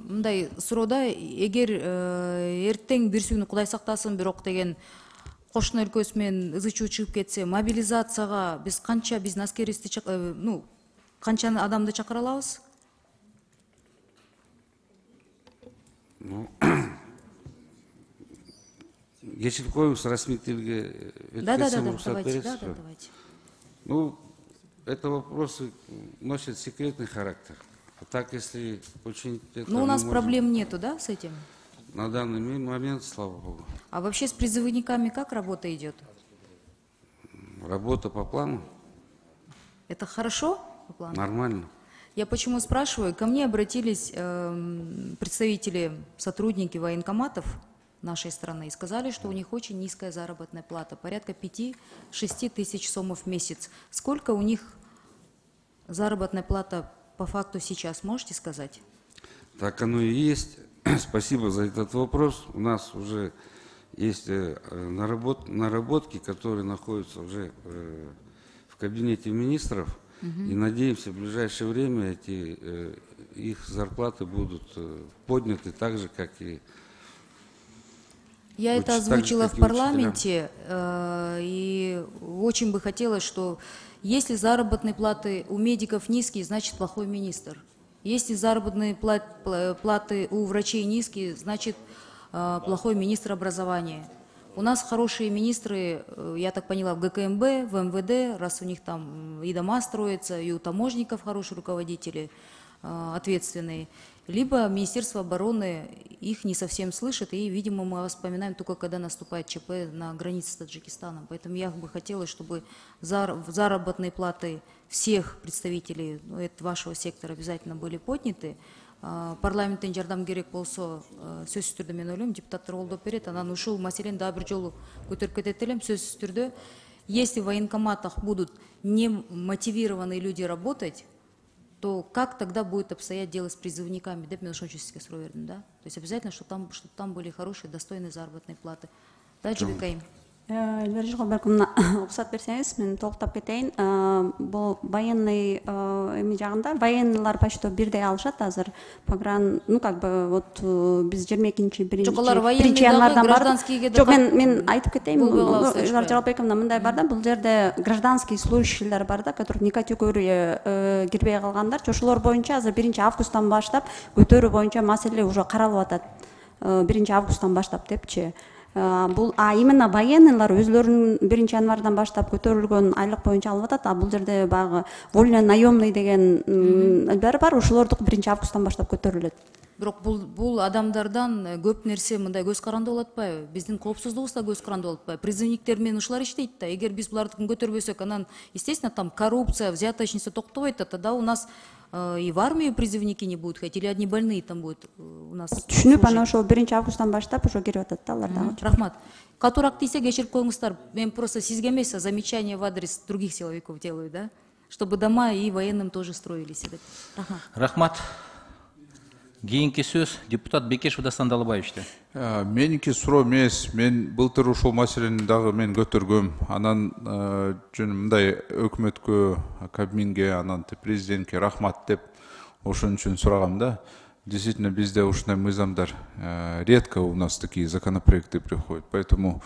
Мындай суроода, эгер эртең бир күнү Кудай сактасын, бирок деген кошуна өлкөсү менен ызы чуу чыгып кетсе, мобилизацияга биз канча биздин аскерибизди, ну, канча адамды чакыра алабыз? Кечирип коюңуз, расмий тилге өткөрсөм уруксат бересизби? Ну, это вопросы носят секретный характер. А так, если очень... Ну, у нас проблем нету, да, с этим? На данный момент, слава богу. А вообще с призывниками как работа идет? Работа по плану. Это хорошо по плану? Нормально. Я почему спрашиваю? Ко мне обратились э, представители, сотрудники военкоматов нашей страны и сказали, что у них очень низкая заработная плата, порядка пяти-шести тысяч сомов в месяц. Сколько у них заработная плата по факту сейчас, можете сказать? Так оно и есть. Спасибо за этот вопрос. У нас уже есть наработ, наработки, которые находятся уже в кабинете министров. Угу. И надеемся, в ближайшее время эти, их зарплаты будут подняты так же, как и... Я это озвучила в парламенте, э, и очень бы хотелось, что если заработные платы у медиков низкие, значит плохой министр. Если заработные платы у врачей низкие, значит э, плохой министр образования. У нас хорошие министры, я так поняла, в ГКМБ, в МВД, раз у них там и дома строятся, и у таможенников хорошие руководители, э, ответственные. Либо Министерство обороны их не совсем слышит, и, видимо, мы вспоминаем только, когда наступает ЧП на границе с Таджикистаном. Поэтому я бы хотела, чтобы заработные платы всех представителей ну, это вашего сектора обязательно были подняты. Парламенттен жардам керек болсо, сөзсүз түрдө мен ойлойм, депутаттар колдоп берет, анан ушул маселени дагы бир жолу көтөрүп кетет элем, сөзсүз түрдө. Если в военкоматах будут немотивированные люди работать, то как тогда будет обстоять дело с призывниками? Деп мен ошон үчүн сизге суроо бердим, да? То есть обязательно, чтобы там, чтобы там были хорошие, достойные заработные платы. Да, Жибекайым? Эльвира Жыгалбековна, уруксат берсеңиз, мен толуктап кетейин. Бул военный эми жагында военныйлар почти бирдей алышат азыр. Погран, ну как бы вот биз жыйырма экинчи биринчи январдан бардык. Жок, мен мен айтып кетейин. Эльвира Жыгалбековна, мындай бар да, бул жерде гражданский служащийлер бар да, которые не категория кирбей калгандар. Ошолор боюнча азыр биринчи августтан баштап көтөрүү боюнча маселе уже каралып атат. биринчи августтан баштап депчи. Бул а именно военныйлар өзлөрүнүн биринчи январдан баштап көтөрүлгөн айлык боюнча алып атат. А бул жерде багы вольно наемный деген баары бар, ошолордук биринчи августтан баштап көтөрүлөт. Бирок бул бул адамдардан көп нерсе мындай көз каранды болуп атпайбы? Биздин коопсуздугубуз да көз каранды болуп атпайбы? Призывниктер менен ушулар иштейт да. Эгер биз булардыкын көтөрбөсөк, анан естественно там коррупция, взяточница токтобойт, тогда у нас и в армию призывники не будут ходить, или одни больные там будут у нас. Түшүнүп, анан ошо биринчи августтан баштап ошо кирип атат да алар дагы. Рахмат. Катуураак тийсе кечирип коюңуздар. Мен просто сизге эмес, а замечание в адрес других силовиков делаю, да? Чтобы дома и военным тоже строились. Рахмат. Рахмат. Кийинки сөз депутат Бекешев Дастан Далабаевичте. Меники суроо эмес, мен былтыр ушул маселени дагы мен көтөргөм. Анан жөн мындай өкмөткө, Кабминге, анан президентке рахмат деп ошон үчүн сурагам да. Действительно, бизде ушундай мыйзамдар редко у нас такие законопроекты приходят. Поэтому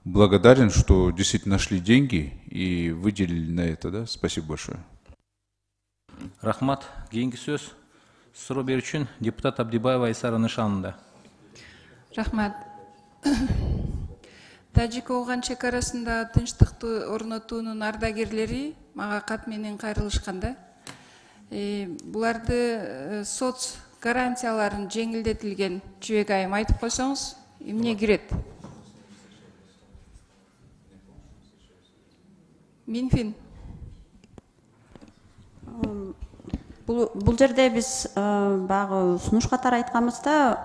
благодарен, что действительно нашли деньги и выделили на это, да. Спасибо большое. Рахмат. Кийинки сөз суроо берүү үчүн депутат Абдибаева Айсара Нышанында. Рахмат. Тажик-Ооган чекарасында тынчтыкты орнотуунун ардагерлери мага кат менен кайрылышкан да. Буларды соц гарантияларын жеңилдетилген Жибекайым айтып койсоңуз, эмне кирет? Минфин. Бул, бул жерде биз баягы сунуш катары айтканыбызда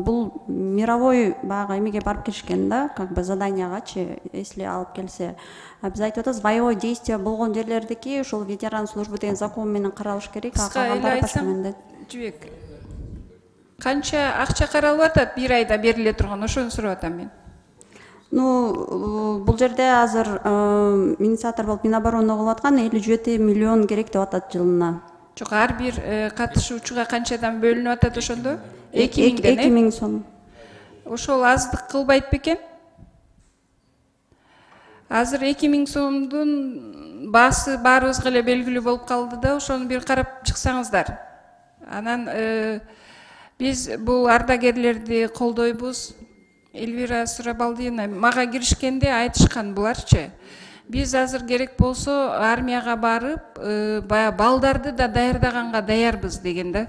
бул мировой баягы эмеге барып келишкен да, как бы заданиягачы, если алып келсе. Биз айтып атабыз, боевой действие болгон жерлердики ушул ветеран службы деген закон менен каралыш керек. Кыска эле айтсам, Жибек, канча акча каралып атат бир айда бериле турган, ошону сурап атам мен. Ну, бул жерде азыр инициатор болуп Минобороны кылып аткан элүү жети миллион керек деп атат жылына. Жок, ар бир катышуучуга канчадан бөлүнүп атат ошондо? эки миңден. эки миң сом. Ошол аздык кылбайт бекен? Азыр эки миң сомдун баасы баарыбызга эле белгилүү болуп калды да, ошону бир карап чыксаңыздар. Анан биз бул ардагерлерди колдойбуз. Эльвира Сурабалдиевна мага киришкенде айтышкан буларчы. Биз азыр керек болсо армияга барып, баягы балдарды да даярдаганга даярбыз деген да.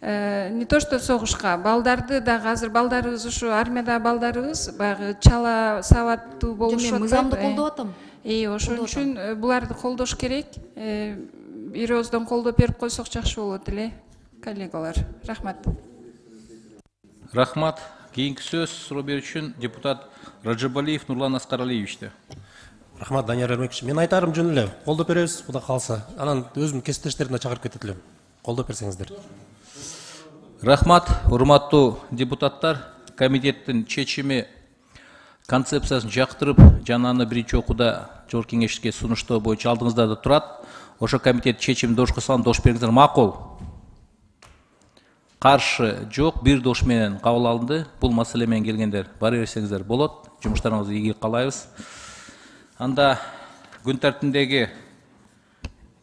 Не то что согушка, балдарды да азыр балдарыбыз ушу армияда балдарыбыз баягы чала сабаттуу болушуп атат. Мен мыйзамды колдоп атам. И ошон үчүн буларды колдош керек. Бир ооздон колдоп берип койсок жакшы болот эле, коллегалар. Рахмат. Рахмат. Кийинки сөз суроо берүүчүн депутат Раджабалиев Нурлан Аскаралиевичте. Рахмат, Данияр Эрмекович. Мен айтарым жөн эле, колдоп беребиз, кудай калса. Анан өзүмдүн кесиптештеримди чакырып кетет элем. Колдоп берсеңиздер. Рахмат, урматтуу депутаттар. Комитеттин чечими концепциясын жактырып, жана аны биринчи окууда Жогорку Кеңешке сунуштоо боюнча алдыңызда да турат. Ошо комитет чечимин дошко салам, дош бериңиздер. Макул. Каршы жок, бир дош менен кабыл алынды. Бул маселе менен келгендер бара берсеңиздер болот. Жумуштарыңызды ийгилик каалайбыз. Анда күн тартибиндеги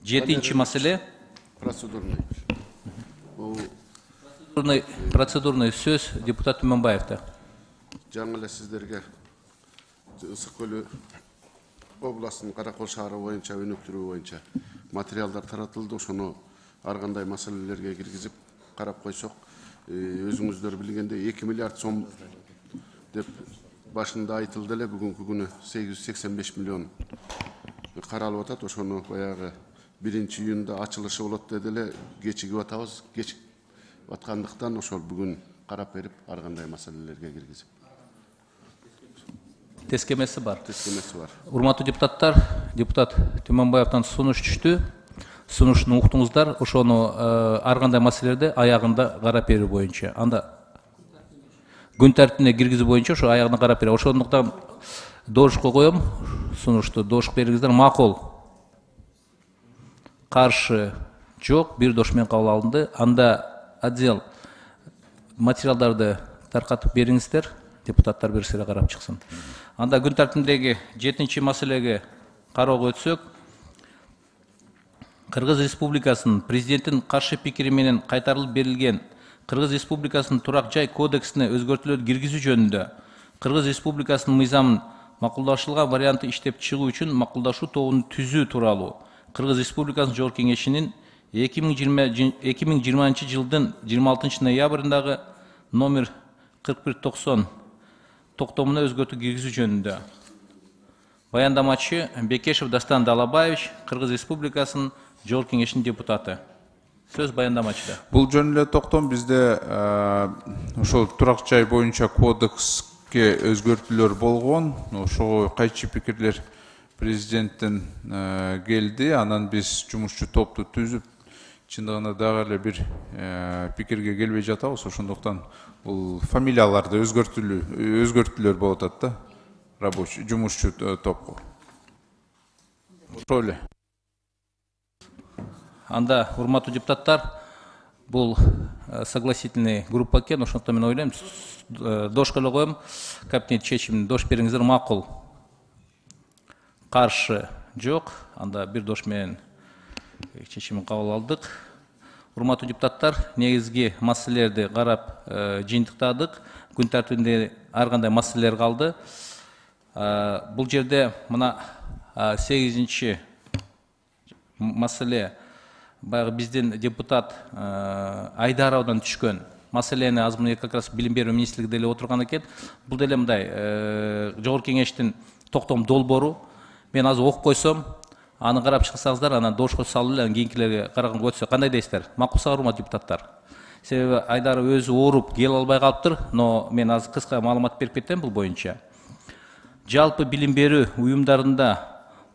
жетинчи маселе процедурный. Процедурный процедурный сөз депутат Түмөнбаевда. Жаңы эле сиздерге Ысык көлү областынын Каракол шаары боюнча өнүктүрүү боюнча материалдар таратылды. Ошону ар кандай маселелерге киргизип карап койсок, өзүңүздөр билгендей эки миллиард сом деп башында айтылды эле, бүгүнкү күнү сегиз жүз сексен беш миллион каралып атат. Ошону баягы биринчи июнда ачылышы болот деди эле, кечигип атабыз. Кечигип аткандыктан ошол бүгүн карап берип ар кандай маселелерге киргизип. Тескемеси бар. Тескемеси бар. Урматтуу депутаттар, депутат Түмөнбаевден сунуш түштү. Сунушун уктуңуздар, ошону ар кандай маселелерди аягында карап берүү боюнча. Анда күн тартибине киргизүү боюнча ошо аягына карап берүү. Ошондуктан дошко коем, сунушту дош бериңиздер. Макул. Каршы жок, бир дош менен кабыл алынды. Анда отдел материалдарды таркатып бериңиздер, депутаттар бир сыйра карап чыксын. Анда күн тартибиндеги жетинчи маселеге кароого өтсөк, Кыргыз Республикасынын президенттин каршы пикири менен кайтарылып берилген Кыргыз Республикасынын турак жай кодексине өзгөртүүлөр киргизүү жөнүндө Кыргыз Республикасынын мыйзамын макулдашылган варианты иштеп чыгуу үчүн макулдашуу тобун түзүү тууралуу Кыргыз Республикасынын Жогорку Кеңешинин эки миң жыйырманчы жылдын жыйырма алтынчы ноябрындагы номер кырк бир токсон токтомуна өзгөртүү киргизүү жөнүндө. Баяндамачы Бекешев Дастан Далабаевич, Кыргыз Республикасынын Жогорку Кеңешинин депутаты. Сөз баяндамачыда. Бул жөн эле токтом бизде ошол турак жай боюнча кодекске өзгөртүүлөр болгон. Ошого кайчы пикирлер президенттен келди. Анан биз жумушчу топту түзүп, чындыгында дагы эле бир пикирге келбей жатабыз. Ошондуктан бул фамилияларды өзгөртүүлөр өзгөртүүлөр болуп атат да. Рабочий, жумушчу топко. Ошол эле. Анда, урматтуу депутаттар, бул согласительный группа экен, ошондуктан мен ойлойм, дошко эле коем, кабинет чечимин дош бериңиздер. Макул. Каршы жок, анда бир дош менен чечимин кабыл алдык. Урматтуу депутаттар, негизги маселелерди карап жыйынтыктадык. Күн тартибинде ар кандай маселелер калды. Бул жерде мына сегизинчи маселе баягы биздин депутат Айдаровдон түшкөн маселени азыр мына как раз билим берүү министрлиги деле отурган экен. Бул деле мындай Жогорку Кеңештин токтом долбоору. Мен азыр окуп койсом, аны карап чыксаңыздар, анан дошко салып эле кийинкилерге караган өтсө кандай дейсиздер? Макулсызбы, урматтуу депутаттар? Себеби Айдар өзү ооруп келе албай калыптыр, но мен азыр кыска маалымат берип кетем бул боюнча. Жалпы билим берүү уюмдарында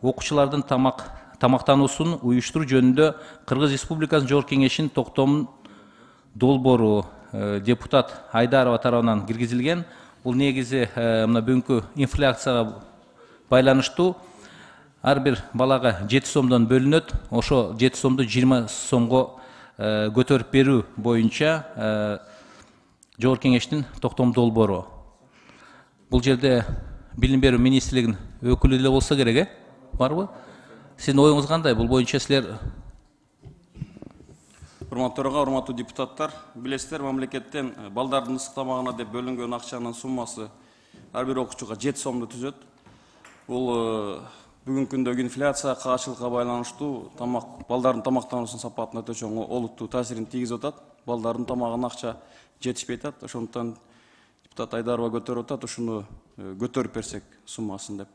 окуучулардын тамак тамактануусун уюштуруу жөнүндө Кыргыз Республикасынын Жогорку Кеңешинин токтом долбоору депутат Айдарова тарабынан киргизилген. Бул негизи мына бүгүнкү инфляцияга байланыштуу ар бир балага жети сомдон бөлүнөт. Ошо жети сомду жыйырма сомго көтөрүп берүү боюнча Жогорку Кеңештин токтом долбоору. Бул жерде билим берүү министрлигинин өкүлү деле болсо керек, э? Барбы? Сиздин оюңуз кандай? Бул боюнча силер Урматтуу төрага, урматтуу депутаттар, билесиздер, мамлекеттен балдардын ысык тамагына деп бөлүнгөн акчанын суммасы ар бир окуучуга жети сомду түзөт. Бул бүгүнкү күндөгү инфляция каачылыкка байланыштуу тамак балдардын тамактануусунун сапатына өтө чоң олуттуу таасирин тийгизип атат. Балдардын тамагына акча жетишпей атат. Ошондуктан депутат Айдарова көтөрүп атат, ушуну көтөрүп берсек суммасын деп.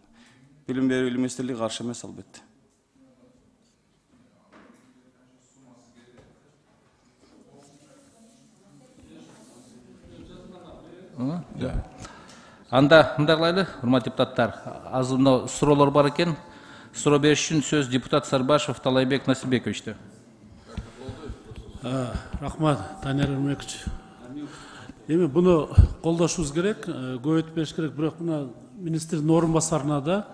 Билим берүү министрлиги каршы эмес, албетте. Анда мындай кылайлы, урматтуу депутаттар, азыр мына суроолор бар экен. Суроо бериш үчүн сөз депутат Сарбашев Талайбек Насибековичте. Рахмат, Данияр Өрмекович. Эми буну колдошубуз керек, көбөйтүп бериш керек, бирок мына министрдин орун басарына да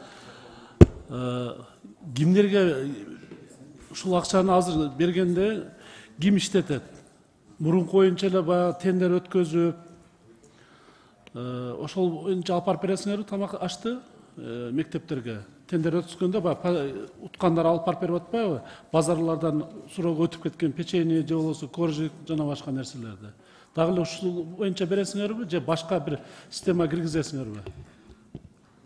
кимдерге ушул акчаны азыр бергенде ким иштетет? Мурунку боюнча эле баягы тендер өткөзүп, ошол боюнча алып барып бересиңерби тамак ашты мектептерге? Тендер өткөзгөндө баягы уткандар алып барып берип атпайбы? Базарлардан суроого өтүп кеткен печенье же болбосо коржик жана башка нерселерди. Дагы эле ушул боюнча бересиңерби же башка бир система киргизесиңерби?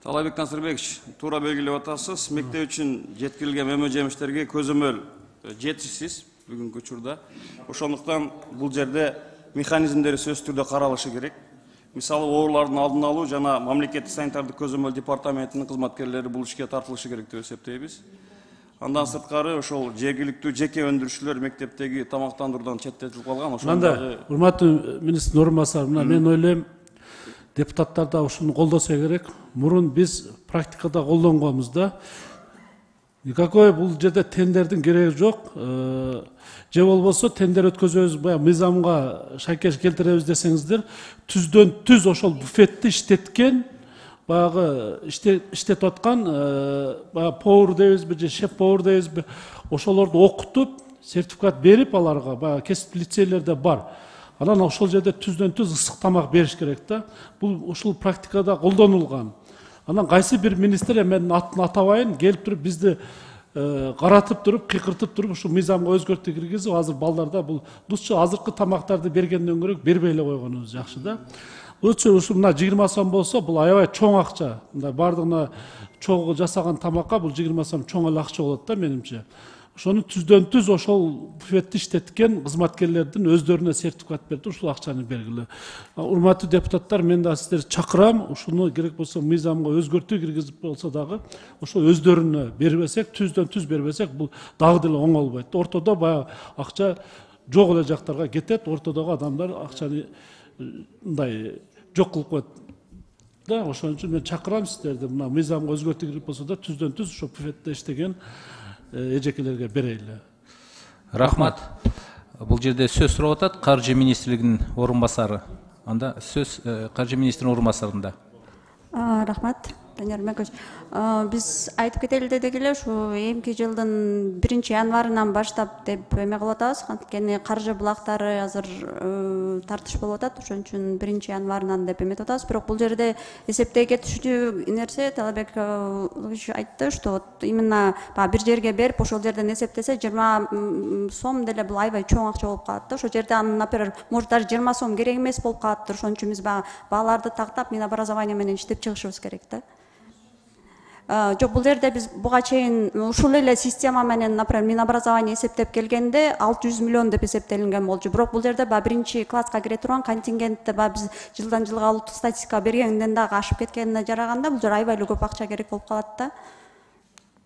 Талайбек Насырбекович, туура белгилеп атасыз. Мектеп үчүн жеткирилген мөмө жемиштерге көзөмөл жетишсиз бүгүнкү учурда. Ошондуктан бул жерде механизмдери сөзсүз түрдө каралышы керек. Мисалы, оорулардын алдын алуу жана мамлекеттик санитардык көзөмөл департаментинин кызматкерлери бул ишке тартылышы керек деп эсептейбиз. Андан сырткары ошол жергиликтүү жеке өндүрүүчүлөр мектептеги тамактандыруудан четтетилип калган. Ошондо урматтуу министрдин орун басары, мына мен ойлойм, депутаттар да ушуну колдосо керек. Мурун биз практикада колдонгонбуз да. Никакой бул жерде тендердин кереги жок. Же болбосо тендер өткөзөбүз, баягы мыйзамга шайкеш келтиребиз десеңиздер, түздөн түз ошол буфетти иштеткен, баягы иштетип аткан баягы повар дейбизби же шеф повар дейбизби, ошолорду окутуп, сертификат берип аларга, баягы кесип лицейлерде бар. Анан ошол жерде түздөн түз ысык тамак бериш керек да. Бул ушул практикада колдонулган. Анан кайсы бир министр, мен атын атабайын, келип туруп бизди каратып туруп, кыйкыртып туруп ушу мыйзамга өзгөртүү киргизип, азыр балдарда бул дусчу азыркы тамактарды бергенден көрө бербей эле койгонубуз жакшы да. Өчө ушу мына жыйырма сом болсо, бул аябай чоң акча. Мындай бардыгына чогуу жасаган тамакка бул жыйырма сом чоң эле акча болот да менимче. Ошону түздөн түз ошол буфетти иштеткен кызматкерлердин өздөрүнө сертификат берип ушул акчаны бергиле. Урматтуу депутаттар, мен да сиздерди чакырам, ушуну керек болсо мыйзамга өзгөртүү киргизип болсо дагы ошо өздөрүнө бербесек, түздөн түз бербесек, бул дагы деле оңолбойт. Ортодо баягы акча жок эле жактарга кетет, ортодогу адамдар акчаны мындай жок кылып коет. Да, ошон үчүн мен чакырам сиздерди, мына мыйзамга өзгөртүү кирип болсо да түздөн түз ошо буфетте иштеген эжекелерге берели. Рахмат. Бул жерде сөз сурап атат Каржы министрлигинин орун басары. Анда сөз Каржы министринин орун басарында. Рахмат, Данияр Өрмекович. Биз айтып кетели дедик эле, ушу эмки жылдын биринчи январынан баштап деп эме кылып атабыз. Анткени каржы булактары азыр тартыш болуп атат, ошон үчүн биринчи январынан деп эметип атабыз. Бирок бул жерде эсептей кетишүү нерсе Талайбек айтты, что вот именно бир жерге берип, ошол жерден эсептесе жыйырма сом деле бул аябай чоң акча болуп калат да. Ошол жерде анын, например, может даже жыйырма сом керек эмес болуп калаттыр. Ошон үчүн биз бааларды тактап Минобразование менен иштеп чыгышыбыз керек да. Жок, бул жерде биз буга чейин ушул эле система менен, например, Минобразование эсептеп келгенде алты жүз миллион деп эсептелинген болчу. Бирок бул жерде баягы биринчи класска кире турган контингентти баягы биз жылдан жылга улуттук статистика бергенден дагы ашып кеткенине жараганда, бул жер аябай эле көп акча керек болуп калат да.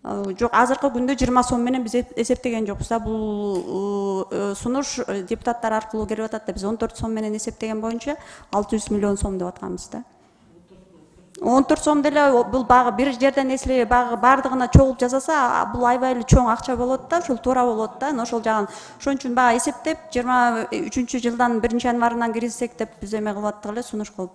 Жок, азыркы күндө жыйырма сом менен биз эсептеген жокпуз да. Бул сунуш депутаттар аркылуу келип атат да. Биз он төрт сом менен эсептеген боюнча алты жүз миллион сом деп атканбыз да. он төрт сом деле бул багы бир жерден эслеп багы бардыгына чогулуп жасаса, бул аябай эле чоң акча болот да, ошол туура болот да. Ошол жагын ошон үчүн бага эсептеп жыйырма үчүнчү жылдан биринчи январынан киргизсек деп биз эме кылып аттык эле, сунуш кылып.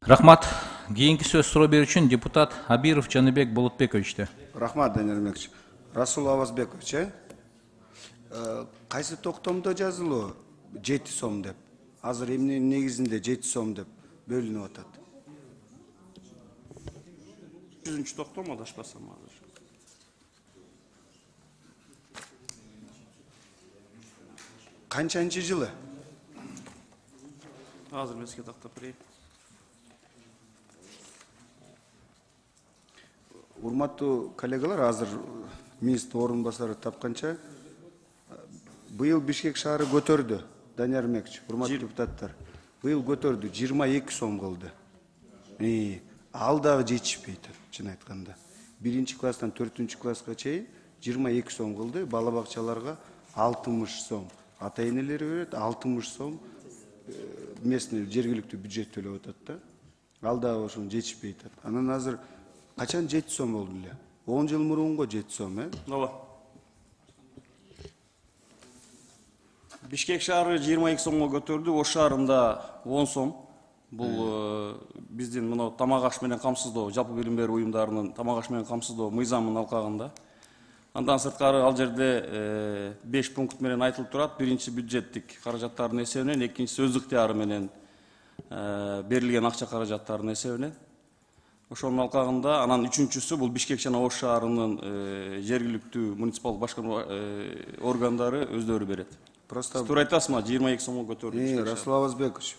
Рахмат. Кийинки сөз суроо берүү үчүн депутат Абиров Жаныбек Болотбековичте. Рахмат, Данияр Мекич. Расул Авазбекович, э? Кайсы токтомдо жазылуу жети сом деп? Азыр эмненин негизинде жети сом деп бөлүнүп атат? жүзүнчү токтом адашпасам азыр. Канчанчы жылы? Азыр мен сизге тактап берейин. Урматтуу коллегалар, азыр министр орун басары тапканча быйыл Бишкек шаары көтөрдү. Данияр Мекич, урматтуу депутаттар, быйыл көтөрдү, жыйырма эки сом кылды. Ал дагы жетишпейт, чын айтканда. Биринчи класстан төртүнчү класска чейин жыйырма эки сом кылды, бала бакчаларга алтымыш сом. Ата энелери берет, алтымыш сом местный жергиликтүү бюджет төлөп атат да. Ал дагы ошону жетишпейт. Анан азыр качан жети сом болду эле? он жыл мурунго жети сом, э? Ооба. Бишкек шаары жыйырма эки сомго көтөрдү, Ош шаарында он сом. Бул биздин мына тамак аш менен камсыздоо, жалпы билим берүү уюмдарынын тамак аш менен камсыздоо мыйзамынын алкагында. Андан сырткары ал жерде беш пункт менен айтылып турат. Биринчи бюджеттик каражаттардын эсебинен, экинчиси өз ыктыяры менен берилген акча каражаттарынын эсебинен. Ошонун алкагында анан үчүнчүсү бул Бишкек жана Ош шаарынын жергиликтүү муниципалдык башкаруу органдары өздөрү берет. Просто туура айтасызбы, жыйырма эки сомго көтөрдү. Расул Авазбекович,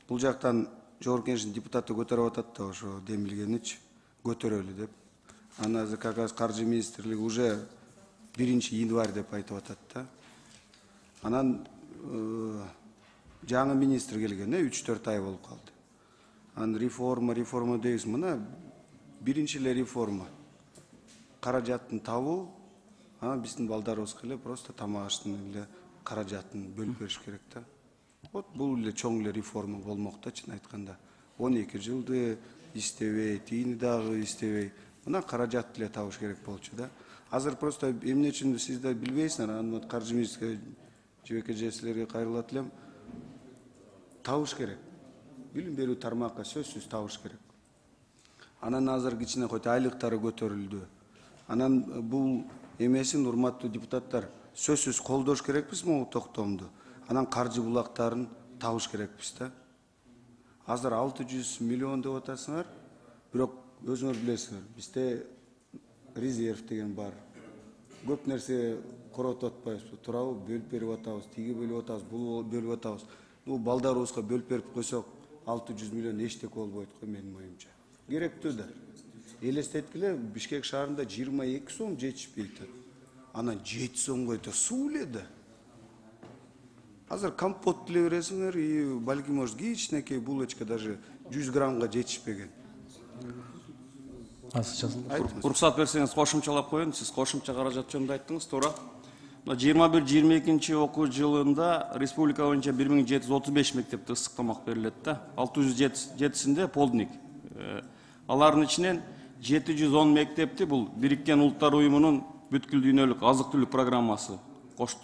бул жактан жогорку кеңештин депутаты көтөрүп атат да, ошо демилгеничи көтөрөлү деп. Анан азыр как раз каржы министрлиги уже биринчи январь деп айтып атат да. Анан жаңы министр келген, үч төрт ай болуп калды. Анан реформа, реформа дейбиз, мына биринчи эле реформа. Каражатын табуу, анан биздин балдарыбызга эле просто тамак аштын эле каражатын бөлүп бериш керек да. Вот бул эле чоң эле реформа болмок да, чын айтканда. он эки жылды иштебей, тийини дагы иштебей, мына каражат эле табыш керек болчу да. Азыр просто эмне үчүн сиз да билбейсиздер, анан каржы министрге, жебеке же силерге кайрылат элем. Табыш керек. Билим берүү тармакка сөзсүз табыш керек. Анан азыр кичине койт айлыктары көтөрүлдү. Анан бул эмесин, урматтуу депутаттар, сөзсүз колдош керекпиз могу токтомду. Анан каржы булактарын табыш керекпиз да. Азыр алты жүз миллион деп атасыңар, бирок өзүңөр билесиңер, бизде резерв деген бар. Көп нерсе коротуп атпайбызбы, туурабы? Бөлүп берип атабыз, тиги бөлүп атабыз, бул бөлүп атабыз. Бул балдарыбызга бөлүп берип койсок, алты жүз миллион эчтеке болбойт го менин оюмча. Керектүү да. Элестеткиле, Бишкек шаарында жыйырма эки сом жетишпейт. Анан жети сомго өтө суу эле да. Азыр компот деле бересиңер, и балким может кичинекей булочка даже жүз граммга жетишпеген. Уруксат берсеңиз кошумчалап коеюн, сиз кошумча каражат жөнүндө айттыңыз, туура. жыйырма бир жыйырма экинчи окуу жылында республика боюнча бир миң жети жүз отуз беш мектепте ысык тамак берилет да. алты жүз жетисинде полдник. Алардын ичинен жети жүз он мектепти бул Бириккен Улуттар уюмунун бүткүл дүйнөлүк азык түлүк программасы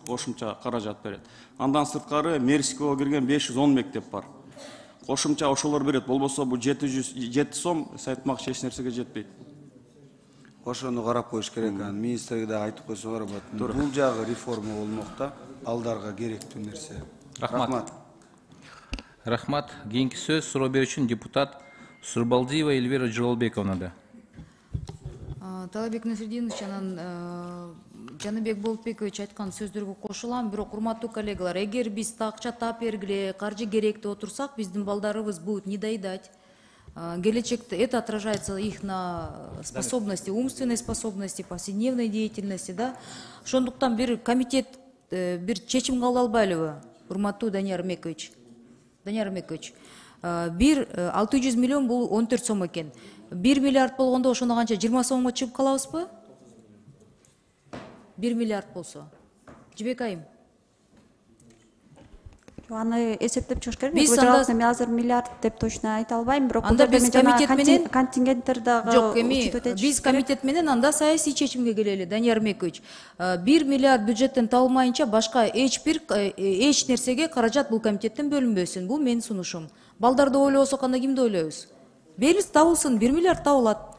кошумча каражат берет. Андан сырткары Мерсикого кирген беш жүз он мектеп бар. Кошумча ошолор берет. Болбосо бул жети жүз жети сом сайтмак эч нерсеге жетпейт. Ошону карап коюш керек. Министрге да айтып койсоңор, бул жагы реформа болмок да, балдарга керектүү нерсе. Рахмат. Рахмат. Кийинки сөз суроо берүү үчүн депутат Сурбалдиева Эльвира Жололбековна. Талабек Насреддинович анан Жаныбек Болотбекович айткан сөздөргө кошулам, бирок урматтуу коллегалар, эгер биз акча тап бергиле, каржы керек деп отурсак, биздин балдарыбыз будут недоедать. Келечекте это отражается их на способности, умственной способности, повседневной деятельности, да. Ошондуктан бир комитет бир чечим кабыл албайлыбы, урматтуу Данияр Мекович? Данияр Мекович, бир алты жүз миллион бул он төрт сом экен. бир миллиард болгондо ошондо канча жыйырма сомго чыгып калабызбы? бир миллиард болсо. Жибек айым. Аны эсептеп чыгыш керек. Биз анда мен азыр миллиард деп точно айта албайм, бирок анда биз комитет менен контингенттер дагы жок, эми биз комитет менен анда саясий чечимге келели, Данияр Мекович. бир миллиард бюджеттен табылмайынча башка эч бир эч нерсеге каражат бул комитеттен бөлүнбөсүн. Бул менин сунушум. Балдарды ойлобосок анда кимди ойлойбуз? Берилиз, табылсын, бир миллиард табылат.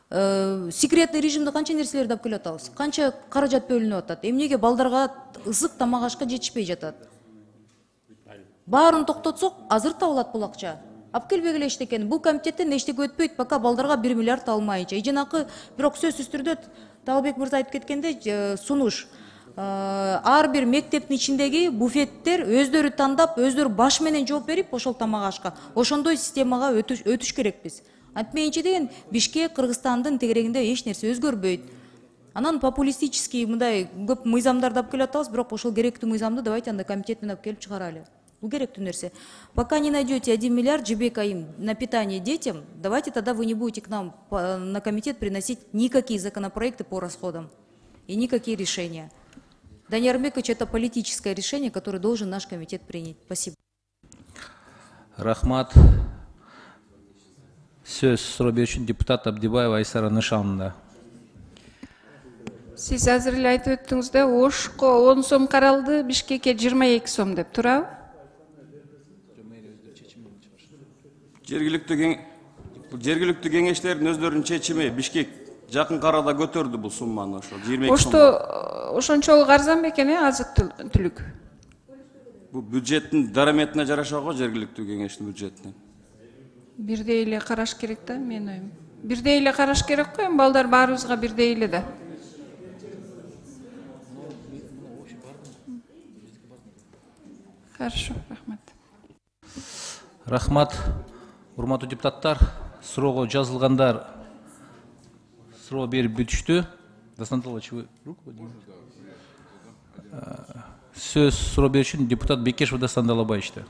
Секретный режимде канча нерселерди алып келип атабыз? Канча каражат бөлүнүп атат? Эмнеге балдарга ысык тамак ашка жетишпей жатат? Баарын токтотсок, азыр табылат бул акча. Алып келбегиле эчтекени. Бул комитеттен эчтеке өтпөйт, пока балдарга бир миллиард алынмайынча. Иженакы, бирок сөзсүз түрдө Талбек мырза айтып кеткендей, сунуш. Ар бир мектептин ичиндеги буфеттер өздөрү тандап, өздөрү баш менен жооп берип, ошол тамак ашка. Ошондой системага өтүш, өтүш керекпиз. Антмейинче деген Бишкек, Кыргызстандын тегерегинде эч нерсе өзгөрбөйт. Анан популистический мындай көп мыйзамдарды алып келип атабыз, бирок ошол керектүү мыйзамды давайте анда комитеттен алып келип чыгаралы. Бул керектүү нерсе. Пока не найдете один миллиард, Жибек айым, на питание детям, давайте тогда вы не будете к нам на комитет приносить никакие законопроекты по расходам и никакие решения. Данияр Мекович, это политическое решение, которое должен наш комитет принять. Спасибо. Рахмат. Сөз суроо берүүчү депутат Абдибаева Айсара Нышановна. Сиз азыр эле айтып өттүңүз да, Ошко он сом каралды, Бишкекке жыйырма эки сом деп турабы? Жергиликтүү кеңештердин өздөрүнүн чечими, Бишкек жакын арада көтөрдү бул сумманы, ошо жыйырма эки сом. Ошто ошончолук арзан бекен, э, азык түлүк? Бул бюджеттин дараметине жараша го, жергиликтүү кеңештин бюджетине. Бирдей эле караш керек да, менин оюм. Бирдей эле караш керек го, эми балдар баарыбызга бирдей эле да. Хорошо, рахмат. Рахмат. Урматтуу депутаттар, суроого жазылгандар суроо берип бүтүштү. Дастан Талович, вы руку поднимите. Сөз суроо берүүчү депутат Бекешев Дастан Талабаевичте.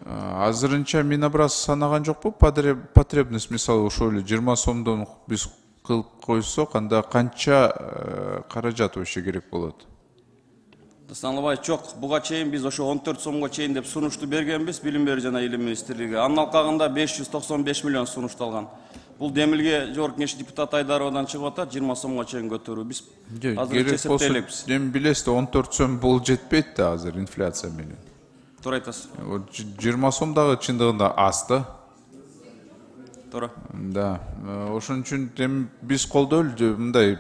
Азырынча Минобраз санаган жокпу? Потребность, мисалы, ошол эле жыйырма сомдон биз кылып койсок, анда канча каражат вообще керек болот? Дастан жок, буга чейин биз ошо он төрт сомго чейин деп сунушту бергенбиз, Билим берүү жана Илим министрлиги. Анын алкагында беш жүз токсон беш миллион сунушталган. Бул демилге жогорку кеңеш депутаты Айдаровадан чыгып атат, жыйырма сомго чейин көтөрүү. Биз азыр эсептелебиз. Эми билесиз да, он төрт сом бул жетпейт да азыр инфляция менен. Туура айтасыз. жыйырма сом дагы чындыгында аз да. Туура. Да. Ошон үчүн эми биз колдойлу, мындай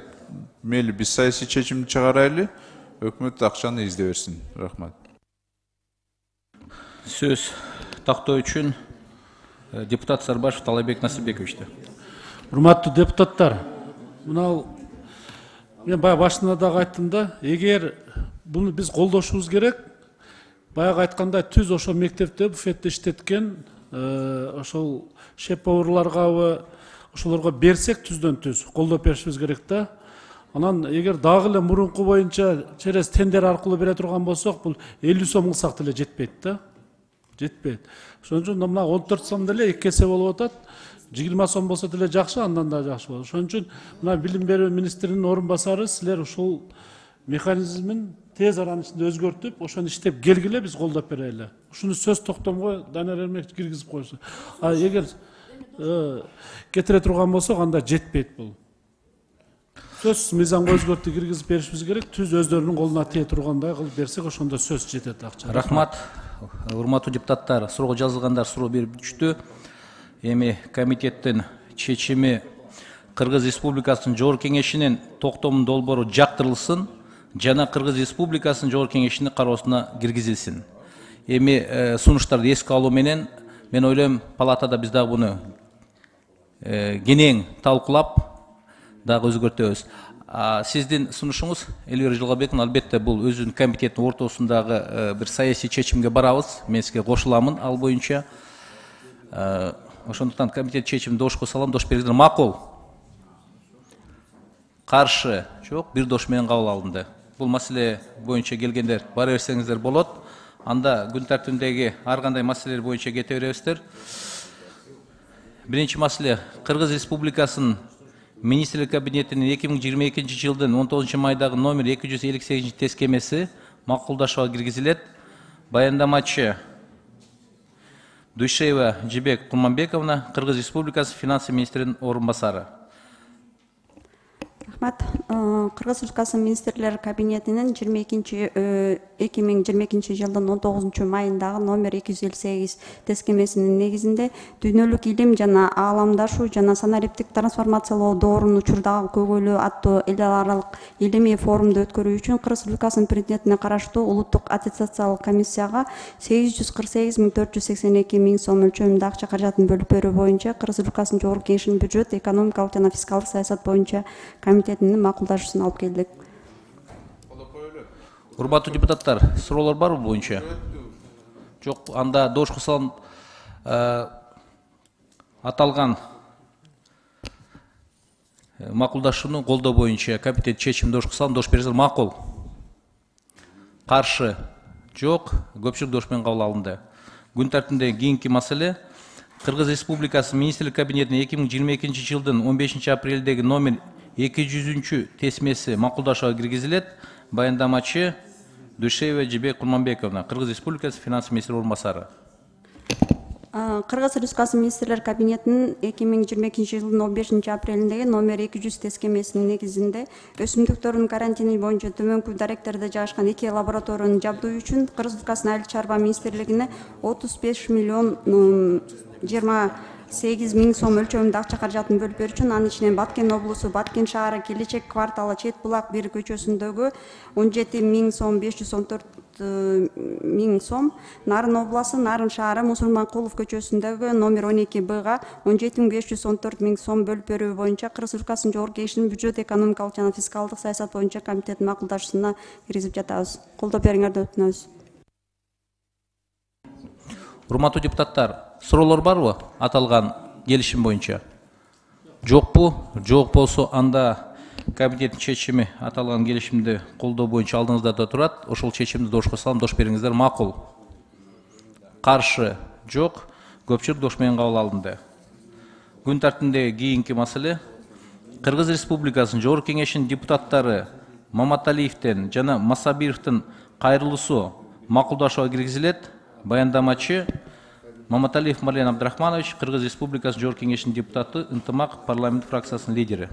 мейли биз саясий чечим чыгарайлы. Өкмөт акчаны изде берсин. Рахмат. Сөз тактоо үчүн депутат Сарбашев Талайбек Насипбековичте. Урматтуу депутаттар, мына мен баягы башында дагы айттым да, эгер буну биз колдошубуз керек, баягы айткандай түз ошол мектепте буфетте иштеткен ошол шеф-поварларгабы ошолорго берсек, түздөн түз колдоп беришибиз керек да. Анан эгер дагы эле мурунку боюнча через тендер аркылуу бере турган болсок, бул элүү сом кылсак деле жетпейт да. Жетпейт. Ошон үчүн мына он төрт сом деле эки эсе болуп атат. жыйырма сом болсо деле жакшы, андан да жакшы болот. Ошон үчүн мына Билим берүү министринин орун басары, силер ушул механизмин тез аранын ичинде өзгөртүп, ошону иштеп келгиле, биз колдоп берели. Ушуну сөз токтомго Данияр Эрмекович киргизип койсо. А эгер кетире турган болсок, анда жетпейт бул. Сөз мыйзамга өзгөртүү киргизип беришибиз керек. Түз өздөрүнүн колуна тие тургандай кылып берсек, ошондо сөз жетет акча. Рахмат. Урматтуу депутаттар, суроого жазылгандар суроо берип бүтүштү. Эми комитеттин чечими Кыргыз Республикасынын Жогорку Кеңешинин токтомунун долбоору жактырылсын жана Кыргыз Республикасынын Жогорку Кеңешинин кароосуна киргизилсин. Эми сунуштарды эске алуу менен мен ойлойм, палатада биз дагы буну кенен талкуулап дагы өзгөртөбүз. Сиздин сунушуңуз, Элвира Жылгабековна, албетте бул өзүнүн комитеттин ортосундагы бир саясий чечимге барабыз. Мен сизге кошуламын ал боюнча. Ошондуктан комитет чечимин дошко салам, дош бериңиздер. Макул. Каршы жок, бир дош менен кабыл алынды. Бул маселе боюнча келгендер бара берсеңиздер болот. Анда күн тартибиндеги ар кандай маселелер боюнча кете беребиздер. биринчи маселе, Кыргыз Республикасынын Министрлер кабинетинин эки миң жыйырма экинчи жылдын он тогузунчу майдагы номер эки жүз элүү сегизинчи тескемеси макулдашууга киргизилет. Баяндамачы Дүйшеева Жибек Курманбековна, Кыргыз Республикасы финансы министринин орун басары. Рахмат. Кыргыз Республикасынын Министрлер кабинетинин жыйырма экинчи эки миң жыйырма экинчи жылдын он тогузунчу майындагы номер эки жүз элүү сегиз тескемесинин негизинде дүйнөлүк илим жана ааламдашуу жана санариптик трансформациялоо доорунун учурдагы көйгөйлүү аттуу эл аралык илимий форумду өткөрүү үчүн Кыргыз Республикасынын президентине караштуу улуттук аттестациялык комиссияга сегиз жүз кырк сегиз миң төрт жүз сексен эки миң сом өлчөмүндө акча каражатын бөлүп берүү боюнча Кыргыз Республикасынын Жогорку Кеңешинин бюджет, экономикалык жана фискалдык саясат боюнча комитетинин макулдашуусун алып келдик. Урматтуу депутаттар, суроолор барбы боюнча? Жок, анда дош кылсам аталган макулдашууну колдоо боюнча комитет чечим дош кылсам дош берсеңер макул. Каршы жок, көпчүлүк дош менен кабыл алынды. Күн тартибинде кийинки маселе Кыргыз Республикасынын Министрлер кабинетинин эки миң жыйырма экинчи жылдын он бешинчи апрелдеги номер эки жүзүнчү тесмеси макулдашууга киргизилет. Баяндамачы Дүйшеева Жибек Курманбековна, Кыргыз Республикасы финансы министри орун басары. Кыргыз Республикасынын Министрлер кабинетинин эки миң жыйырма экинчи жылдын он бешинчи апрелиндеги номер эки жүз тескемесинин негизинде өсүмдүктөрдүн карантини боюнча төмөнкү даректерде жайгашкан эки лабораторияны жабдуу үчүн Кыргыз Республикасынын Айыл чарба министрлигине отуз беш миллион жыйырма сегиз миң сом өлчөмүндө акча каражатын бөлүп берүү үчүн анын ичинен Баткен облусу, Баткен шаары, Келечек кварталы, Чет булак бир көчөсүндөгү он жети миң сом, беш жүз он төрт миң сом, Нарын обласу, Нарын шаары, Мусулманкулов көчөсүндөгү номер он эки Бга он жети миң беш жүз он төрт миң сом бөлүп берүү боюнча Кыргыз Республикасынын Жогорку Кеңешинин бюджет, экономикалык жана фискалдык саясат боюнча комитеттин макулдашуусуна киргизип жатабыз. Колдоо бериңерди өтүнөбүз. Урматтуу депутаттар, суроолор барбы аталган келишим боюнча? Жокпу? Жок болсо анда комитеттин чечими аталган келишимди колдоо боюнча алдыңызда да турат. Ошол чечимди дош кылсам дош бериңиздер макул. Каршы жок, көпчүлүк дош менен кабыл алынды. Күн тартибинде кийинки маселе Кыргыз Республикасынын Жогорку Кеңешинин депутаттары Маматалиевден жана Масабировдун кайрылуусу макулдашууга киргизилет. Баяндамачы Маматалиев Марлен Абдрахманович, Кыргыз Республикасы Жогорку Кеңешинин депутаты, ынтымак парламент фракциясынын лидери.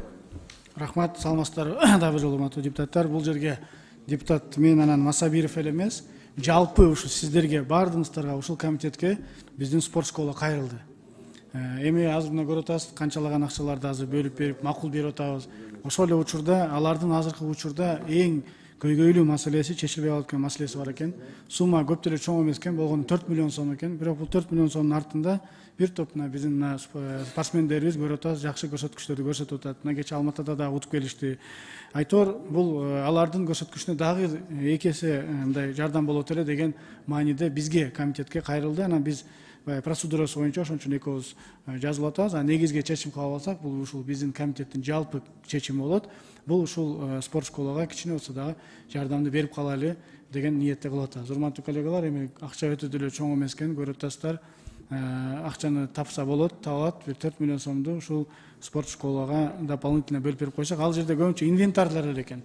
Рахмат, саламатсыздарбы дагы бир урматтуу депутаттар. Бул жерге депутат мен анан Масабиров эле эмес, жалпы ушул сиздерге баардыгыңыздарга ушул комитетке биздин спорт школа кайрылды. Эми азыр мына көрүп атасыз, канчалаган акчаларды азыр бөлүп берип, макул берип атабыз. Ошол эле учурда, алардын азыркы учурда эң көйгөйлүү маселеси, чечилбей калып аткан маселеси бар экен. Сумма көп деле чоң эмес экен, болгону төрт миллион сом экен. Бирок бул төрт миллион сомдун артында бир топ мына биздин спортсмендерибиз көрүп атабыз, жакшы көрсөткүчтөрдү көрсөтүп атат. Мына кечээ Алматыда да утуп келишти. Айтор бул алардын көрсөткүчүнө дагы эки эсе мындай жардам болот эле деген мааниде бизге комитетке кайрылды. Анан биз процедурасы боюнча ошон үчүн экөөбүз жазылып атабыз. А негизги чечим кабыл алсак, бул ушул биздин комитеттин жалпы чечими болот. Бул ушул спорт школага кичине болсо дагы жардамды берип калайлы деген ниетте кылып атабыз. Урматтуу коллегалар, эми акча өтө деле чоң эмес экен, көрүп атасыздар. Акчаны тапса болот, табат, бир төрт миллион сомду ушул спорт школага дополнительно бөлүп берип койсок, ал жерде көбүнчө инвентарлар эле экен.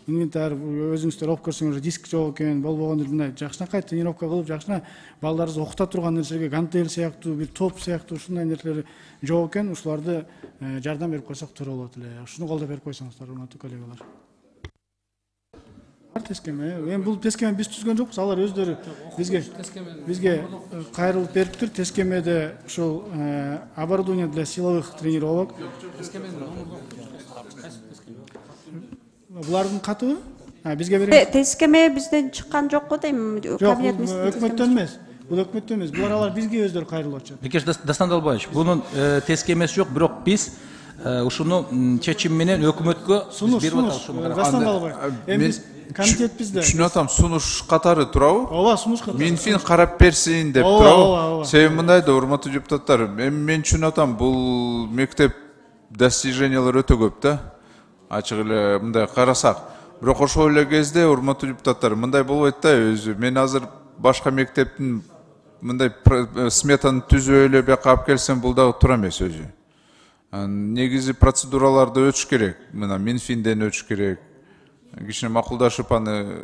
Инвентарь өзүңүздөр окуп көрсөңөр, диск жок экен, болбогон мындай жакшынакай тренировка кылып, жакшына балдарыбызды окута турган нерселерге гантель сыяктуу, бир топ сыяктуу ушундай нерселер жок экен. Ушуларды жардам берип койсок туура болот эле. Ушуну колдоо берип койсоңуздар, урматтуу коллегалар. Тескеме, эми бул тескеме биз түзгөн жокпуз, алар өздөрү бизге бизге кайрылып бериптир. Тескемеде ушул оборудование для силовых тренировок. Булардын катыбы? Бизге беребиз. Тескеме бизден чыккан жок го дейм. Кабинет өкмөттөн эмес. Бул өкмөттөн эмес. Булар алар бизге өздөрү кайрылып атышат. Бекеш Дастандалбаевич, бунун тескемеси жок, бирок биз ушуну чечим менен өкмөткө берип атабыз. Дастандалбаев. Эми биз комитет бизде. Түшүнүп атам, сунуш катары турабы? Ооба, сунуш катары. Минфин карап берсин деп турабы? Себеби мындай да, урматтуу депутаттар, эми мен түшүнүп атам, бул мектеп достижениялар өтө көп да. Ачык эле мындай карасак. Бирок ошол эле кезде урматтуу депутаттар, мындай болбойт да өзү. Мен азыр башка мектептин мындай сметаны түзүп эле бияка алып келсем бул дагы туура эмес өзү. Негизи процедураларды өтүш керек. Мына Минфинден өтүш керек. Кичине макулдашып аны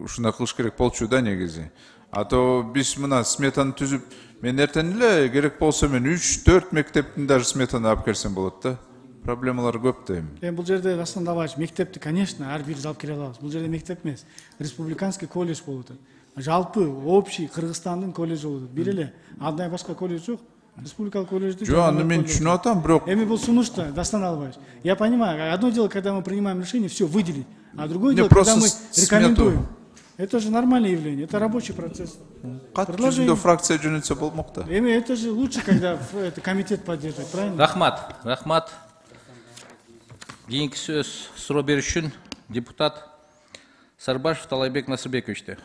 ушундай кылыш керек болчу да негизи. А то биз мына сметаны түзүп, мен эртең эле керек болсо мен үч төрт мектептин даже сметаны алып келсем болот да. Проблемалар көп да эми. Эми бул жерде Дастан Далбаевич, мектепти, конечно, ар бирибиз алып келе алабыз. Бул жерде мектеп эмес, республиканский колледж болуп атат. Жалпы общий Кыргызстандын колледжи болуп атат. Бир эле андай башка колледж жок. Республикалык колледжди. Жок, аны мен түшүнүп атам, бирок эми бул сунушта, Дастан Далбаевич. Я понимаю, одно дело, когда мы принимаем решение все выделить, а другое дело, когда мы рекомендуем. Это же нормальное явление, это рабочий процесс. Предложение фракция жөнөтсө болмок да. Эми это же лучше, когда это комитет поддерживает, правильно? Рахмат, рахмат. Кийинки сөз суроо бериш үчүн депутат Сарбашев Талайбек Насырбековичте.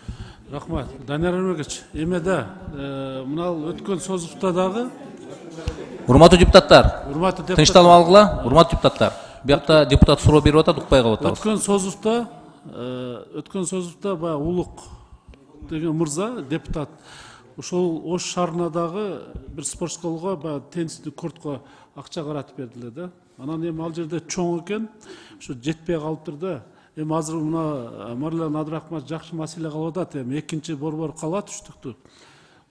Рахмат. Данияр Өмөргөч, эме да, мына өткөн созувда дагы. Урматтуу депутаттар, Урматтуу депутаттар. Тынчтанып алгыла, урматтуу депутаттар. Биякта депутат суроо берип атат, укпай калып атабыз. Өткөн созувда, өткөн созувда баягы Улук деген мырза депутат ошол Ош шаарына дагы бир спорт школго баягы теннисный кортко акча каратып бердилер да. Анан эми ал жерде чоң экен, ушу жетпей калыптыр да. Эми азыр мына Марлен Абдрахмат жакшы маселе кылып атат, эми экинчи борбор калат үчтүктү.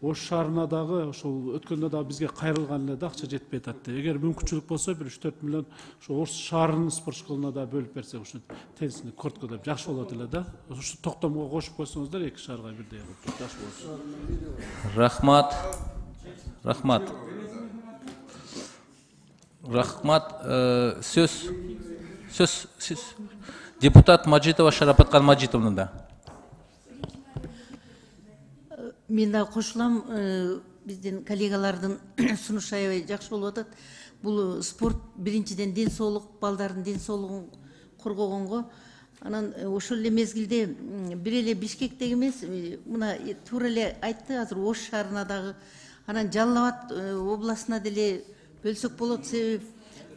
Ош шаарына дагы ошол өткөндө дагы бизге кайрылган эле да, акча жетпей атат. Эгер мүмкүнчүлүк болсо бир үч төрт миллион ошо Ош шаарынын спорт школуна да бөлүп берсек, ушу теннисный кортко деп жакшы болот эле да. Ушу токтомго кошуп койсоңуздар эки шаарга бирдей кылып жакшы болот. Рахмат. Рахмат. Рахмат. Сөз сөз сөз депутат Мажитова Шарапаткан Мажитовна. Мен да кошулам, биздин коллегалардын сунушу аябай жакшы болуп атат. Бул спорт биринчиден ден соолук, балдардын ден соолугун коргогонго. Анан ошол эле мезгилде бир эле Бишкектеги эмес, мына туура эле айтты, азыр Ош шаарына дагы, анан Жалал Абад областына деле бөлсөк болот, себеби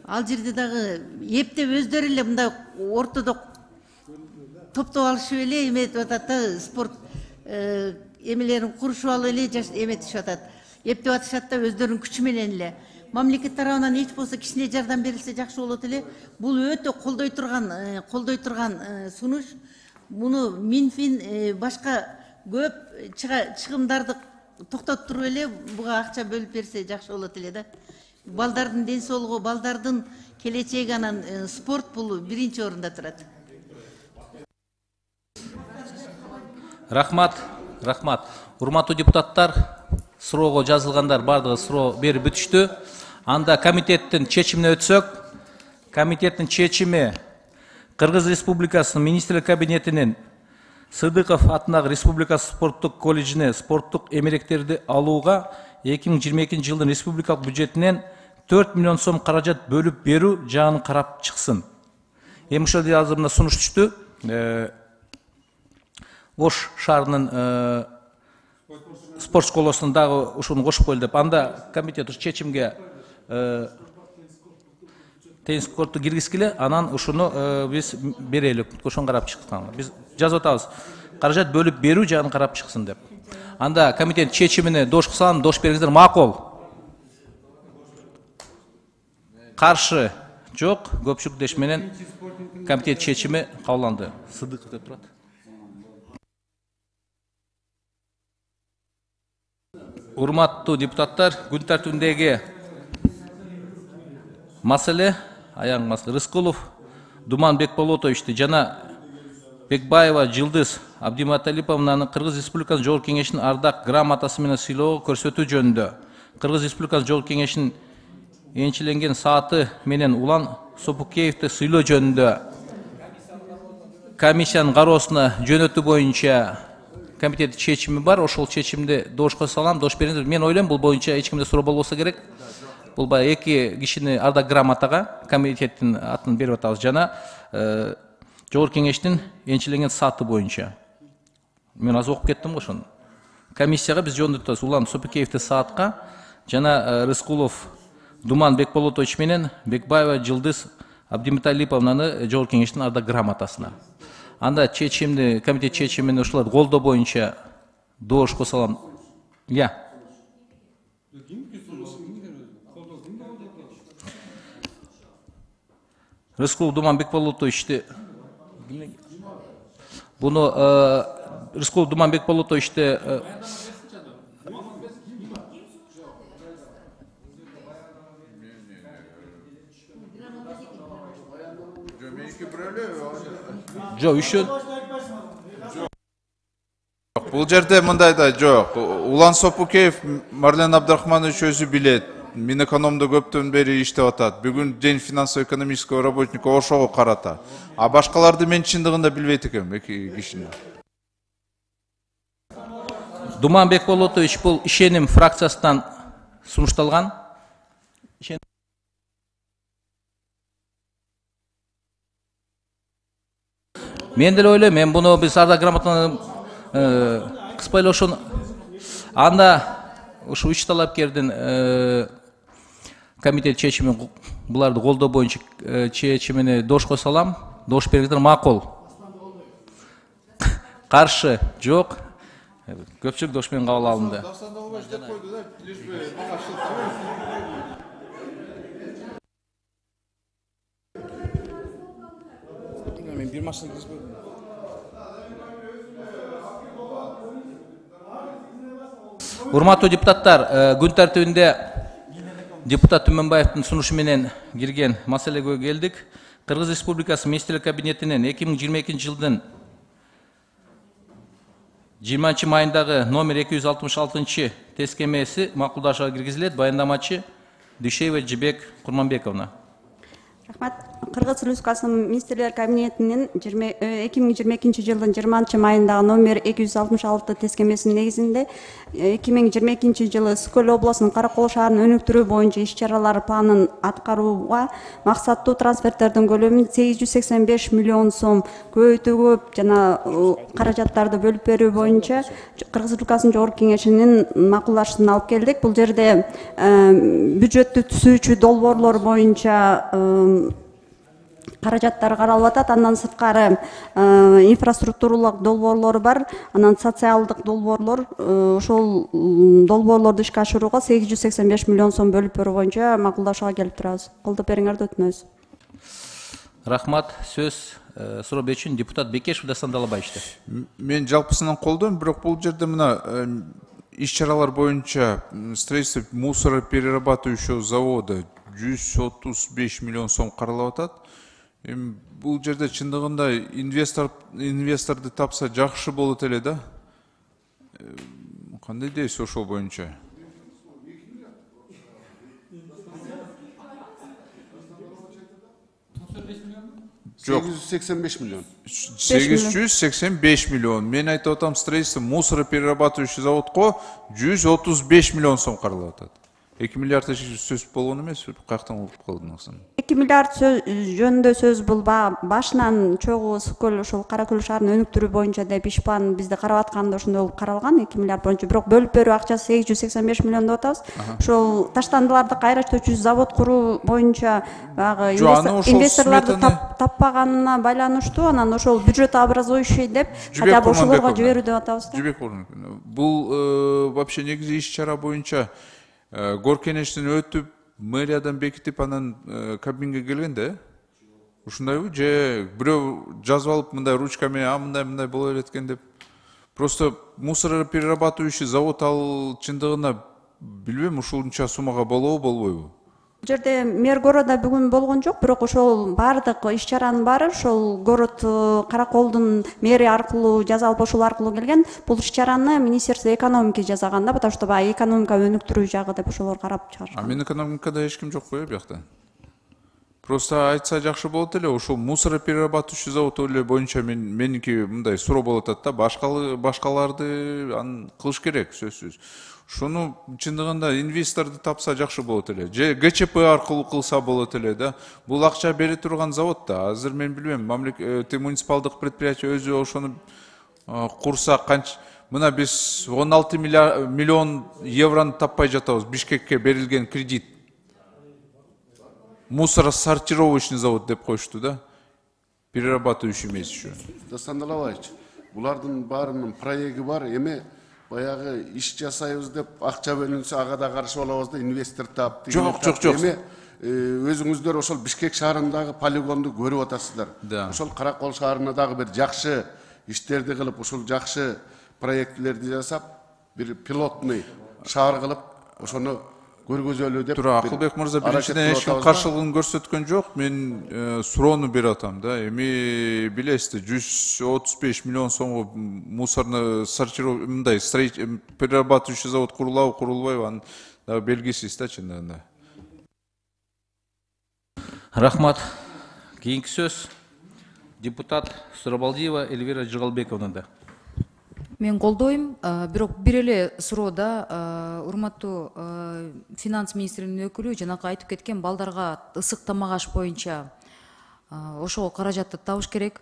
ал жерде дагы эптеп өздөрү эле мындай ортодо топтоп алышып эле эметип атат да, спорт эмелерин курушуп алып эле эметишип атат. Эптеп атышат да өздөрүнүн күчү менен эле. Мамлекет тарабынан эч болсо кичине жардам берилсе жакшы болот эле. Бул өтө колдой турган, колдой турган сунуш. Муну Минфин башка көп чыгымдарды токтотуп туруп эле буга акча бөлүп берсе жакшы болот эле да. Балдардын ден соолугу, балдардын келечеги, анан спорт бул биринчи орунда турат. Рахмат, рахмат. Урматтуу депутаттар, суроого жазылгандар бардыгы суроо берип бүтүштү. Анда комитеттин чечимине өтсөк, комитеттин чечими Кыргыз Республикасынын Министрлер Кабинетинин Сыдыков атындагы Республика спорттук колледжине спорттук эмеректерди алууга эки миң жыйырма экинчи жылдын республикалык бюджетинен төрт миллион сом каражат бөлүп берүү жагын карап чыксын. Эми ошол жерде азыр мына сунуш түштү. Ош шаарынын спорт школосунун дагы ушуну кошуп коелу деп, анда комитет ушу чечимге теннис корту киргизгиле, анан ушуну биз берели, ошону карап чыкканга. Биз жазып атабыз, каражат бөлүп берүү жагын карап чыксын деп. Анда комитет чечимине дош кылсам, дош бериңиздер, макул. Каршы жок, көпчүлүк деш менен комитет чечими кабылданды. Сыдыков деп турат. Урматтуу депутаттар, күн тартибиндеги маселе аяң маселе Рыскулов Думан Бекболотовичти жана Бекбаева Жылдыз Абдиматалиповнаны Кыргыз Республикасынын Жогорку Кеңешинин ардак грамотасы менен сыйлоого көрсөтүү жөнүндө Кыргыз Республикасынын Жогорку Кеңешинин энчиленген сааты менен Улан Сопукеевди сыйлоо жөнүндө комиссиянын кароосуна жөнөтүү боюнча комитет чечими бар. Ошол чечимди доошко салам, дош бериңиздер. Мен ойлойм, бул боюнча эч кимде суроо болбосо керек. Бул баягы эки кишини ардак грамотага комитеттин атын берип атабыз жана Жогорку Кеңештин энчиленген сааты боюнча. Мен аз окуп кеттим го ошону. Комиссияга биз жөндөтүп атабыз. Улан Сопукеевди саатка жана Рыскулов Думан Бекболотович менен Бекбаева Жылдыз Абдиматалиповнаны Жогорку Кеңештин ардак грамотасына. Анда чечимди, комитет чечимин ушуларды колдоо боюнча доошко салам. Я. Рыскулов Думан Бекболотовичти буну Рыскулов Думан Бекболотовичти жок үчөө Бул жерде мындай да жок. Улан Сопукеев Марлен Абдрахманович өзү билет. Минэкономдо көптөн бери иштеп атат. Бүгүн день финансово-экономического работника ошого карата. А башкаларды мен чындыгында билбейт экенмин, эки кишини. Думан Бекболотович бул ишеним фракциясынан сунушталган. Мен деле ойлойм, мен буну биз ар да грамотно кыспайлошон анда ушу үч талапкердин комитет чечимин буларды колдоо боюнча чечимине дош кое салам. Дош бергендер макул. Каршы жок. Көпчүлүк дош менен кабыл алынды. Мен бир машина киргизбедим. Урматтуу депутаттар, күн тартибинде депутат Түмөнбаевдин сунушу менен кирген маселеге келдик. Кыргыз Республикасы Министрлер кабинетинин эки миң жыйырма экинчи жылдын жыйырманчы майындагы номер эки жүз алтымыш алтынчы тескемеси макулдашууга киргизилет. Баяндамачы Дүйшеева Жибек Курманбековна. Рахмат. Кыргыз Республикасынын Министрлер кабинетинин эки миң жыйырма экинчи жылдын жыйырманчы майындагы номер эки жүз алтымыш алты тескемесинин негизинде эки миң жыйырма экинчи жылы Ысык Көл облусунун Каракол шаарын өнүктүрүү боюнча иш-чаралар планын аткарууга максаттуу трансферттердин көлөмүн сегиз жүз сексен беш миллион сом көбөйтүүгө жана каражаттарды бөлүп берүү боюнча Кыргыз Республикасынын Жогорку Кеңешинин макулдашууна алып келдик. Бул жерде бюджеттү түзүүчү долбоорлор боюнча каражаттар каралып атат. Андан сырткары инфраструктуралык долбоорлор бар. Анан социалдык долбоорлор, ошол долбоорлорду ишке ашырууга сегиз жүз сексен беш миллион сом бөлүп берүү боюнча макулдашууга келип турабыз. Колдоп бериңерди өтүнөбүз. Рахмат. Сөз суроо берүүчү депутат Бекешев Дастан Далабаевичте. Мен жалпысынан колдойм, бирок бул жерде мына иш-чаралар боюнча строительство мусороперерабатывающего завода жүз отуз беш миллион сом каралып атат. Эми бул жерде чындыгында инвестор инвесторду тапса жакшы болот эле да. Кандай дейсиз ошол боюнча? сегиз жүз сексен беш миллион. сегиз жүз сексен беш миллион. Мен айтып атам, строительство мусороперерабатывающий заводко жүз отуз беш миллион сом каралып атат. эки миллиард сөз болгон эмес, каяктан угуп калдыңыз? эки миллиард жөнүндө сөз бул башынан чогуу Ысык Көл ошол Кара Көл шаарын өнүктүрүү боюнча деп иш план бизде карап атканда ошондой болуп каралган эки миллиард боюнча. Бирок бөлүп берүү акчасы сегиз жүз сексен беш миллион деп атабыз. Ошол таштандыларды кайра иштөөчү завод куруу боюнча баягы инвесторлорду таппаганына байланыштуу, анан ошол бюджет образующий деп хотя бы ошолорго жиберүү деп атабыз. Жибек Курманбековна, бул вообще негизи иш-чара боюнча Горкенештен өтүп, мэриядан бекитип, анан кабинге келгенде, ушундайбы, же бирөө жазып алып, мындай ручка менен, а мындай мындай боло берет экен деп. Просто мусороперерабатывающий завод ал чындыгында билбейм, ушунча суммага болобу, болбойбу? Бул жерде мэр города бүгүн болгон жок, бирок ошол баардык иш-чаранын баары ошол город Караколдун мэри аркылуу жазалып, ошол аркылуу келген. Бул иш-чараны Министерство экономики жасаган да, потому что баягы экономика өнүктүрүү жагы деп ошолор карап чыгарышкан. А мен экономикада эч ким жок го биякта. Просто айтса жакшы болот эле, ошол мусороперерабатывающий завод эле боюнча мен меники мындай суроо болот атат да, башкалы башкаларды аны кылыш керек, сөзсүз. Шуну чындыгында инвесторду тапса жакшы болот эле. Же ГЧП аркылуу кылса болот эле да. Бул акча бере турган завод да. Азыр мен билбейм, мамлекет муниципалдык предприятие өзү ошону курса канча, мына биз он алты миллион еврону таппай жатабыз. Бишкекке берилген кредит. Мусоросортировочный завод деп коюшту да. Перерабатывающий эмес еще. Дастан Далабаевич, булардын баарынын проекти бар, эми баягы иш жасайбыз деп акча бөлүнсө ага да каршы болобуз да инвестор таап. Жок, жок, жок. Эми өзүңүздөр ошол Бишкек шаарындагы полигонду көрүп атасыздар. Ошол Каракол шаарына дагы бир жакшы иштерди кылып, ошол жакшы проектлерди жасап, бир пилотный шаар кылып, ошону көргөзөлү деп. Тура, Акылбек мырза, биринчиден эч ким каршылыгын көрсөткөн жок. Мен суроону берип атам да. Эми билесиз, жүз отуз беш миллион сомго мусорный сортировка, мындай перерабатывающий завод курулабы, курулбайбы, анын дагы белгисиз да чындыгында да. Рахмат. Кийинки сөз депутат Сурабалдиева Эльвира Жыгалбековнада. Мен колдойм, бирок бир эле суроода урматтуу финанс министринин өкүлү жанакы айтып кеткен балдарга ысык тамак аш боюнча ошого каражатты табыш керек.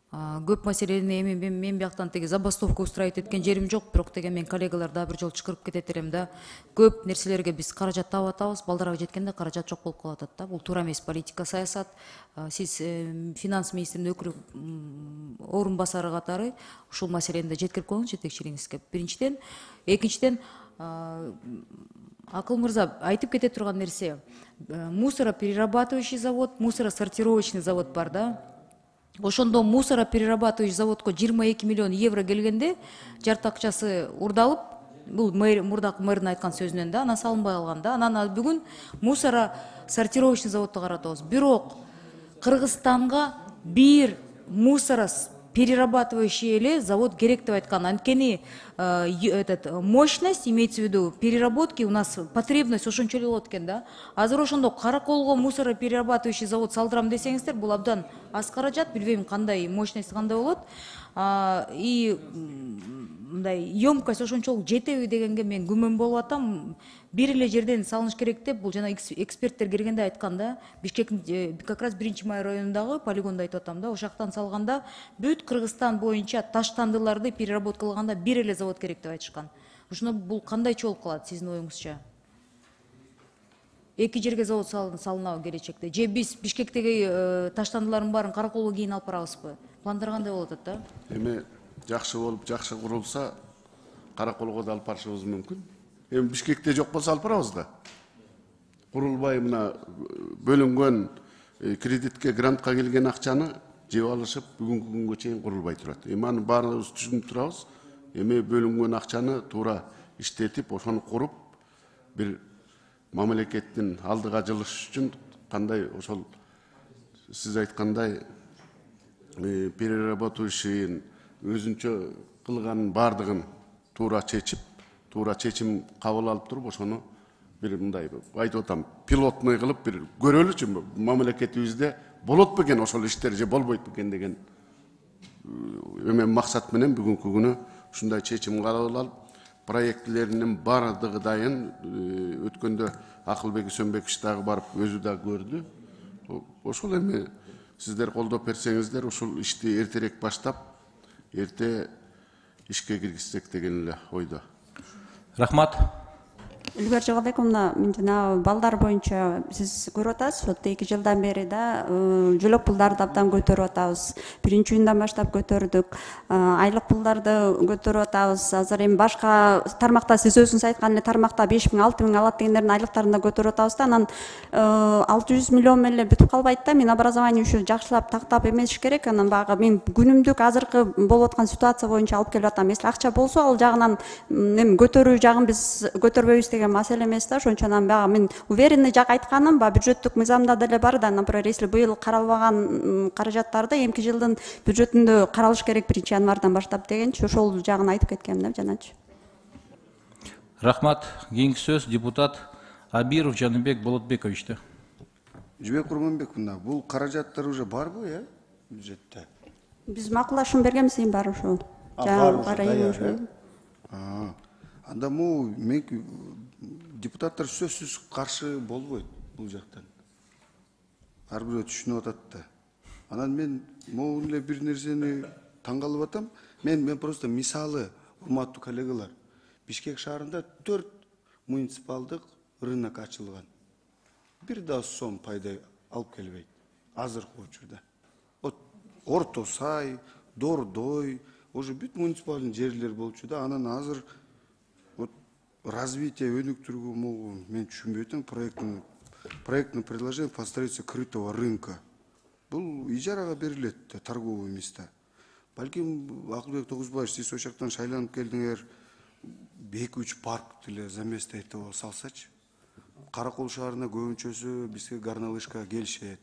Көп маселени эми мен бияктан теги забастовка устраивать эткен жерим жок, бирок деген мен коллегалар дагы бир жолу чакырып кетет элем да. Көп нерселерге биз каражат таап атабыз, балдарга жеткенде каражат жок болуп калып атат да. Бул туура эмес политика, саясат. Сиз финанс министринин өкүлү орун басары катары ушул маселени да жеткирип коюңуз жетекчилигиңизге. Биринчиден, экинчиден Акыл мырза айтып кете турган нерсе, мусороперерабатывающий завод, мусоросортировочный завод бар да. Ошондо мусороперерабатывающий заводко жыйырма эки миллион евро келгенде жарты акчасы урдалып, бул мурдакы мэрдин айткан сөзүнөн да, анан салынбай калган да. Анан бүгүн мусоросортировочный заводду каратабыз. Бирок Кыргызстанга бир мусороперерабатывающий эле завод керек деп айткан. Анткени этот мощность, имеется в виду переработки, у нас потребность ошончо эле болот экен да. Азыр ошондо Караколго мусороперерабатывающий завод салдырам десеңиздер, бул абдан аз каражат, билбейм кандай мощность кандай болот. И мындай емкость ошончолук жетеби дегенге мен күмөн болуп атам. Бир эле жерден салыныш керек деп бул жана эксперттер келгенде айткан да. Бишкектин как раз биринчи май районундагы полигонду айтып атам да. Ошол жактан салганда бүт Кыргызстан боюнча таштандыларды переработкалаганда бир эле завод керек деп айтышкан. Ошондо бул кандайча болуп калат сиздин оюңузча? Эки жерге завод салынабы келечекте? Же биз Бишкектеги таштандылардын баарын Караколго кийин алып барабызбы? Пландар кандай болуп атат да? Эми жакшы болуп, жакшы курулса, Караколго да алып барышыбыз мүмкүн. Эми Бишкекте жок болсо алып барабыз да. Курулбай мына бөлүнгөн кредитке, грантка келген акчаны жеп алышып, бүгүнкү күнгө чейин курулбай турат. Эми аны баарыбыз түшүнүп турабыз. Эми бөлүнгөн акчаны туура иштетип, ошону куруп, бир мамлекеттин алдыга жылыш үчүн кандай ошол сиз айткандай переработающий өзүнчө кылганын баардыгын туура чечип, туура чечим кабыл алып туруп, ошону бир мындай айтып атам, пилотный кылып бир көрөлүчү мамлекетибизде болот бекен ошол иштер же болбойт бекен деген эме максат менен бүгүнкү күнү ушундай чечим кабыл алып, проектлеринин баардыгы дайын. Өткөндө Акылбек Үсөнбекович дагы барып өзү да көрдү. Ошол эми сиздер колдоп берсеңиздер, ушул ишти эртерээк баштап, эрте ишке киргизсек деген эле ойдо. Рахмат. Эльвира Жыгалбековна, мен жана балдар боюнча сиз көрүп атасыз, ошо эки жылдан бери да жөлөк пулдарды абдан көтөрүп атабыз. Биринчи июндан баштап көтөрдүк. Айлык пулдарды көтөрүп атабыз. Азыр эми башка тармакта сиз өзүңүз айткан эле тармакта беш миң алты миң алат дегендердин айлыктарын да көтөрүп атабыз да. Анан алты жүз миллион менен эле бүтүп калбайт да. Мен образование үчүн жакшылап тактап эмесиш керек. Анан багы мен күнүмдүк азыркы болуп аткан ситуация боюнча алып келип атам. Если акча болсо, ал жагынан эми көтөрүү жагын биз көтөрбөйбүз деген маселе эмес да. Ошончо анан бага мен уверенный жак айтканым, ба бюджеттик мыйзамда деле бар да. Например, если быйыл каралбаган каражаттарды эмки жылдын бюджетинде каралыш керек биринчи январдан баштап дегенчи, ошол жагын айтып кеткем да жаначы. Рахмат. Кийинки сөз депутат Абиров Жаныбек Болотбековичте. Жибек Курманбековна, бул каражаттар уже барбы, э, бюджетте? Биз макулдашуу бергенбиз, эми бар ошол. Бар эми. Анда му мен депутаттар сөзсүз каршы болбойт бул жактан. Ар бирөө түшүнүп атат да. Анан мен могу эле бир нерсени таң калып атам. Мен мен просто мисалы, урматтуу коллегалар, Бишкек шаарында төрт муниципалдык рынок ачылган. Бир да сом пайда алып келбейт азыркы учурда. Вот Орто Сай, Дордой, уже бүт муниципальный жерлер болчу да. Анан азыр вот развитие өнүктүрүүгө могу мен түшүнбөй атам. Проектный проектное предложение по строительству крытого рынка. Бул ижарага берилет торговые места. Балким Акылбек Тогузбаевич, сиз ошол жактан шайланып келдиңер, эки үч парк деле за место этого салсачы. Каракол шаарына көбүнчөсү бизге горнолыжка келишет.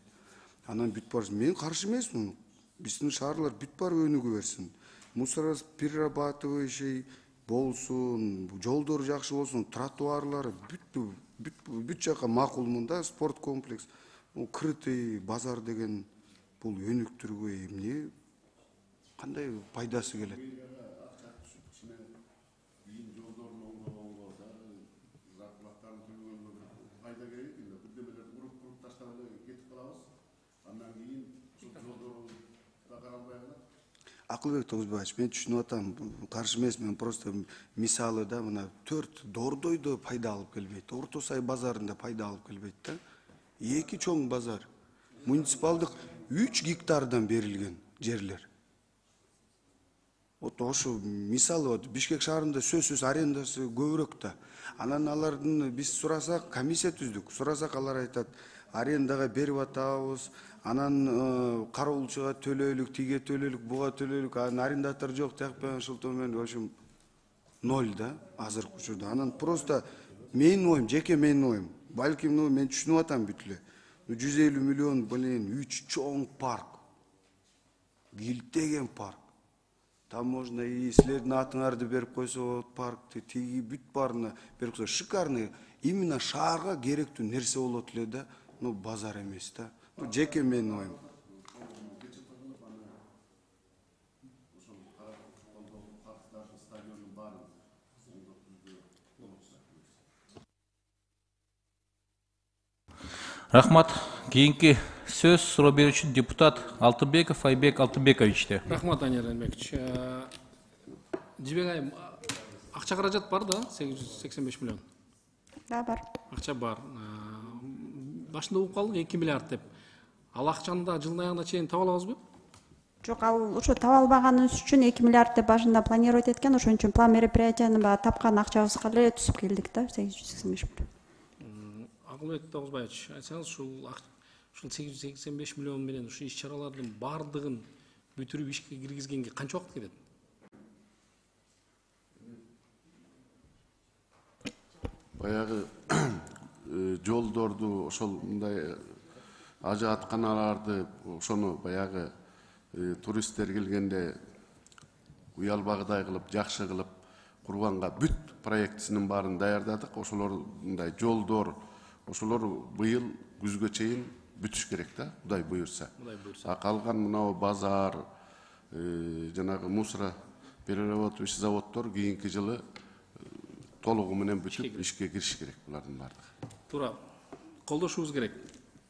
Анан бүт бар. Мен каршы эмесмин. Биздин шаарлар бүт бар өнүгө берсин. Мусороперерабатывающий болсун, жолдор жакшы болсун, тротуарлары бүт бүт бүт жака макулмун да, спорт комплекс. Крытый базар деген бул өнүктүрүүгө эмне кандай пайдасы келет? Акылбек Тогузбаевич, мен түшүнүп атам, каршы эмесмин, просто мисалы да мына төрт Дордойдо пайда алып келбейт, Орто Сай базарында пайда алып келбейт да. Эки чоң базар, муниципалдык үч гектардан берилген жерлер. Вот ошо мисалы вот Бишкек шаарында сөзсүз арендасы көбүрөөк да. Анан алардын биз сурасак, комиссия түздүк. Сурасак алар айтат, арендага берип атабыз. Анан кароолчуга төлөйлүк, тиге төлөйлүк, буга төлөйлүк, анан арендатор жок, тияк ошолто менен, в общем, ноль да азыркы учурда. Анан просто менин оюм, жеке менин оюм. Балким мен түшүнүп атам бүт эле. жүз элүү миллион менен үч чоң парк. Килтеген парк. Там можно и силердин атыңарды берип койсо болот паркты, тиги бүт баарына берип койсо шикарный, именно шаарга керектүү нерсе болот эле да, ну базар эмес да. Bu жеке менин оюм. Рахмат. Кийинки сөз суроо берүүчү депутат Алтынбеков Айбек Алтынбековичте. Рахмат, Данияр Эмбекович. Жибек айым, акча каражат бар да, сегиз жүз сексен беш миллион. Да, бар. Акча бар. Башында угуп калдык эки миллиард деп. Ал акчаны да жылдын аягына чейин таба алабызбы? Жок, ал ошо таба албаганыбыз үчүн эки миллиард деп башында планировать эткен, ошон үчүн план мероприятияны баягы тапкан акчабызга эле түзүп келдик да, сегиз жүз сексен беш миллион. Акылбек Тогузбаевич, айтсаңыз, ушул ушул сегиз жүз сексен беш миллион менен ушу иш чаралардын бардыгын бүтүрүп ишке киргизгенге канча убакыт кетет? Баягы жолдорду ошол мындай ажаатканаларды ошону баягы туристтер келгенде уялбагыдай кылып, жакшы кылып курганга бүт проектисинин баарын даярдадык. Ошолор мындай жолдор, ошолор быйыл күзгө чейин бүтүш керек да, Кудай буйрса. А калган мынау базар, жанагы мусора перерабатывающий заводдор кийинки жылы толугу менен бүтүп ишке кириш керек булардын баардыгы. Туура. Колдошубуз керек.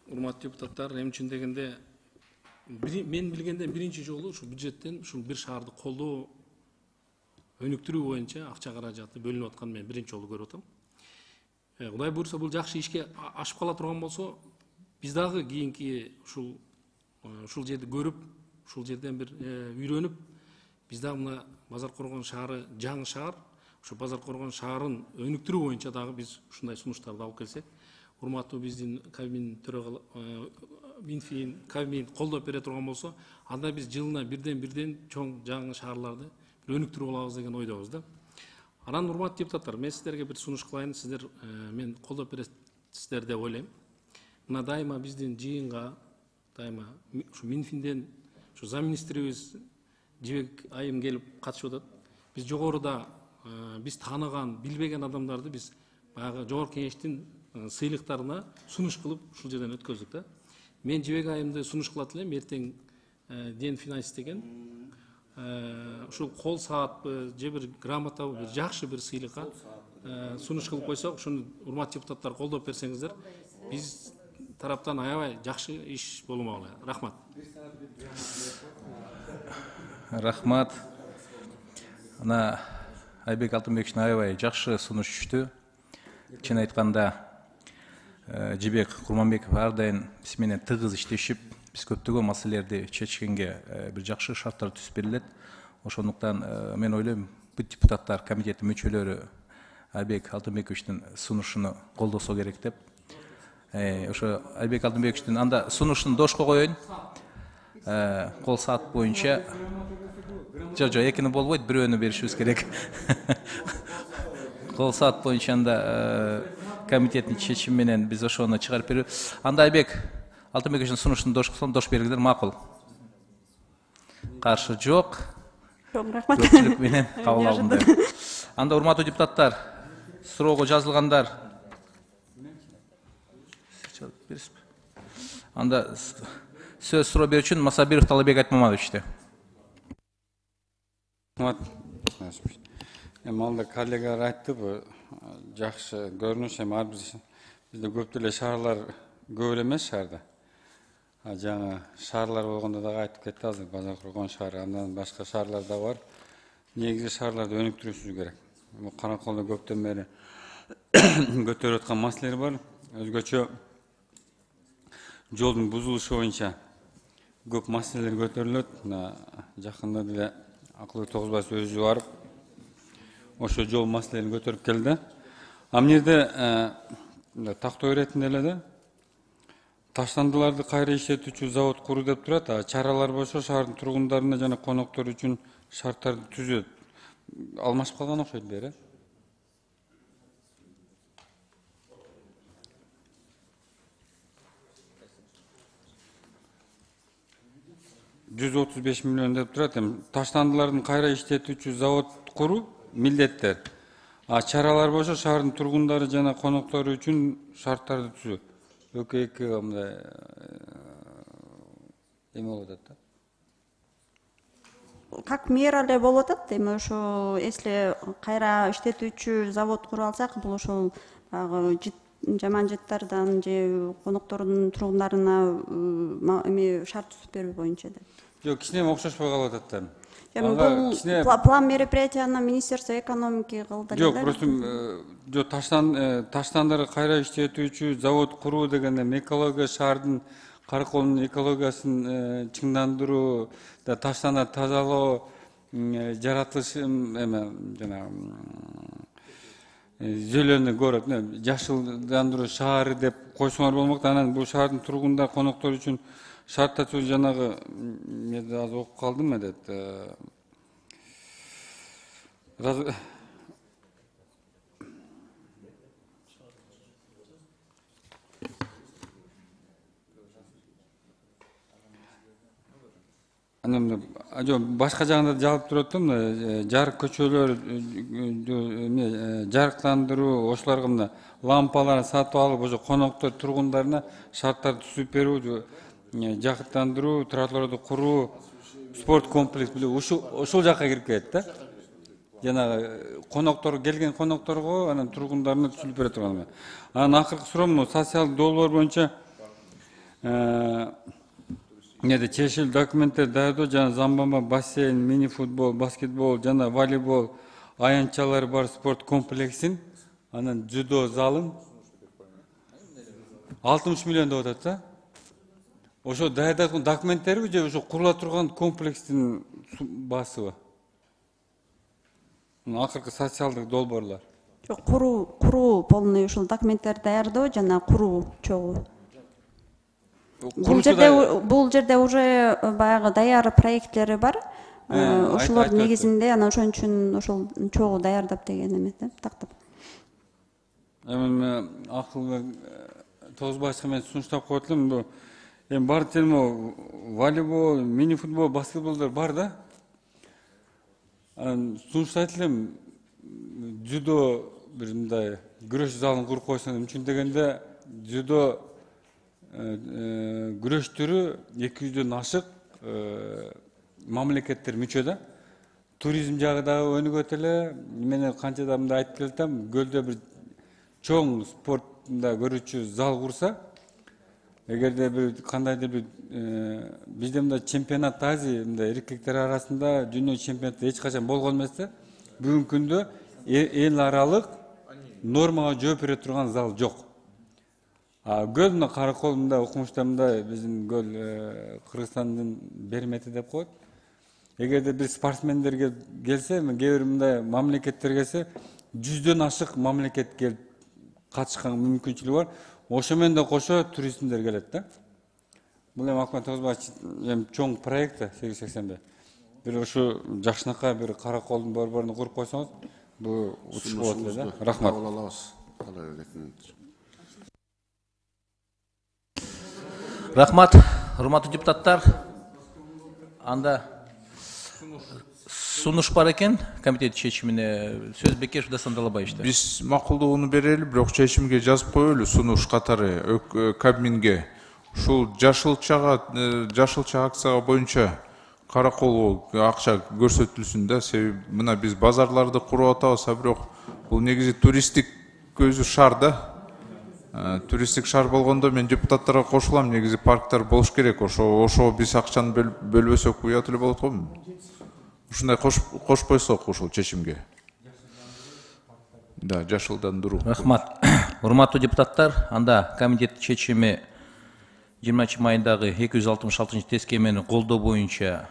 Урматтуу депутаттар, эми үчүн дегенде мен билгенден биринчи жолу ушу бюджеттен ушул бир шаарды колдоо өнүктүрүү боюнча акча каражаты бөлүнүп атканын мен биринчи жолу көрүп атам. Кудай буйрса бул жакшы ишке ашып кала турган болсо, биз дагы кийинки ушул ушул жерди көрүп, ушул жерден бир үйрөнүп, биз дагы мына Базар Коргон шаары жаңы шаар, ушу Базар Коргон шаарын өнүктүрүү боюнча дагы биз ушундай сунуштарды алып келсек, урматтуу биздин Кабмин төрагалы Минфин, Кабмин колдоп бере турган болсо, анда биз жылына бирден бирден чоң жаңы шаарларды өнүктүрүп алабыз деген ойдобуз да. Анан урматтуу депутаттар, мен сиздерге бир сунуш кылайын, сиздер мен колдоп бересиздер деп ойлойм. Мына дайыма биздин жыйынга дайыма ушу Минфинден ушу замминистрибиз Жибек айым келип катышып атат. Биз жогоруда биз тааныган, билбеген адамдарды биз баягы жогорку кеңештин сыйлыктарына сунуш кылып ушул жерден өткөздүк да. Мен Жибек айымды сунуш кылат элем, эртең Ден финанс деген ушул кол саатпы же бир грамотабы, бир жакшы бир сыйлыкка сунуш кылып койсок, ушуну урматтуу депутаттар колдоп берсеңиздер, биз тараптан аябай жакшы иш болмок эле. Рахмат. Рахмат. Ана Айбек Алтынбековичтин аябай жакшы сунуш түштү. Чын айтканда Жибек Курманбеков ар дайым биз менен тыгыз иштешип, биз көптөгөн маселелерди чечкенге бир жакшы шарттар түзүп берилет. Ошондуктан мен ойлойм, бүт депутаттар комитеттин мүчөлөрү Айбек Алтынбековичтин сунушуну колдосо керек деп. Ошо Айбек Алтынбековичтин анда сунушун дошко коеюн. Кол саат боюнча жо жо экини болбойт, бирөөнү беришибиз керек. Кол саат боюнча анда комитеттин чечими менен биз ошону чыгарып берип, анда Айбек Алтынбековичтин сунушун дош кылсам, дош бериңиздер, макул. Каршы жок. Көпчүлүк менен кабыл алынды. Анда урматтуу депутаттар, суроого жазылгандар. Анда сөз суроо берүүчүн Масабиров Талабек Айтмаматовичти. Эми алда коллегалар айтты, бу жакшы көрүнүш, эми ар бир бизде көп эле шаарлар көп эле эмес шаарда. Жаңа шаарлар болгондо дагы айтып кетти азыр, Базар Кургон шаары, андан башка шаарлар да бар. Негизи шаарларды өнүктүрүшүбүз керек. Караколдо көптөн бери көтөрүп аткан маселелер бар. Өзгөчө жолдун бузулушу боюнча көп маселелер көтөрүлөт. Жакында деле Акылбек Тогузбаев өзү барып ошо жол маселелерин көтөрүп келди. А мына жерде тактоо иретинде эле да таштандыларды кайра иштетүүчү завод куруу деп турат. А чаралар болсо шаардын тургундарына жана коноктор үчүн шарттарды түзөт. Алмашып калган окшойт бери. жүз отуз беш миллион деп турат. Эми таштандылардын кайра иштетүүчү завод куруу милдеттер. А чаралар болсо шаардын тургундары жана коноктору үчүн шарттарды түзүү. Экөө эки мындай эме болуп атат да. Как мера эле болуп атат. Эми ошо если кайра иштетүүчү завод куруп алсак, бул ошол баягы жаман жыттардан же коноктордун тургундарына эми шарт түзүп берүү боюнча да. Жок, кичине окшошпой калып атат да. Эми бул план мероприятияны Министерство экономики кылды. Жок, просто жок, таштан таштандарды кайра иштетүүчү завод куруу дегенде экология шаардын Караколдун экологиясын чыңдандыруу, таштанды тазалоо, жаратылыш эме жана зелёный город, жашылдандыруу шаары деп койсоңор болмок. Анан бул шаардын тургундар, коноктору үчүн шарттар түзүү жанагы мен азыр окуп калдым эдет. Анан жок, башка жагында жалып туруп атам да, жарык көчөлөр, жарыктандыруу, ошолорго мына лампаларын сатып алып, ошо коноктор, тургундарына шарттарды түзүп берүү, жакыттандыруу, тротуарларды куруу, спорт комплекс ушул жакка кирип кетет да. Жанагы коноктор келген конокторго, анан тургундарына түзүлүп бере турган. Анан акыркы суроом социалдык долбоор боюнча Неде чечил документтер даярдоо жана замбама, бассейн, мини футбол, баскетбол жана волейбол аянтчалары бар спорт комплексин, анан дзюдо залын алтымыш миллион деп атат да. Ошо даярдаган документтерби же ошо курула турган комплекстин баасыбы? Акыркы социалдык долбоорлор. Жок, куруу, куруу полный ушул документтер даярдоо жана куруу чогуу. Бул жерде бул жерде уже баягы даяр проекттери бар. Ошолор негизинде анан ошон үчүн ошол чогуу даярдап деген эме да, тактап. Эми Акылбек Тогузбаевга мен сунуштап коет элем, бул эми бар термо волейбол, мини футбол, баскетболдор бар да. Анан сунуштайт элем, дзюдо бир мындай күрөш залын куруп койсоң мүмкүн дегенде дзюдо күрөш түрү эки жүздөн ашык мамлекеттер мүчө да. Туризм жагы дагы өнүгөт эле. Мен канча да мындай айтып келатам, көлдө бир чоң спортунда көрүүчү зал курса, эгерде бир кандайдыр бир бизде мындай чемпионат Азия, мындай эркектер арасында дүйнө чемпионаты эч качан болгон эмес да. Бүгүнкү күндө эл аралык нормага жооп бере турган зал жок. Гөл мына Караколдун окумуштарында биздин гөл Кыргызстандын бермети деп коет. эгерде бир спортсмендерге келсе, кээ бир мындай мамлекеттер келсе, жүздөн ашык мамлекет келип катышкан мүмкүнчүлүгү бар. Ошо менен да кошо туристтер келет да. Бул эми Акмат Тогузбаевич эми чоң проект сегиз жүз сексен бир. Бир ушу жакшынакай бир караколдун борборун куруп койсоңуз, бул учуш болот эле да. Рахмат. Кабыл алабыз. Рахмат, урматтуу депутаттар. Анда сунуш бар экен комитет чечимине. Сөз Бекешев Дастан Далабаевичте. Биз макулдугуну берели, бирок чечимге жазып коелу сунуш катары Кабминге. Ушул жашылчага жашылча акцияга боюнча каракол акча көрсөтүлсүн да. Себеби мына биз базарларды куруп атабыз, а бирок бул негизи туристтик көзү шаар да. Туристтик шаар болгондо мен депутаттарга кошулам, негизи парктар болуш керек. Ошо ошо биз акчаны бөлбөсөк уят эле болот го. Ушундай кошпойсок ушул чечимге. Да, жашылдандыруу. Рахмат. Урматтуу депутаттар, анда комитет чечими жыйырманчы майындагы эки жүз алтымыш алтынчы тескемени колдоо боюнча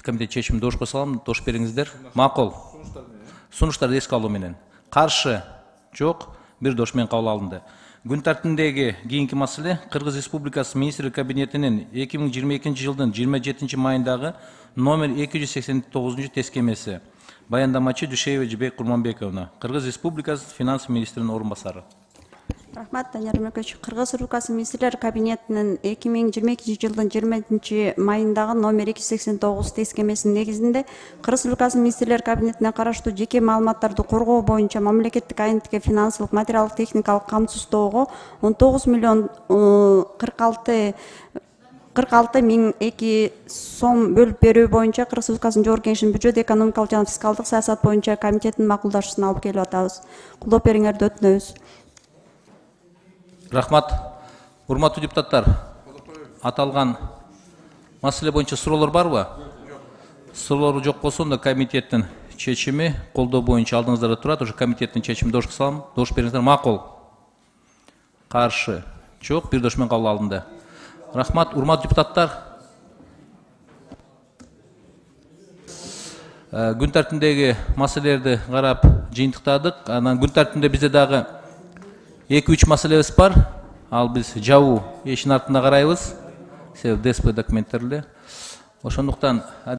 комитет чечимин доошко салам. Доош бериңиздер. Макул. Сунуштарды эске алуу менен. Каршы жок, бир доош менен кабыл алынды. Күн тартибиндеги кийинки маселе Кыргыз Республикасы Министрлик кабинетинин эки миң жыйырма экинчи жылдын жыйырма жетинчи майындагы номер эки жүз сексен тогузунчу тескемеси. Баяндамачы Дүйшеева Жибек Курманбековна, Кыргыз Республикасы финанс министринин орун басары. Рахмат, Данияр Өмөркөчү. Кыргыз Республикасы Министрлер кабинетинин эки миң жыйырма экинчи жылдын жыйырма жетинчи майындагы номер эки жүз сексен тогуз тескемесинин негизинде Кыргыз Республикасы Министрлер кабинетине караштуу жеке маалыматтарды коргоо боюнча мамлекеттик агенттикке финансылык, материалдык, техникалык камсыздоого он тогуз миллион кырк алты кырк алты миң эки сом бөлүп берүү боюнча Кыргыз Республикасынын Жогорку Кеңешинин бюджет, экономикалык жана фискалдык саясат боюнча комитетинин макулдашуусуна алып келип атабыз. Колдоп бериңерди өтүнөбүз. Рахмат. Урматтуу депутаттар, аталган маселе боюнча суроолор барбы? Суроолор жок болсо, да комитеттин чечими колдоо боюнча алдыңыздарда турат. Уже комитеттин чечимин доошко салам. Доош бериңиздер. Макул. Каршы жок, бир доош менен кабыл алынды. Рахмат. Урматтуу депутаттар, күн тартибиндеги маселелерди карап жыйынтыктадык. Анан күн тартибинде бизде дагы эки үч маселебиз бар. Ал биз жабуу эшин артында карайбыз. Себеби ДСП документтер эле. Ошондуктан